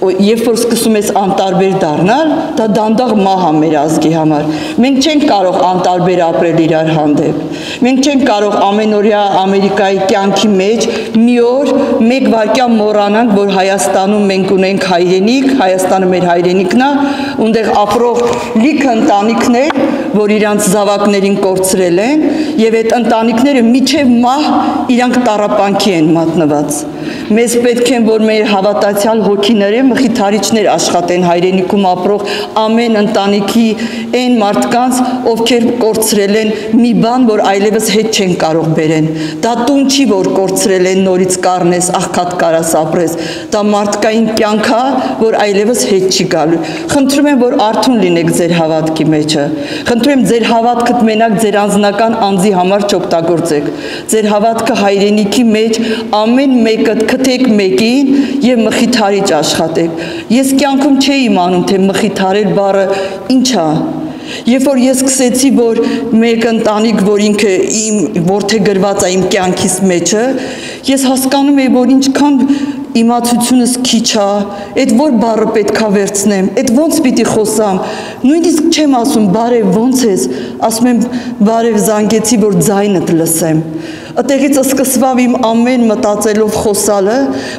ո-, երբ որ սկսում ես անտարբեր դառնալ, դա դանդաղ մահ ա մեր ազգի համար։ Մենք չենք կարող անտարբեր ապրել իրար հանդէպ։ Մենք չենք կարող ամենօրյա Ամերիկայի կեանքի մէջ մի օր, մեկ վայրկեան մոռանանք, որ Հայաստանում մենք ունենք հայրենիք, Հայաստանը մեր հայրենիքն ա, ունդեղ ապրող լիքը ընտանիքներ, որ իրանց զաւակներին կորցրել են, եւ այդ ընտանիքները մինչեւ մահ իրանք տառապանքի են մատնուած։ Մեզ պէտք են, որ մեր հաւատացեալ հոգիները մխիթարիչներ աշխատեն հայրենիքում ապրող ամեն ընտանիքի, այն մարդկանց, ովքեր կորցրել են մի բան, որ այլեւս հետ չեն կարող բերեն։ Դա տուն չի, որ կորցրել են, նորից կառնես, աղքատ կարաս ապրես։ Դա մարդկային կեանք ա, որ այլեւս հետ չի գալու։ Խնդրում եմ, որ արթուն լինեք ձեր հաւատքի մէջը։ Խնդրում եմ, ձեր հաւատքդ մենակ ձեր անձնական անձի համար չօգտագործեք։ Ձեր հաւատքը հայրենիքի մէջ, ամեն մեկը գտեք մեկին եւ մխիթարիչ աշխատեք։ Ես կեանքում չէի իմանում, թե մխիթարել բառը ինչ ա։ Երբ որ ես սկսեցի, որ մեկ ընտանիք, որ ինքը իմ որդեգրուած ա իմ կեանքիս մէջը, ես հասկանում էի, որ ինչքան իմացությունս քիչ ա, այդ որ բառը պէտք ա վերցնեմ, այդ ոնց պիտի խօսամ, նոյնիսկ չեմ ասում բարեւ, ոնց ես, ասում եմ բարեւ, զանգեցի, որ ձայնդ լսեմ։ Ատեղից սկսուաւ իմ ամեն մտածելով խօսալը,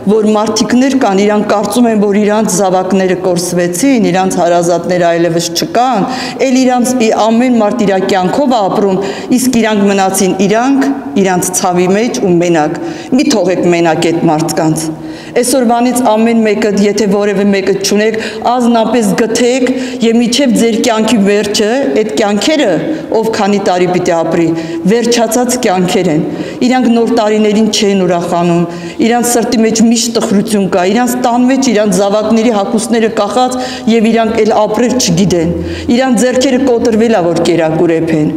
որ մարդիկներ կան, իրանք կարծում են, որ իրանց զաւակները կորսուեցին, իրանց հարազատները այլեւս չկան, էլ իրանց ի-, ամեն մարդ իր կեանքով ա ապրում, իսկ իրանք մնացին իրանք, իրանց ցաւի մէջ ու մենակ։ Մի թողեք մենակ այդ մարդկանց։ Այսօրվանից ամեն մեկը, եթե որևէ մեկը չունեք, ազնապէս գթեք եւ մինչեւ ձեր կեանքի վերջը, այդ կեանքերը, ով քանի տարի պիտի ապրի, վերջացած կեանքեր են։ Իրանք նոր տարիներին չեն ուրախանում, իրանց սրտի մէջ միշտ տխրություն կա, իրանց տան մէջ իրանց զաւակների հագուստները կախած եւ իրանք էլ ապրել չգիտեն։ Իրանց ձեռքերը կոտրվել ա, որ կերակուրեփեն։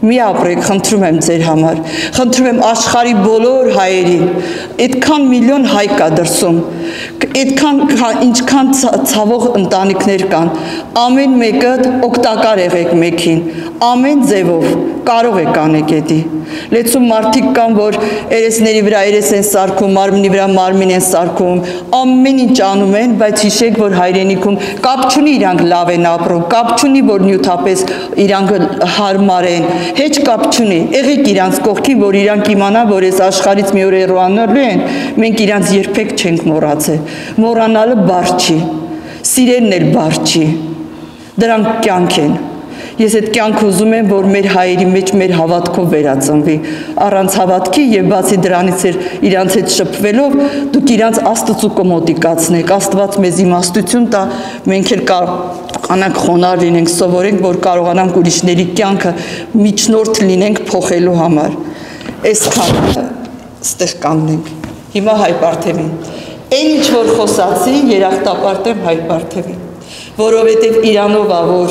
Մի ապրեք, խնդրում եմ ձեր համար, խնդրում եմ աշխարհի բոլոր հայերին, այդքան միլիոն հայ կա դրսում, այդքան քա-, ինչքան ցա-, ցաւող ընտանիքներ կան, ամեն մեկը օգտակար եղեք մեկին, ամեն ձևով կարող եք անեք էդի։ Լեցուն մարդիկ կան, որ երեսների վրայ երես են սարքում, մարմնի վրայ մարմին են սարքում, ամեն ինչ անում են, բայց յիշեք, որ հայրենիքում կապ չունի իրանք լաւ են ապրում, կապ չունի, որ նիւթապէս իրանք յարմար են, հեչ կապ չունի։ Եղեք իրանց կողքին, որ իրանք իմանան, որ այս աշխարհից մի օր հեռուանալու են, մենք իրանց երբեք չենք մոռացել։ Մոռանալը բարդ չի, սիրելն էլ բարդ չի։ Դրանք կեանք են։ Ես այդ կեանքը ուզում եմ, որ մեր հայերի մէջ մեր հաւատքով վերածնուի։ Առանց հաւատքի եւ բացի դրանից էր իրանց հետ շփվելով, դուք իրանց Աստծու կը մոտիկացնեք։ Աստուած մեզ իմաստություն տայ, մենք էլ կարողանանք խոնարհ լինենք, սովորենք, որ կարողանանք ուրիշների կեանքը միջնորդ լինենք փոխելու համար։ Այսքանը, ստեղ կանգնենք։ Հիմա հայ պարթեւին։ Այն ինչ որ խօսացի, երախտապարտ եմ հայ պարթեւին, որովհետեւ իրանով ա, որ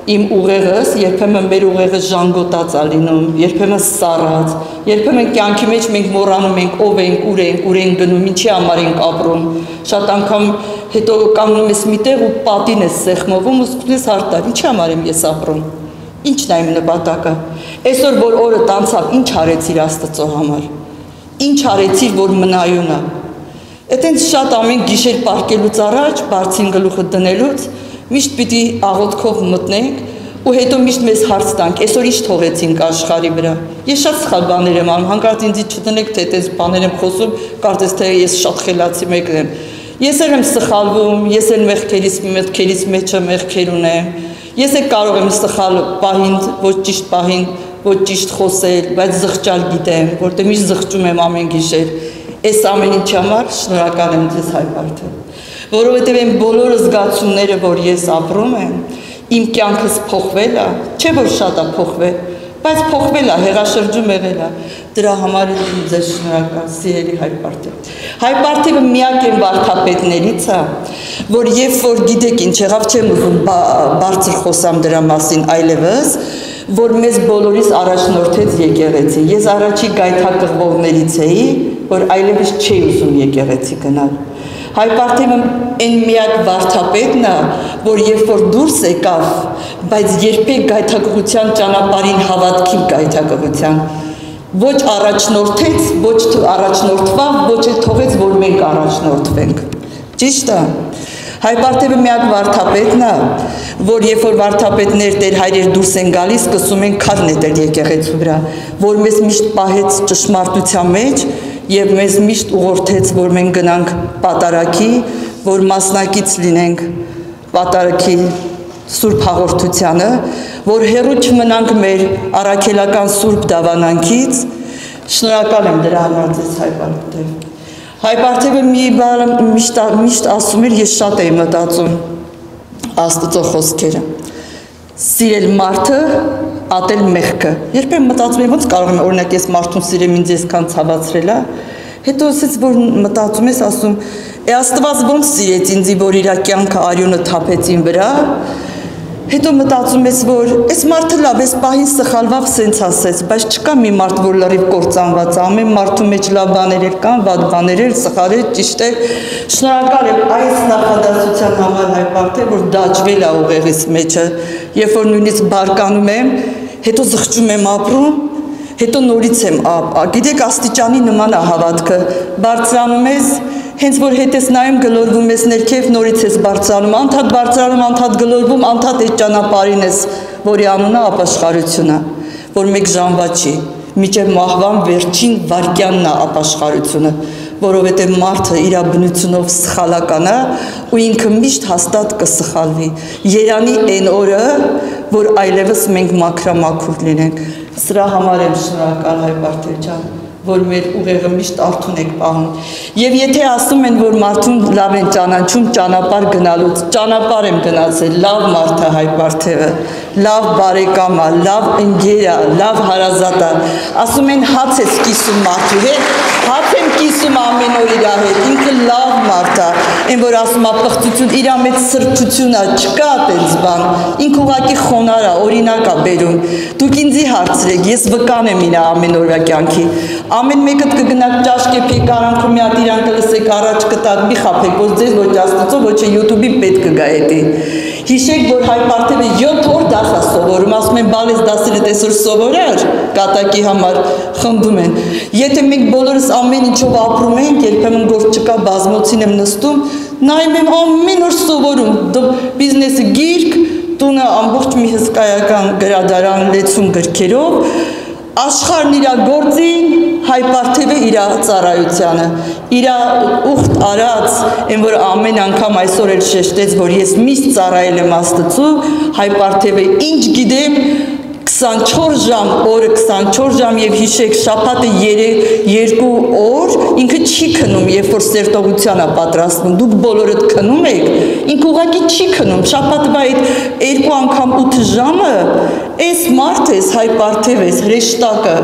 իմ ուղեղս, երբեմն մեր ուղեղս ժանգոտած ա լինում, երբեմն սառած, երբեմն կեանքի մէջ մենք մոռանում ենք ով ենք, ուր ենք, ուր ենք գնում, ինչի համար ենք ապրում։ Շատ անգամ հետո կանգնում ես մի տեղ ու պատին ես սեղմում ու զգում ես՝ «Արտար, ինչի համար եմ ես ապրում, ինչն է իմ նպատակը, այսօր որ օրդ անցաւ, ինչ արեցիր Աստծո համար, ինչ արեցիր, որ մնայուն ա»։ Էդենց շատ ամեն գիշեր պառկելուց առաջ, բարձին գլուխը դնելուց, միշտ պիտի աղոթքով մտնենք ու հետո միշտ մեզ հարց տանք, «Այսօր ի՞նչ թողեցինք աշխարհի վրա»։ Ես շատ սխալ բաներ եմ անում, հանկարծ ինձի չտնեք, թե այդպես բաներ եմ խօսում, կարծես թե ես շատ խելացի մեկն եմ։ Ես էլ եմ սխալվում, ես էլ մեղքերիս, մտքերիս մեջը մեղքեր ունեմ։ Ես էլ կարող եմ սխալ պահին, ոչ ճիշտ պահին, ոչ ճիշտ խօսել, բայց զղջալ գիտեմ, որտեղ միշտ զղջում եմ ամեն գիշեր։ Այս ամեն ինչի համար շնորհակալ եմ ձեզ, հայ բարբառ, որովհետև այն բոլոր զգացումները, որ ես ապրում եմ, իմ կյանքս փոխվել է, չէ՞ որ շատ է փոխվել, բայց փոխվել է, հեղաշրջում եղել է, դրա համար էլ իմ ձեզ շնորհակալ, սիրելի հայ բարբառ։ Հայ բարբառը միակ այն վարդապետներից է, որ երբ որ գիտեք ինչ եղավ, չեմ ուզում բա-, բարձր խօսամ դրա մասին այլևս, որ մեզ բոլորիս առաջնորդեց եկեղեցի։ Ես առաջի գայթակղվողներից էի, որ այլևս չէի ուզում եկեղեցի գնալ։ Հայ բարբառը այն միակ վարդապետն է, որ երբ որ դուրս եկավ, բայց երբեք գայթակղության ճանապարհին, հավատքի գայթակղության, ոչ առաջնորդեց, ոչ թ-, առաջնորդվավ, ոչ էլ թողեց, որ մենք առաջնորդվենք։ Ճիշտ է։ Հայ բարբառը միակ վարդապետն է, որ երբ որ վարդապետներ, տեր հայրեր դուրս են գալիս, սկսում են քար նետել եկեղեցու վրա, որ մեզ միշտ պահեց ճշմարտության մեջ և մեզ միշտ ուղղորդեց, որ մենք գնանք պատարագի, որ մասնակից լինենք պատարագի, սուրբ հաղորդությանը, որ հեռու չմնանք մեր առաքելական սուրբ դաւանանքից։ Շնորհակալ եմ դրա համար ձեզ, հայ բարբառ։ Հայ բարբառը մի բան միշտ, միշտ ասում էր, ես շատ էի մտածում Աստուծոյ խօսքերը. «Սիրել մարդը, ատել մեղքը»։ Երբեմն մտածում եմ, ո՞նց կարող եմ, օրինակ, ես մարդուն սիրեմ, ինձ այսքան ցաւացրել է։ Հետո ասեց, որ մտածում ես, ասում, «Է, Աստուած ո՞նց սիրեց ինձի, որ իր կեանքը արիւնը թափեց իմ վրա»։ Հետո մտածում ես, որ այս մարդը լաւ, այս պահին սխալուաւ, սենց ասեց, բայց չկա մի մարդ, որ լրիվ կործանուած է, ամեն մարդու մեջ լաւ բաներ էլ կան, վատ բաներ էլ, սխալ էլ, ճիշտ էլ։ Շնորհակալ եմ այս նախադասության համար, հայ բարբառ, որ դաջվել է ուղեղիս մեջը, երբ որ նույնիսկ բարկանում եմ, հետո զղջում եմ, ապրում, հետո նորից եմ ա-, ա-, գիտեք, աստիճանի նման է հավատքը, բարձրանում ես, հենց որ հետ ես նայում, գլորվում ես ներքև, նորից ես բարձրանում, անդադ բարձրանում, անդադ գլորվում, անդադ այդ ճանապարհին ես, որի անունը ապաշխարություն է, որ մեկ ժամվա չի, մինչև մահվան վերջին վայրկյանն է ապաշխարությունը, որովհետև մարդը իր բնությունով սխալական է ու ինքը միշտ հաստատ կը սխալուի։ Երանի այն օրը, որ այլևս մենք մաքրամաքուր լինենք։ Սրա համար եմ շնորհակալ, հայ բարբառ ջան, որ մեր ուղեղը միշտ արթուն եք պահում։ Եվ եթե ասում են, որ մարդուն լաւ են ճանաչում ճանապարհ գնալուց, ճանապարհ եմ գնացել, լաւ մարդ է հայ բարբառը, լաւ բարեկամ է, լաւ ընկեր է, լաւ հարազատ է։ Ասում են, հաց ես կիսում մարդու հետ, հաց եմ կիսում ամեն օր իրա հետ, ինքը լաւ մարդ է, այն որ ասում է պղծություն, իրա մեջ սրբություն է, չկա այդպես բան, ինքը ուղղակի խոնար է, օրինակ է բերում։ Դուք ինձի հարցրեք, ես վկան եմ իրա ամեն օրվա կյանքի։ Ամեն մեկդ կը գնաք ճաշ կը պիեք, արանքը մի հատ իրան կը լսեք, առաջ կը տաք, մի խաբեք, ոչ ձեզ, ոչ Աստուծոյ, ոչ YouTube-ին պետք կը գայ էդի։ Յիշեք, որ հայ բարբառը յոթ օր դաս է սովորում, ասում են, բալես դասերը տեսօր սովորար, կատակի համար խնդում են։ Եթե մենք բոլորս ամեն ինչով ապրում ենք, երբեմն գործ չկա, բազմոցին եմ նստում, նայում եմ, ամեն օր սովորում, դ-, բիզնեսը գիրք, տունը ամբողջ մի հսկայական գրադարան լեցուն գրքերով, աշխարհն իրա գործին, հայ բարբառը իրա ծառայությանը, իրա ուխտ արած, այն որ ամեն անգամ այսօր էլ շեշտեց, որ ես միշտ ծառայել եմ Աստծու, հայ բարբառը ինչ գիտեմ, քսանչորս ժամ, օրը քսանչորս ժամ, եւ յիշեք, շաբաթը երեք, երկու օր ինքը չի քնում, երբ որ սերտողության է պատրաստվում, դուք բոլորդ քնում եք, ինքը ուղղակի չի քնում, շաբաթվա այդ երկու անգամ ութ ժամը, այս մարդը, այս հայ բարբառը, այս հրեշտակը,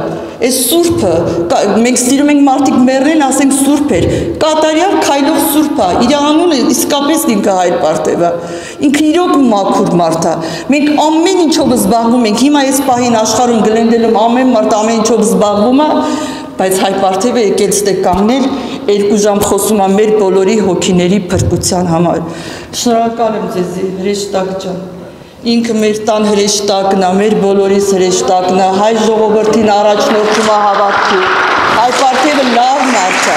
այս սուրբը, կա-, մենք սիրում ենք մարդիկ մեռնեն, ասենք սուրբ էր, կատարյալ քայլող սուրբ է, իր անունը իսկապես ինքը հայ բարբառ է, ինքը իրոք մաքուր մարդ է, մենք ամեն ինչով զբաղվում ենք, հիմա այս պահին աշխարհում գլենդել եմ, ամեն մարդ ամեն ինչով զբաղվում է, բայց հայ բարբառը եկել ստե կանգնել, երկու ժամ խոսում է մեր բոլորի հոգիների փրկության համար։ Շնորհակալ եմ ձեզի, հրեշտակ ջան։ Ինքը մեր տան հրեշտակն է, մեր բոլորիս հրեշտակն է, հայ ժողովրդին առաջնորդում է հավատքի։ Հայ բարբառը լաւ մարդ է։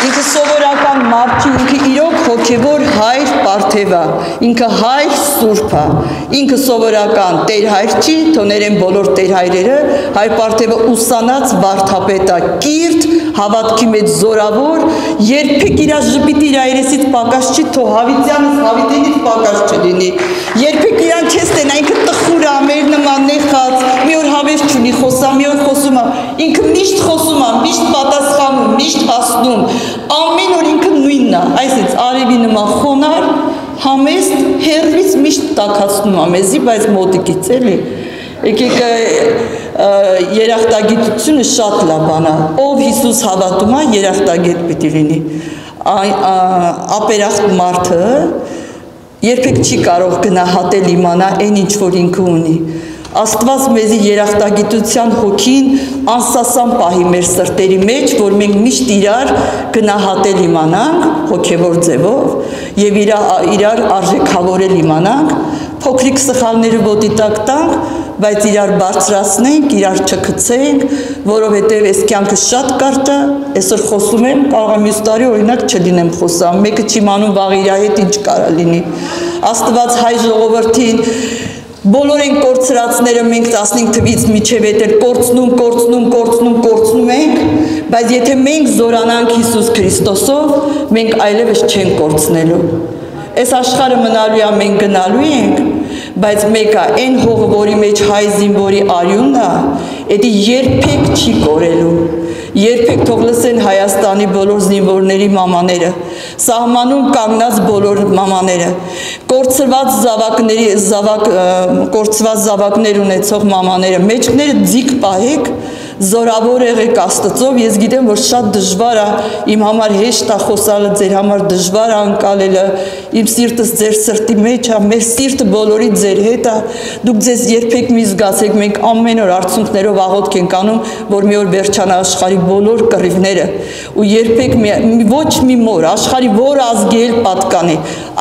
Ինքը սովորական մարդ չի, ինքը իրոք հոգեւոր հայր պարթեւ ա, ինքը հայր սուրբ ա, ինքը սովորական Տեր հայր չի, թող ներեն բոլոր Տեր հայրերը, հայր պարթեւը ուսանած վարդապետ ա, կիրթ, հաւատքի մեջ զորաւոր, երբեք իրա ժպիտը իրա երեսից պակաս չի, թող Յաւիտեանս Յաւիտենից պակաս չլինի, երբեք իրան չես տենայ, ինքը տխուր ա, մեր նման նեխած, մի օր հաւես չունի, խոսա, մի օր խոսում ա, ինքը միշտ խոսում ա, միշտ պատասխանում, միշտ հասնում, ամեն օր ինքը նոյնն ա, այսինքն արեւի նման խոնար, համեստ, հեռուից միշտ տաքացնում ա մեզի, բայց մոտիկից էլի։ Եկեք, ը, ը, երախտագիտությունը շատ լաւ բան ա, ով Յիսուս հաւատում ա, երախտագետ պիտի լինի։ Այ, ա, ապերախտ մարդը երբեք չի կարող գնահատել, իմանա այն, ինչ որ ինքը ունի։ Աստուած մեզի երախտագիտութեան հոգին անսասան պահի մեր սրտերի մեջ, որ մենք միշտ իրար գնահատել իմանանք հոգեւոր ձևով եւ իրա-, իրար արժեքաւորել իմանանք, փոքրիկ սխալները ոտի տակ տանք, բայց իրար բարձրացնենք, իրար չգցենք, որովհետեւ այս կեանքը շատ կարճ է, այսօր խոսում եմ, կարող եմ մյուս տարի, օրինակ, չլինեմ խոսամ, մէկը չի իմանում վաղ իրա հետ ինչ կարա լինի։ Աստուած հայ ժողովրդին բոլոր այն կորցրածները մենք տասնհինգ թվից մինչեւ էդ էլ կորցնում, կորցնում, կորցնում, կորցնում ենք, բայց եթե մենք զորանանք Յիսուս Քրիստոսով, մենք այլեւս չենք կորցնելու։ Այս աշխարհը մնալու է, մենք գնալու ենք, բայց մէկ ա, այն հողը, որի մեջ հայ զինվորի արիունն ա, էդի երբեք չի կորելու։ Երբեք թող լսեն Հայաստանի բոլոր զինվորների մամաները, սահմանում կանգնած բոլոր մամաները, կորցրված զաւակների, զաւակ-, ը, կորցրած զաւակներ ունեցող մամաները, մեջքները ձիգ պահեք, զորաւոր եղեք Աստծով։ Ես գիտեմ, որ շատ դժուար ա, իմ համար հեշտ ա խօսալը, ձեր համար դժուար ա անկալելը, իմ սիրտս ձեր սրտի մեջ ա, մեր սիրտը բոլորի ձեր հետ ա, դուք ձեզ երբեք մի զգացեք, մենք ամեն օր արցունքներով աղօթք ենք անում, որ մի օր վերջանա աշխարհի բոլոր կռիւները, ու երբեք մի, մի, ոչ մի մոր, աշխարհի որ ազգի էլ պատկանէ,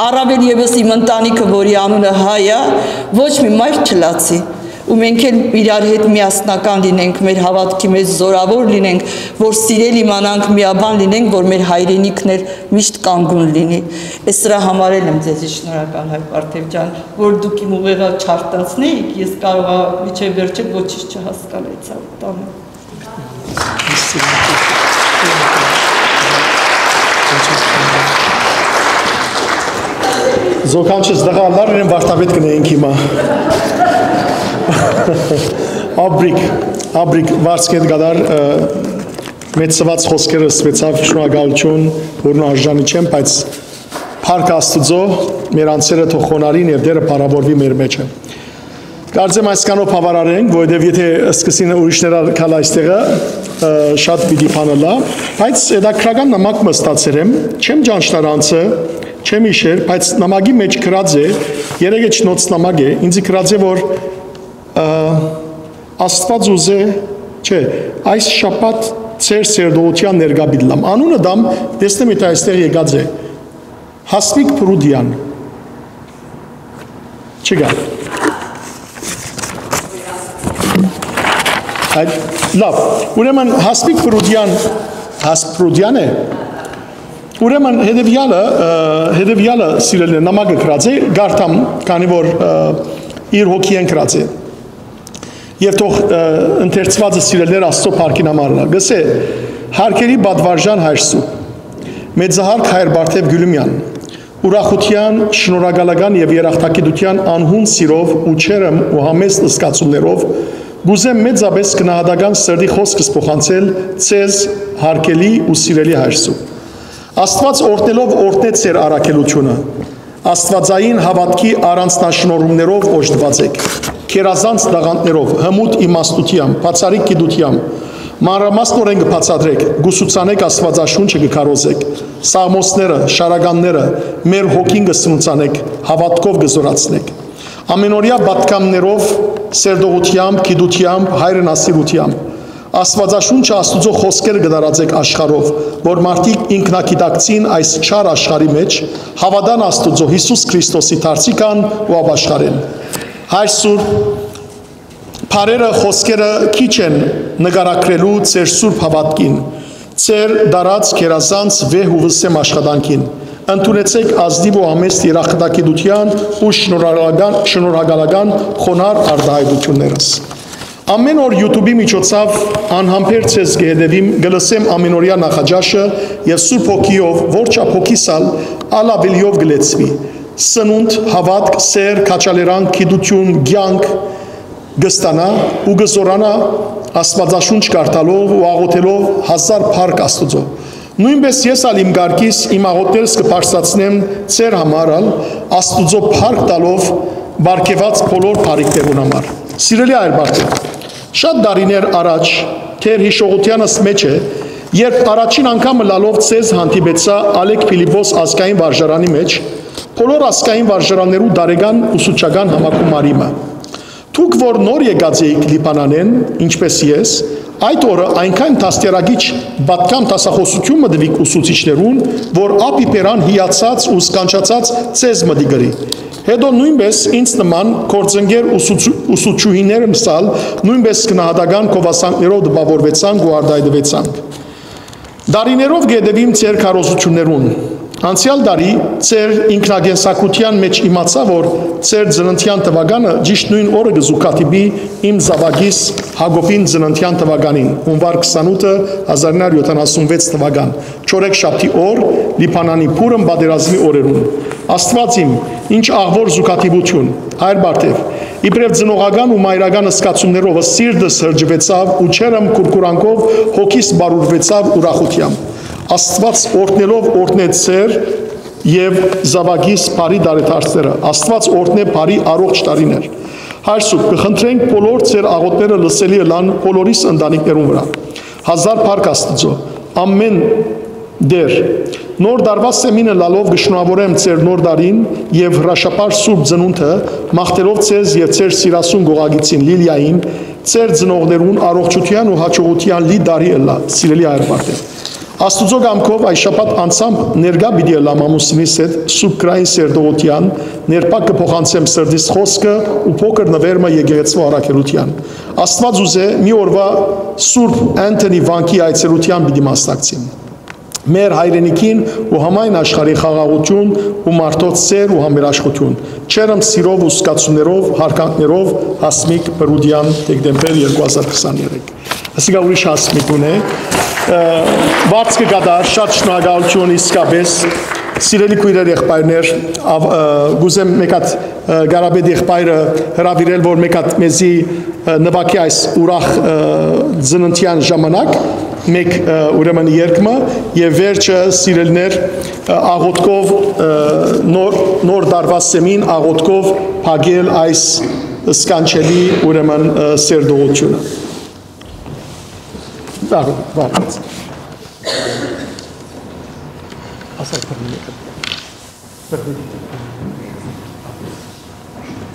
առաւել եւս իմ ընտանիքը, որի անունը հայ ա, ոչ մի մայր չլացի։ Ու մենք էլ իրար հետ միասնական լինենք, մեր հաւատքի մեջ զորաւոր լինենք, որ սիրել իմանանք, միաբան լինենք, որ մեր հայրենիքն էլ միշտ կանգուն լինի։ Ես սրա համար էլ եմ ձեզի շնորհակալ, հայր Պարթեւ ջան, որ դուք իմ ուղեղը չարտանցնեիք, ես կարող ա մինչեւ վերջը ոչինչ չհասկանայ ցաւ տանը։ Զոքանչս դղալներ իրեն վարդապետ կնեինք հիմա։ Աբրիկ, աբրիկ վարձքետ գադար, ը, մեծցված խոսքերս, մեծավ շնորհակալություն, որուն արժանի չեմ, բայց փառք Աստուծո, մեր անձերը թող խոնարհին եւ Տերը փառաւորուի մեր մեջը։ Կարծեմ այսքանով բաւարար ենք, որովհետեւ եթե սկսին ուրիշներ ալ գալ այստեղը, ը, շատ պիտի բան ըլլայ, բայց հետաքրական նամակ մը ստացեր եմ, չեմ ճանչնար անձը, չեմ իշեր, բայց նամակի մեջ գրած է, երեկ էջ նոց նամակ է, ինձ գրած է, որ, ը, Աստված ուզէ, չէ, այս շաբաթ ձեր սերտողութեան ներկայ պիտի լամ։ Անունը դամ, տեսնեմ, եթե այստեղ եկած է։ Հասմիկ Փրուդյան։ Չկա։ Այդ, լավ, ուրեմն Հասմիկ Փրուդյան, Հաս Փրուդյան է։ Ուրեմն հետևյալը, ը, հետևյալը, սիրելիներ, նամակը գրած է, գարթամ, քանի որ, ը, իր հոգիեն գրած է։ Եւ թող, ը, ընթերցուածը, սիրելիներ, Աստծո փառքին համար ըլլայ։ Գսե, հարգելի պատվարժան հայր Սուրբ, մեծահարգ հայր Բարթեւ Գիւլիմեան, ուրախութեան, շնորհակալական եւ երախտագիտութեան անհուն սիրով ու չերմ ու համեստ զգացումներով կ'ուզեմ մեծապէս գնահատական սրտի խօսքս փոխանցել ձեզ, հարգելի ու սիրելի հայր Սուրբ։ Աստուած օրհնելով օրհնեց ձեր առաքելութիւնը, աստուածային հաւատքի առանձնաշնորհումներով օժտուած էք, գերազանց տաղանդներով, հմուտ իմաստութեամբ, բացառիկ գիտութեամբ, մանրամասնօրէն կը բացատրեք, կ'ուսուցանեք, Աստուածաշունչը կը քարոզեք, սաղմոսները, շարականները, մեր հոգին կը սնուցանեք, հաւատքով կը զօրացնեք։ Ամենօրեայ պատգամներով, սերտողութեամբ, գիտութեամբ, հայրենասիրութեամբ, Աստուածաշունչը, Աստուծոյ խօսքերը կը տարածեք աշխարհով, որ մարդիկ ինքնագիտակցին այս չար աշխարհի մեջ, հաւատան Աստուծոյ, Յիսուս Քրիստոսի դարձի քան ու ապաշխարեն։ Հայր Սուրբ, բառերը, խօսքերը քիչ են նկարագրելու ձեր սուրբ հաւատքին, Ձեր դարած գերազանց վեհ ու վսեմ աշխատանքին։ Ընդունեցէք ազնիւ ու համեստ երախտագիտութեան ու շնորհակալական, շնորհակալական խոնար արտայայտութիւններս։ Ամէն օր YouTube-ի միջոցաւ անհամբեր ձեզ կը հետեւիմ, կը լսեմ ամէնօրեայ նախաճաշը եւ Սուրբ Հոգիով, որ չափ հոգիս ալ, ալ աւելիով կը լեցուի։ Սնունդ, հաւատք, սէր, քաջալերանք, գիտութիւն, կեանք կը ստանայ ու կը զօրանայ Աստուածաշունչ կարդալով ու աղօթելով հազար փառք Աստուծոյ։ Նոյնպէս ես ալ իմ կարգիս, իմ աղօթքներս կը բարձրացնեմ ձեր համար ալ, Աստուծոյ փառք տալով պարգեւած բոլոր բարիքներուն համար։ Սիրելի հայր Բարդէ, շատ տարիներ առաջ, դեռ յիշողութեանս մէջ է, երբ առաջին անգամ ըլլալով ձեզ հանդիպեցայ Ալեք Փիլիպոս ազգային վարժարանի մէջ, բոլոր ազգային վարժարաններու տարեկան ուսուցչական համակում արի մը։ Դուք որ նոր եկած էիք Լիբանանէն, ինչպէս ես, այդ օրը այնքան դաստիարակիչ, պատկան դասախօսութիւն մը տուիք ուսուցիչներուն, որ ափի բերան հիացած ու սքանչացած ձեզ մտի գրի։ Հետո նոյնպէս ինձ նման գործընկեր ուսուցու-, ուսուցչուհիներս ալ նոյնպէս գնահատական գովասանքներով տպաւորուեցանք ու արտայայտուեցանք։ Տարիներով կ'ետեւիմ ձեր քարոզութիւններուն։ Անցեալ տարի ձեր ինքնակենսագրութեան մէջ իմացայ, որ ձեր ծննդեան թուականը ճիշդ նոյն օրը կը զուգադիպի իմ զաւակիս Յակոբին ծննդեան թուականին, յունուար քսանութը, հազար ինը հարիւր յոթանասունվեց թուական, չորեքշաբթի օր, Լիբանանի Փուրմ պատերազմի օրերուն։ Աստուած իմ, ինչ աղուոր զուգադիպութիւն, հայր Բարդէ, իբրեւ ծնողական ու մայրական զգացումներովս սիրտս հրճուեցաւ ու չերմ կուրկուրանքով հոգիս բարուրուեցաւ ուրախութեամբ։ Աստուած օրհնելով օրհնեց ձեր եւ զաւակիս բարի տարեդարձները։ Աստուած օրհնէ բարի առողջ տարիներ։ Հայր Սուրբ, կը խնդրենք բոլոր ձեր աղօթքները լսելի ըլլան բոլորիս ընտանիքներուն վրայ։ Հազար փառք Աստուծոյ, ամէն Տէր, նոր տարուայ սեմին ըլլալով կը շնորհաւորեմ ձեր նոր տարին եւ հրաշափառ Սուրբ Ծնունդը, մաղթելով ձեզ եւ ձեր սիրասուն գողագիծին Լիլիային, ձեր ծնողներուն առողջութեան ու յաջողութեան լի տարի ըլլայ, սիրելի հայր Բարդէ։ Աստուծոյ կամքով այս շաբաթ անձամբ ներկայ պիտի ըլլամ ամուսինիս հետ Սուրբ Գրային սերտողութեան, ներփակ կը փոխանցեմ սրտիս խօսքը ու փոքր նուէր մը եկեղեցւոյ առաքելութեան։ Աստուած ուզէ, մի օրուայ Սուրբ Անթոնի վանքի այցելութեան պիտի մասնակցիմ։ Մեր հայրենիքին ու համայն աշխարհի խաղաղութիւն ու մարդոց սէր ու համերաշխութիւն, չերմ սիրով ու զգացումներով, յարգանքներով, Հասմիկ Պրուդեան, դեկտեմբեր երկու հազար քսաներեք։ Ասիկա ուրիշ Հասմիկ մըն է։ Ը, վարձ կը կատարէ, շատ շնորհակալութիւն իսկապէս։ Սիրելի քոյրեր, եղբայրներ, ավ-, ը, կ'ուզեմ մէկ հատ, ը, Կարապետ եղբայրը հրաւիրել, որ մէկ հատ մեզի, ը, նուագի այս ուրախ, ը, ծննդեան ժամանակ, մէկ, ը, ուրեմն երգ մը, եւ վերջը, սիրելիներ, ը, աղօթքով, ը, նոր, նոր տարուայ սեմին աղօթքով փակել այս սքանչելի, ուրեմն, ը, սերտողութիւնը։ Վաղ, վաղ։ Ասա, բռնի, բռնի։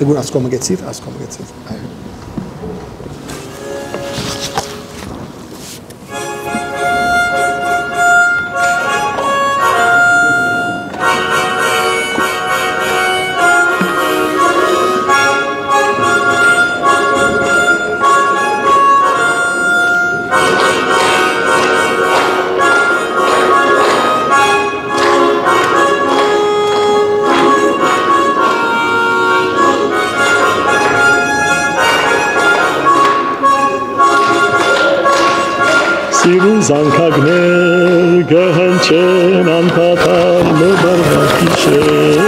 Դե գուր ասկոմը գեցիր, ասկոմը գեցիր։ Այո։ Սիրուն զանգակներ կը հնչեն անդադար նոր տարուայ գիշեր։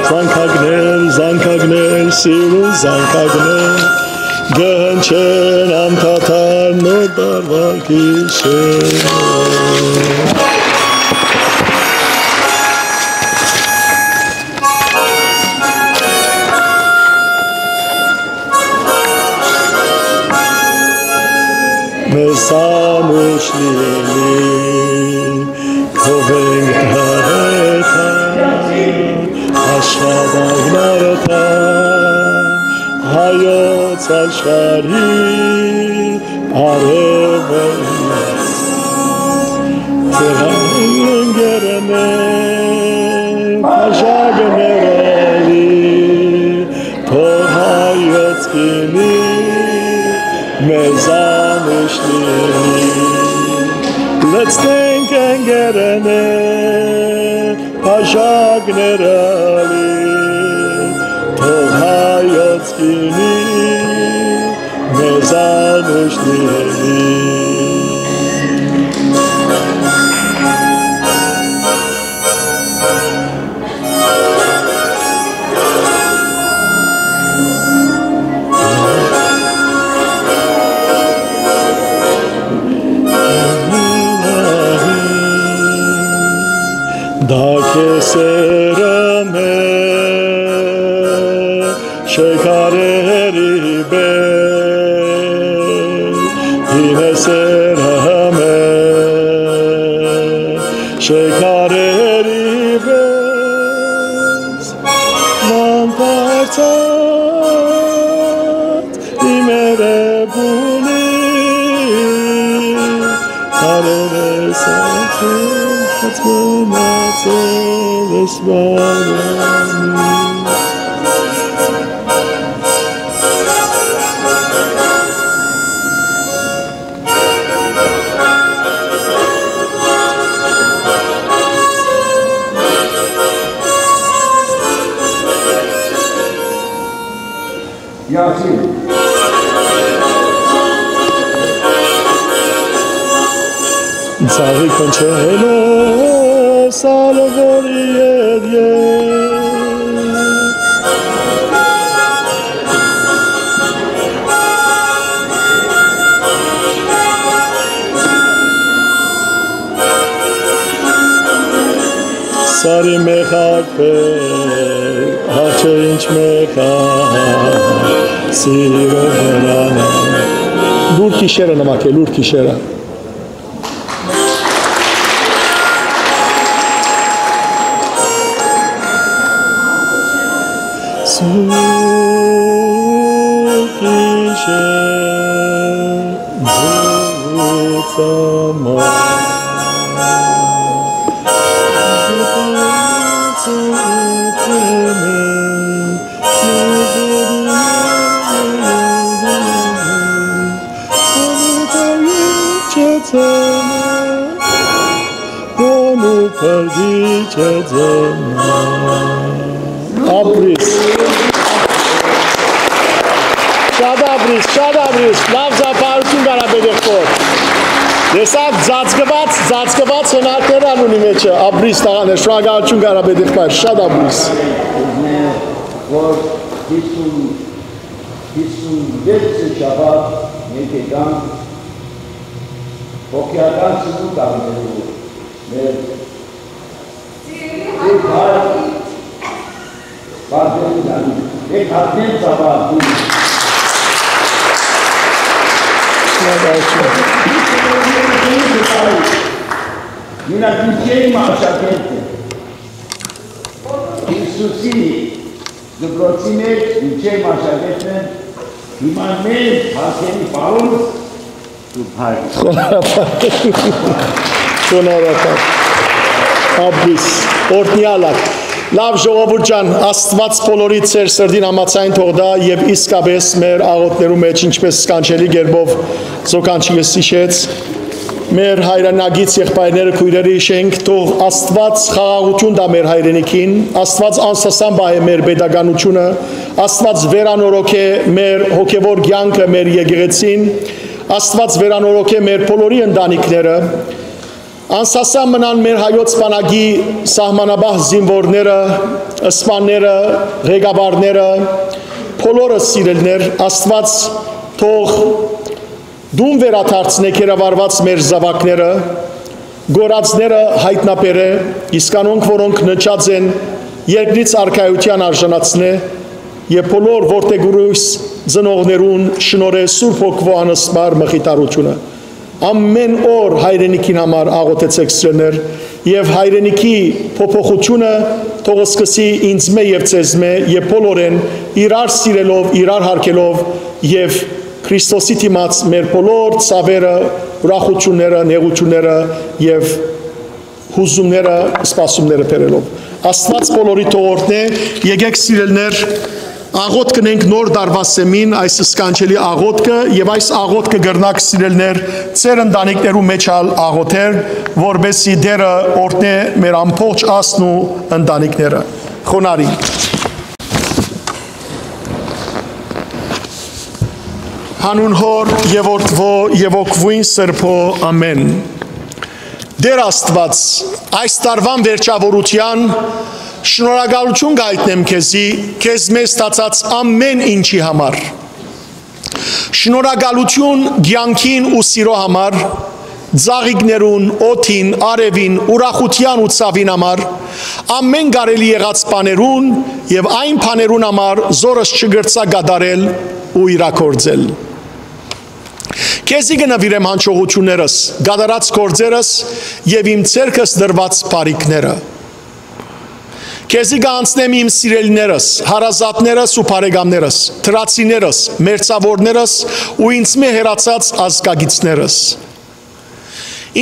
Զանգակներ, զանգակներ, սիրուն զանգակներ կը հնչեն անդադար նոր տարուայ գիշեր։ Մեզանուշ լինի քո վենք դարեթա, աշխատանք նարեթա, հայոց աշխարհի արեւը։ Ձեր ընկերներ, բաժակները լի, թող հայոց գինի մեզանուշ լինի։ Լցնենք ընկերներ, բաժակները լի, թող հայոց գինի մեզան ուշ լինի։ Դա քեզ սերը մէ շեքարերի պէս, հինէ սերը մէ շեքարերի պէս, ման դարձած իմ երեւունի, քարերս ացած մնացել ես վարանի։ Յասին։ Ծաղի քնչելով սալվորի հետ ես։ Սարի մեխակը, աղջը ինչ մեխա, սիրո վրան։ Լուր գիշերը նամակէ, լուր գիշերը։ Սուրբ գիշեր, Ապրիս։ Շատ ապրիս, շատ ապրիս, լաւ ծափարություն կարապետեք կոր։ Տեսա, ծածկված, ծածկված հնարքներ ան ունի մեջը, ապրիս տաղաներ, շնորհակալություն կարապետեք կար, շատ ապրիս։ Որ հիսուն, հիսուն վեց շաբաթ եկեքան հոգեական ծնունդ առնելու մեր Եք հա-, Բարդենի Դանիլ, եք հատնել ծապարդին։ Մինակ Հիջեի աշակերտը։ Հիսուսի դպրոցի մեջ Հիջեի աշակերտն է, հիմա մեր Բարդենի պարոն Խոնարհապատ։ Խոնարհապատ։ Ապրիս, օրհնեալք։ Լաւ ժողովուրդ ջան, Աստուած բոլորի ձեր սրտին համաձայն թող տայ եւ իսկապէս մեր աղօթքներու մէջ, ինչպէս սքանչելի կերպով զոքանչիկս յիշեց, մեր հայրենակից եղբայրները, քոյրերը յիշենք, թող Աստուած խաղաղութիւն տայ մեր հայրենիքին, Աստուած անսասան պահէ մեր պետականութիւնը, Աստուած վերանորոգէ մեր հոգեվոր կեանքը, մեր եկեղեցին, Աստուած վերանորոգէ մեր բոլորի ընտանիքները, անսասան մնան մեր հայոց բանակի սահմանապահ զինուորները, սպաները, ղեկավարները, բոլորը սիրելիներ, Աստուած թող տուն վերադարձնէ գերավարուած մեր զաւակները, կորածները յայտնաբերէ, իսկ անոնք, որոնք ննջած են, երկրից արքայութեան արժանացնէ եւ բոլոր որդեգուրոյս ծնողներուն շնորհէ Սուրբ Հոգւոյ անսպառ մխիթարութիւնը։ Ամէն օր հայրենիքին համար աղօթեցէք, սիրելիներ, եւ հայրենիքի փոփոխութիւնը թող սկսի ինձմէ եւ ձեզմէ եւ բոլորէն, իրար սիրելով, իրար հարգելով եւ Քրիստոսի դիմաց մեր բոլոր ցաւերը, ուրախութիւնները, նեղութիւնները եւ յուզումները, սպասումները բերելով։ Աստուած բոլորի թող օրհնէ, եկեք, սիրելիներ, Աղօթք կ'ընենք Նոր Տարուայ սեմին, այս սքանչելի աղօթքը, եւ այս աղօթքը կրնաք, սիրելիներ, ձեր ընտանիքներու մէջ ալ աղօթել, որպեսզի Տէրը օրհնէ մեր ամբողջ ազգն ու ընտանիքները։ Խոնարհի։ Հանուն Հօր եւ Որդի եւ Հոգւոյն Սրբոյ։ Ամէն։ Տէր Աստուած, այս տարուան վերջաւորութեան շնորհակալութիւն կ'այտնեմ քեզի, քեզմէ ստացած ամէն ինչի համար։ Շնորհակալութիւն կեանքին ու սիրոյ համար, ծաղիկներուն, օդին, արեւին, ուրախութեան ու ցաւին համար, ամէն կարելի եղած բաներուն եւ այն բաներուն համար, զորս չկրցայ կատարել ու իրագործել։ Քեզի կը նուիրեմ յանչողութիւններս, կատարած գործերս եւ իմ ձեռքս դրուած բարիքները։ Քեզի կ'անցնեմ իմ սիրելիներս, հարազատներս ու բարեկամներս, դրացիներս, մերձաւորներս ու ինձմէ հեռացած ազգակիցներս։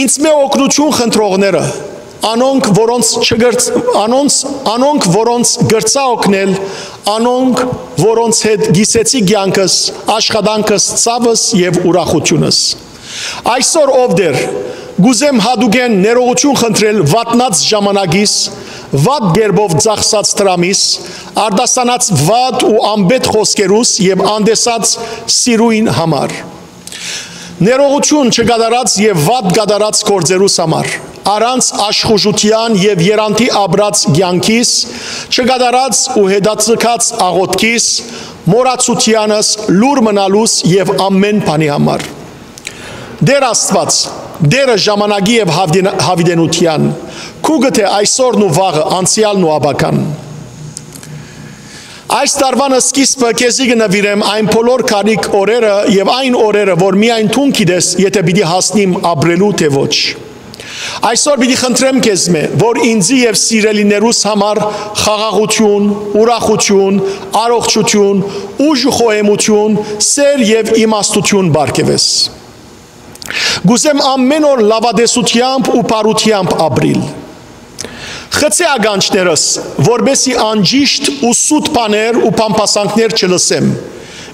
Ինձմէ օգնութիւն խնդրողները, անոնք, որոնց չգրծ-, անոնց, անոնք, որոնց կրցայ օգնել, անոնք, որոնց հետ կիսեցի կեանքս, աշխատանքս, ցաւս եւ ուրախութիւնս։ Այսօր, ով Տէր, կ'ուզեմ յատուկէն ներողութիւն խնդրել վատնած ժամանակիս, վատ կերպով ծախսած դրամիս, արտասանած վատ ու անպէտք խօսքերուս եւ անտեսած սիրոյն համար։ Ներողութիւն չկատարած եւ վատ կատարած գործերուս համար, առանց աշխուժութեան եւ եռանդի ապրած կեանքիս, չկատարած ու հետաձգած աղօթքիս, մոռացութեանս, լուռ մնալուս եւ ամէն բանի համար։ Տէր Աստուած, Տէրը ժամանակի եւ յաւդին-, յաւիտենութեան, քու գտե այսօրն ու վաղը, անցեալն ու ապագան։ Այս տարուան սկիզբը քեզի կը նուիրեմ այն բոլոր կարիք օրերը եւ այն օրերը, որ միայն դուն գիտես, եթէ պիտի հասնիմ ապրելու թէ ոչ։ Այսօր պիտի խնդրեմ քեզմէ, որ ինձի եւ սիրելիներուս համար խաղաղութիւն, ուրախութիւն, առողջութիւն, ուժ ու խոհեմութիւն, սէր եւ իմաստութիւն պարգեւես։ Կ'ուզեմ ամէն օր լաւատեսութեամբ ու բարութեամբ ապրիլ։ Խցէ ականջներս, որպեսզի անճիշդ ու սուտ բաներ ու բամբասանքներ չլսեմ,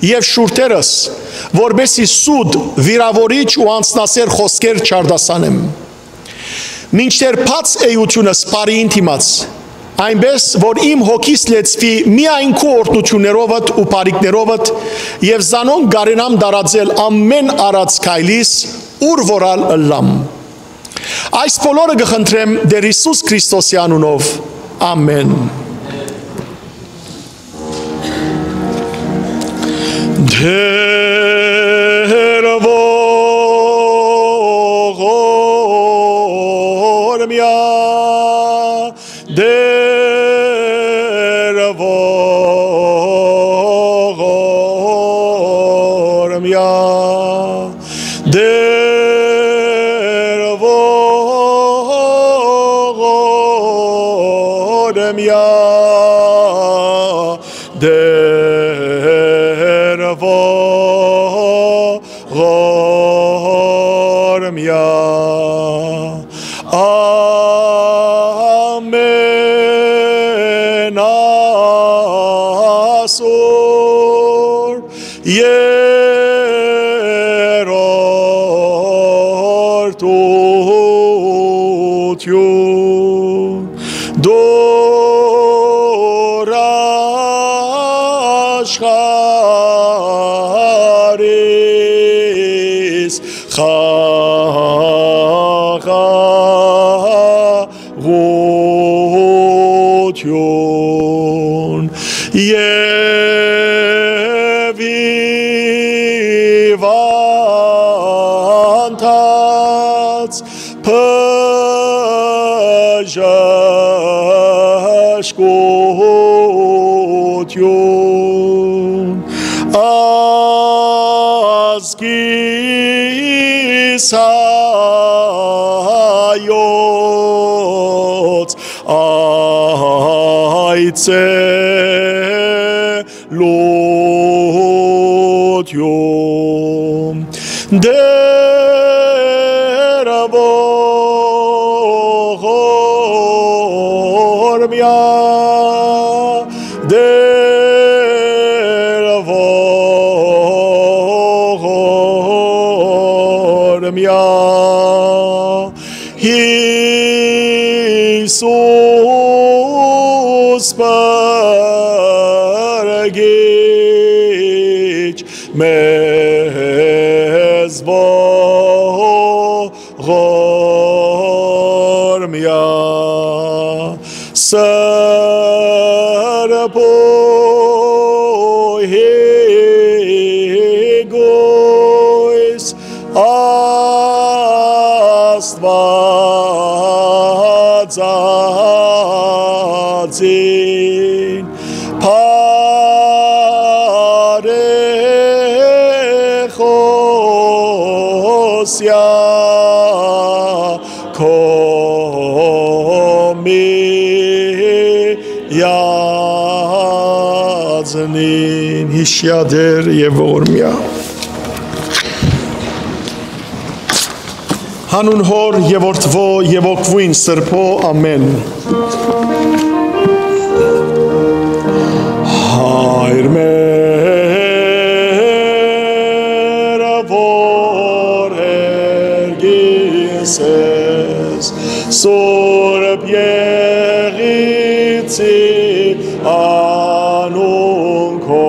եւ շուրթերս, որպեսզի սուտ, վիրաւորիչ ու անձնասէր խօսքեր չարտասանեմ։ Մինչդեռ բաց էութիւնս բարիին դիմաց, այնպէս որ իմ հոգիս լեցուի միայն քու օրհնութիւններովդ ու բարիքներովդ, եւ զանոնք կարենամ տարածել ամէն արած քայլիս, ուր որ ալ ըլլամ։ Այս բոլորը կը խնդրեմ Տէր Յիսուս Քրիստոսի անունով։ Ամէն։ Տէր ողորմեա, Տէր ողորմեա, Տէր ողորմեա, Տէր ողորմեա, ամէն ասուր երրորդութիւն, դուր աշխարհիս խաղաղութիւն եւ հիւանդանոց բժշկութիւն, ազգիս հայոց այցելութիւն, Տէր ողորմեա, Տէր Յիսուս պրկիչ մեզ ողորմիա սրբոյ գոյս Աստուածածին բարեխոսյա քո միածնին յիշյա Տէր եւ ողորմիա։ Հանուն Հօր եւ Որդւոյ եւ Հոգւոյն Սրբոյ, ամէն։ Հայր մեր, որ երկինս ես, Սուրբ Եղիցի անուն քո,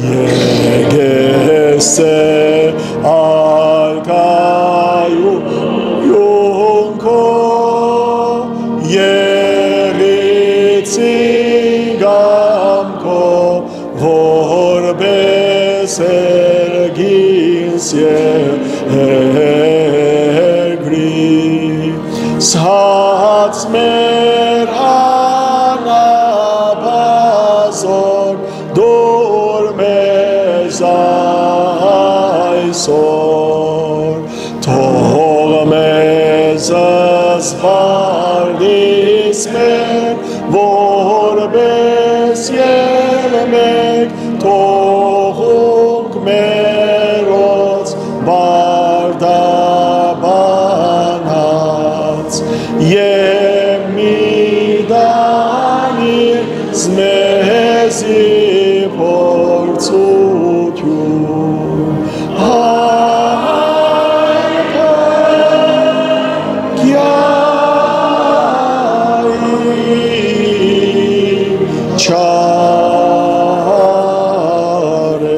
եկես է արքայ ու յունքո, Եղիցի կամքով, որպես երկինս երկրի, սաց մեր անաբազոր դուր մեզ այսօր, թող մեզ զբաղնիս մեր, որպես ելմեկ թողունք մերոց պարտաբանած, եւ մի տանիր մեզի փորձութիւն, այլ կեանքի չարը։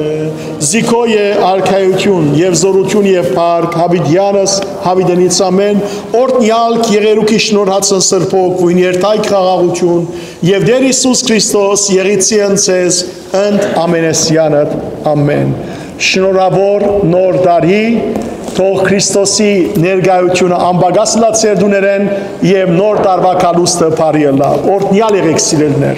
Զիքոյ է արքայութիւն եւ զօրութիւն եւ փառք, յաւիտեանս յաւիտենիցամէն, օրհնեալ կ եղերուքի շնորհացն Սրբոյ Հոգւոյն, երթայք խաղաղութիւն, եւ Տէր Յիսուս Քրիստոս եղիցի ընդ ձեզ, ընդ ամենեսեանդ, ամէն։ Շնորհաւոր Նոր Տարի, թող Քրիստոսի ներկայութիւնը անպակաս ըլլայ ձեր տուներէն եւ Նոր Տարուայ գալուստը բարի ըլլայ։ Օրհնեալ եղէք, սիրելիներ։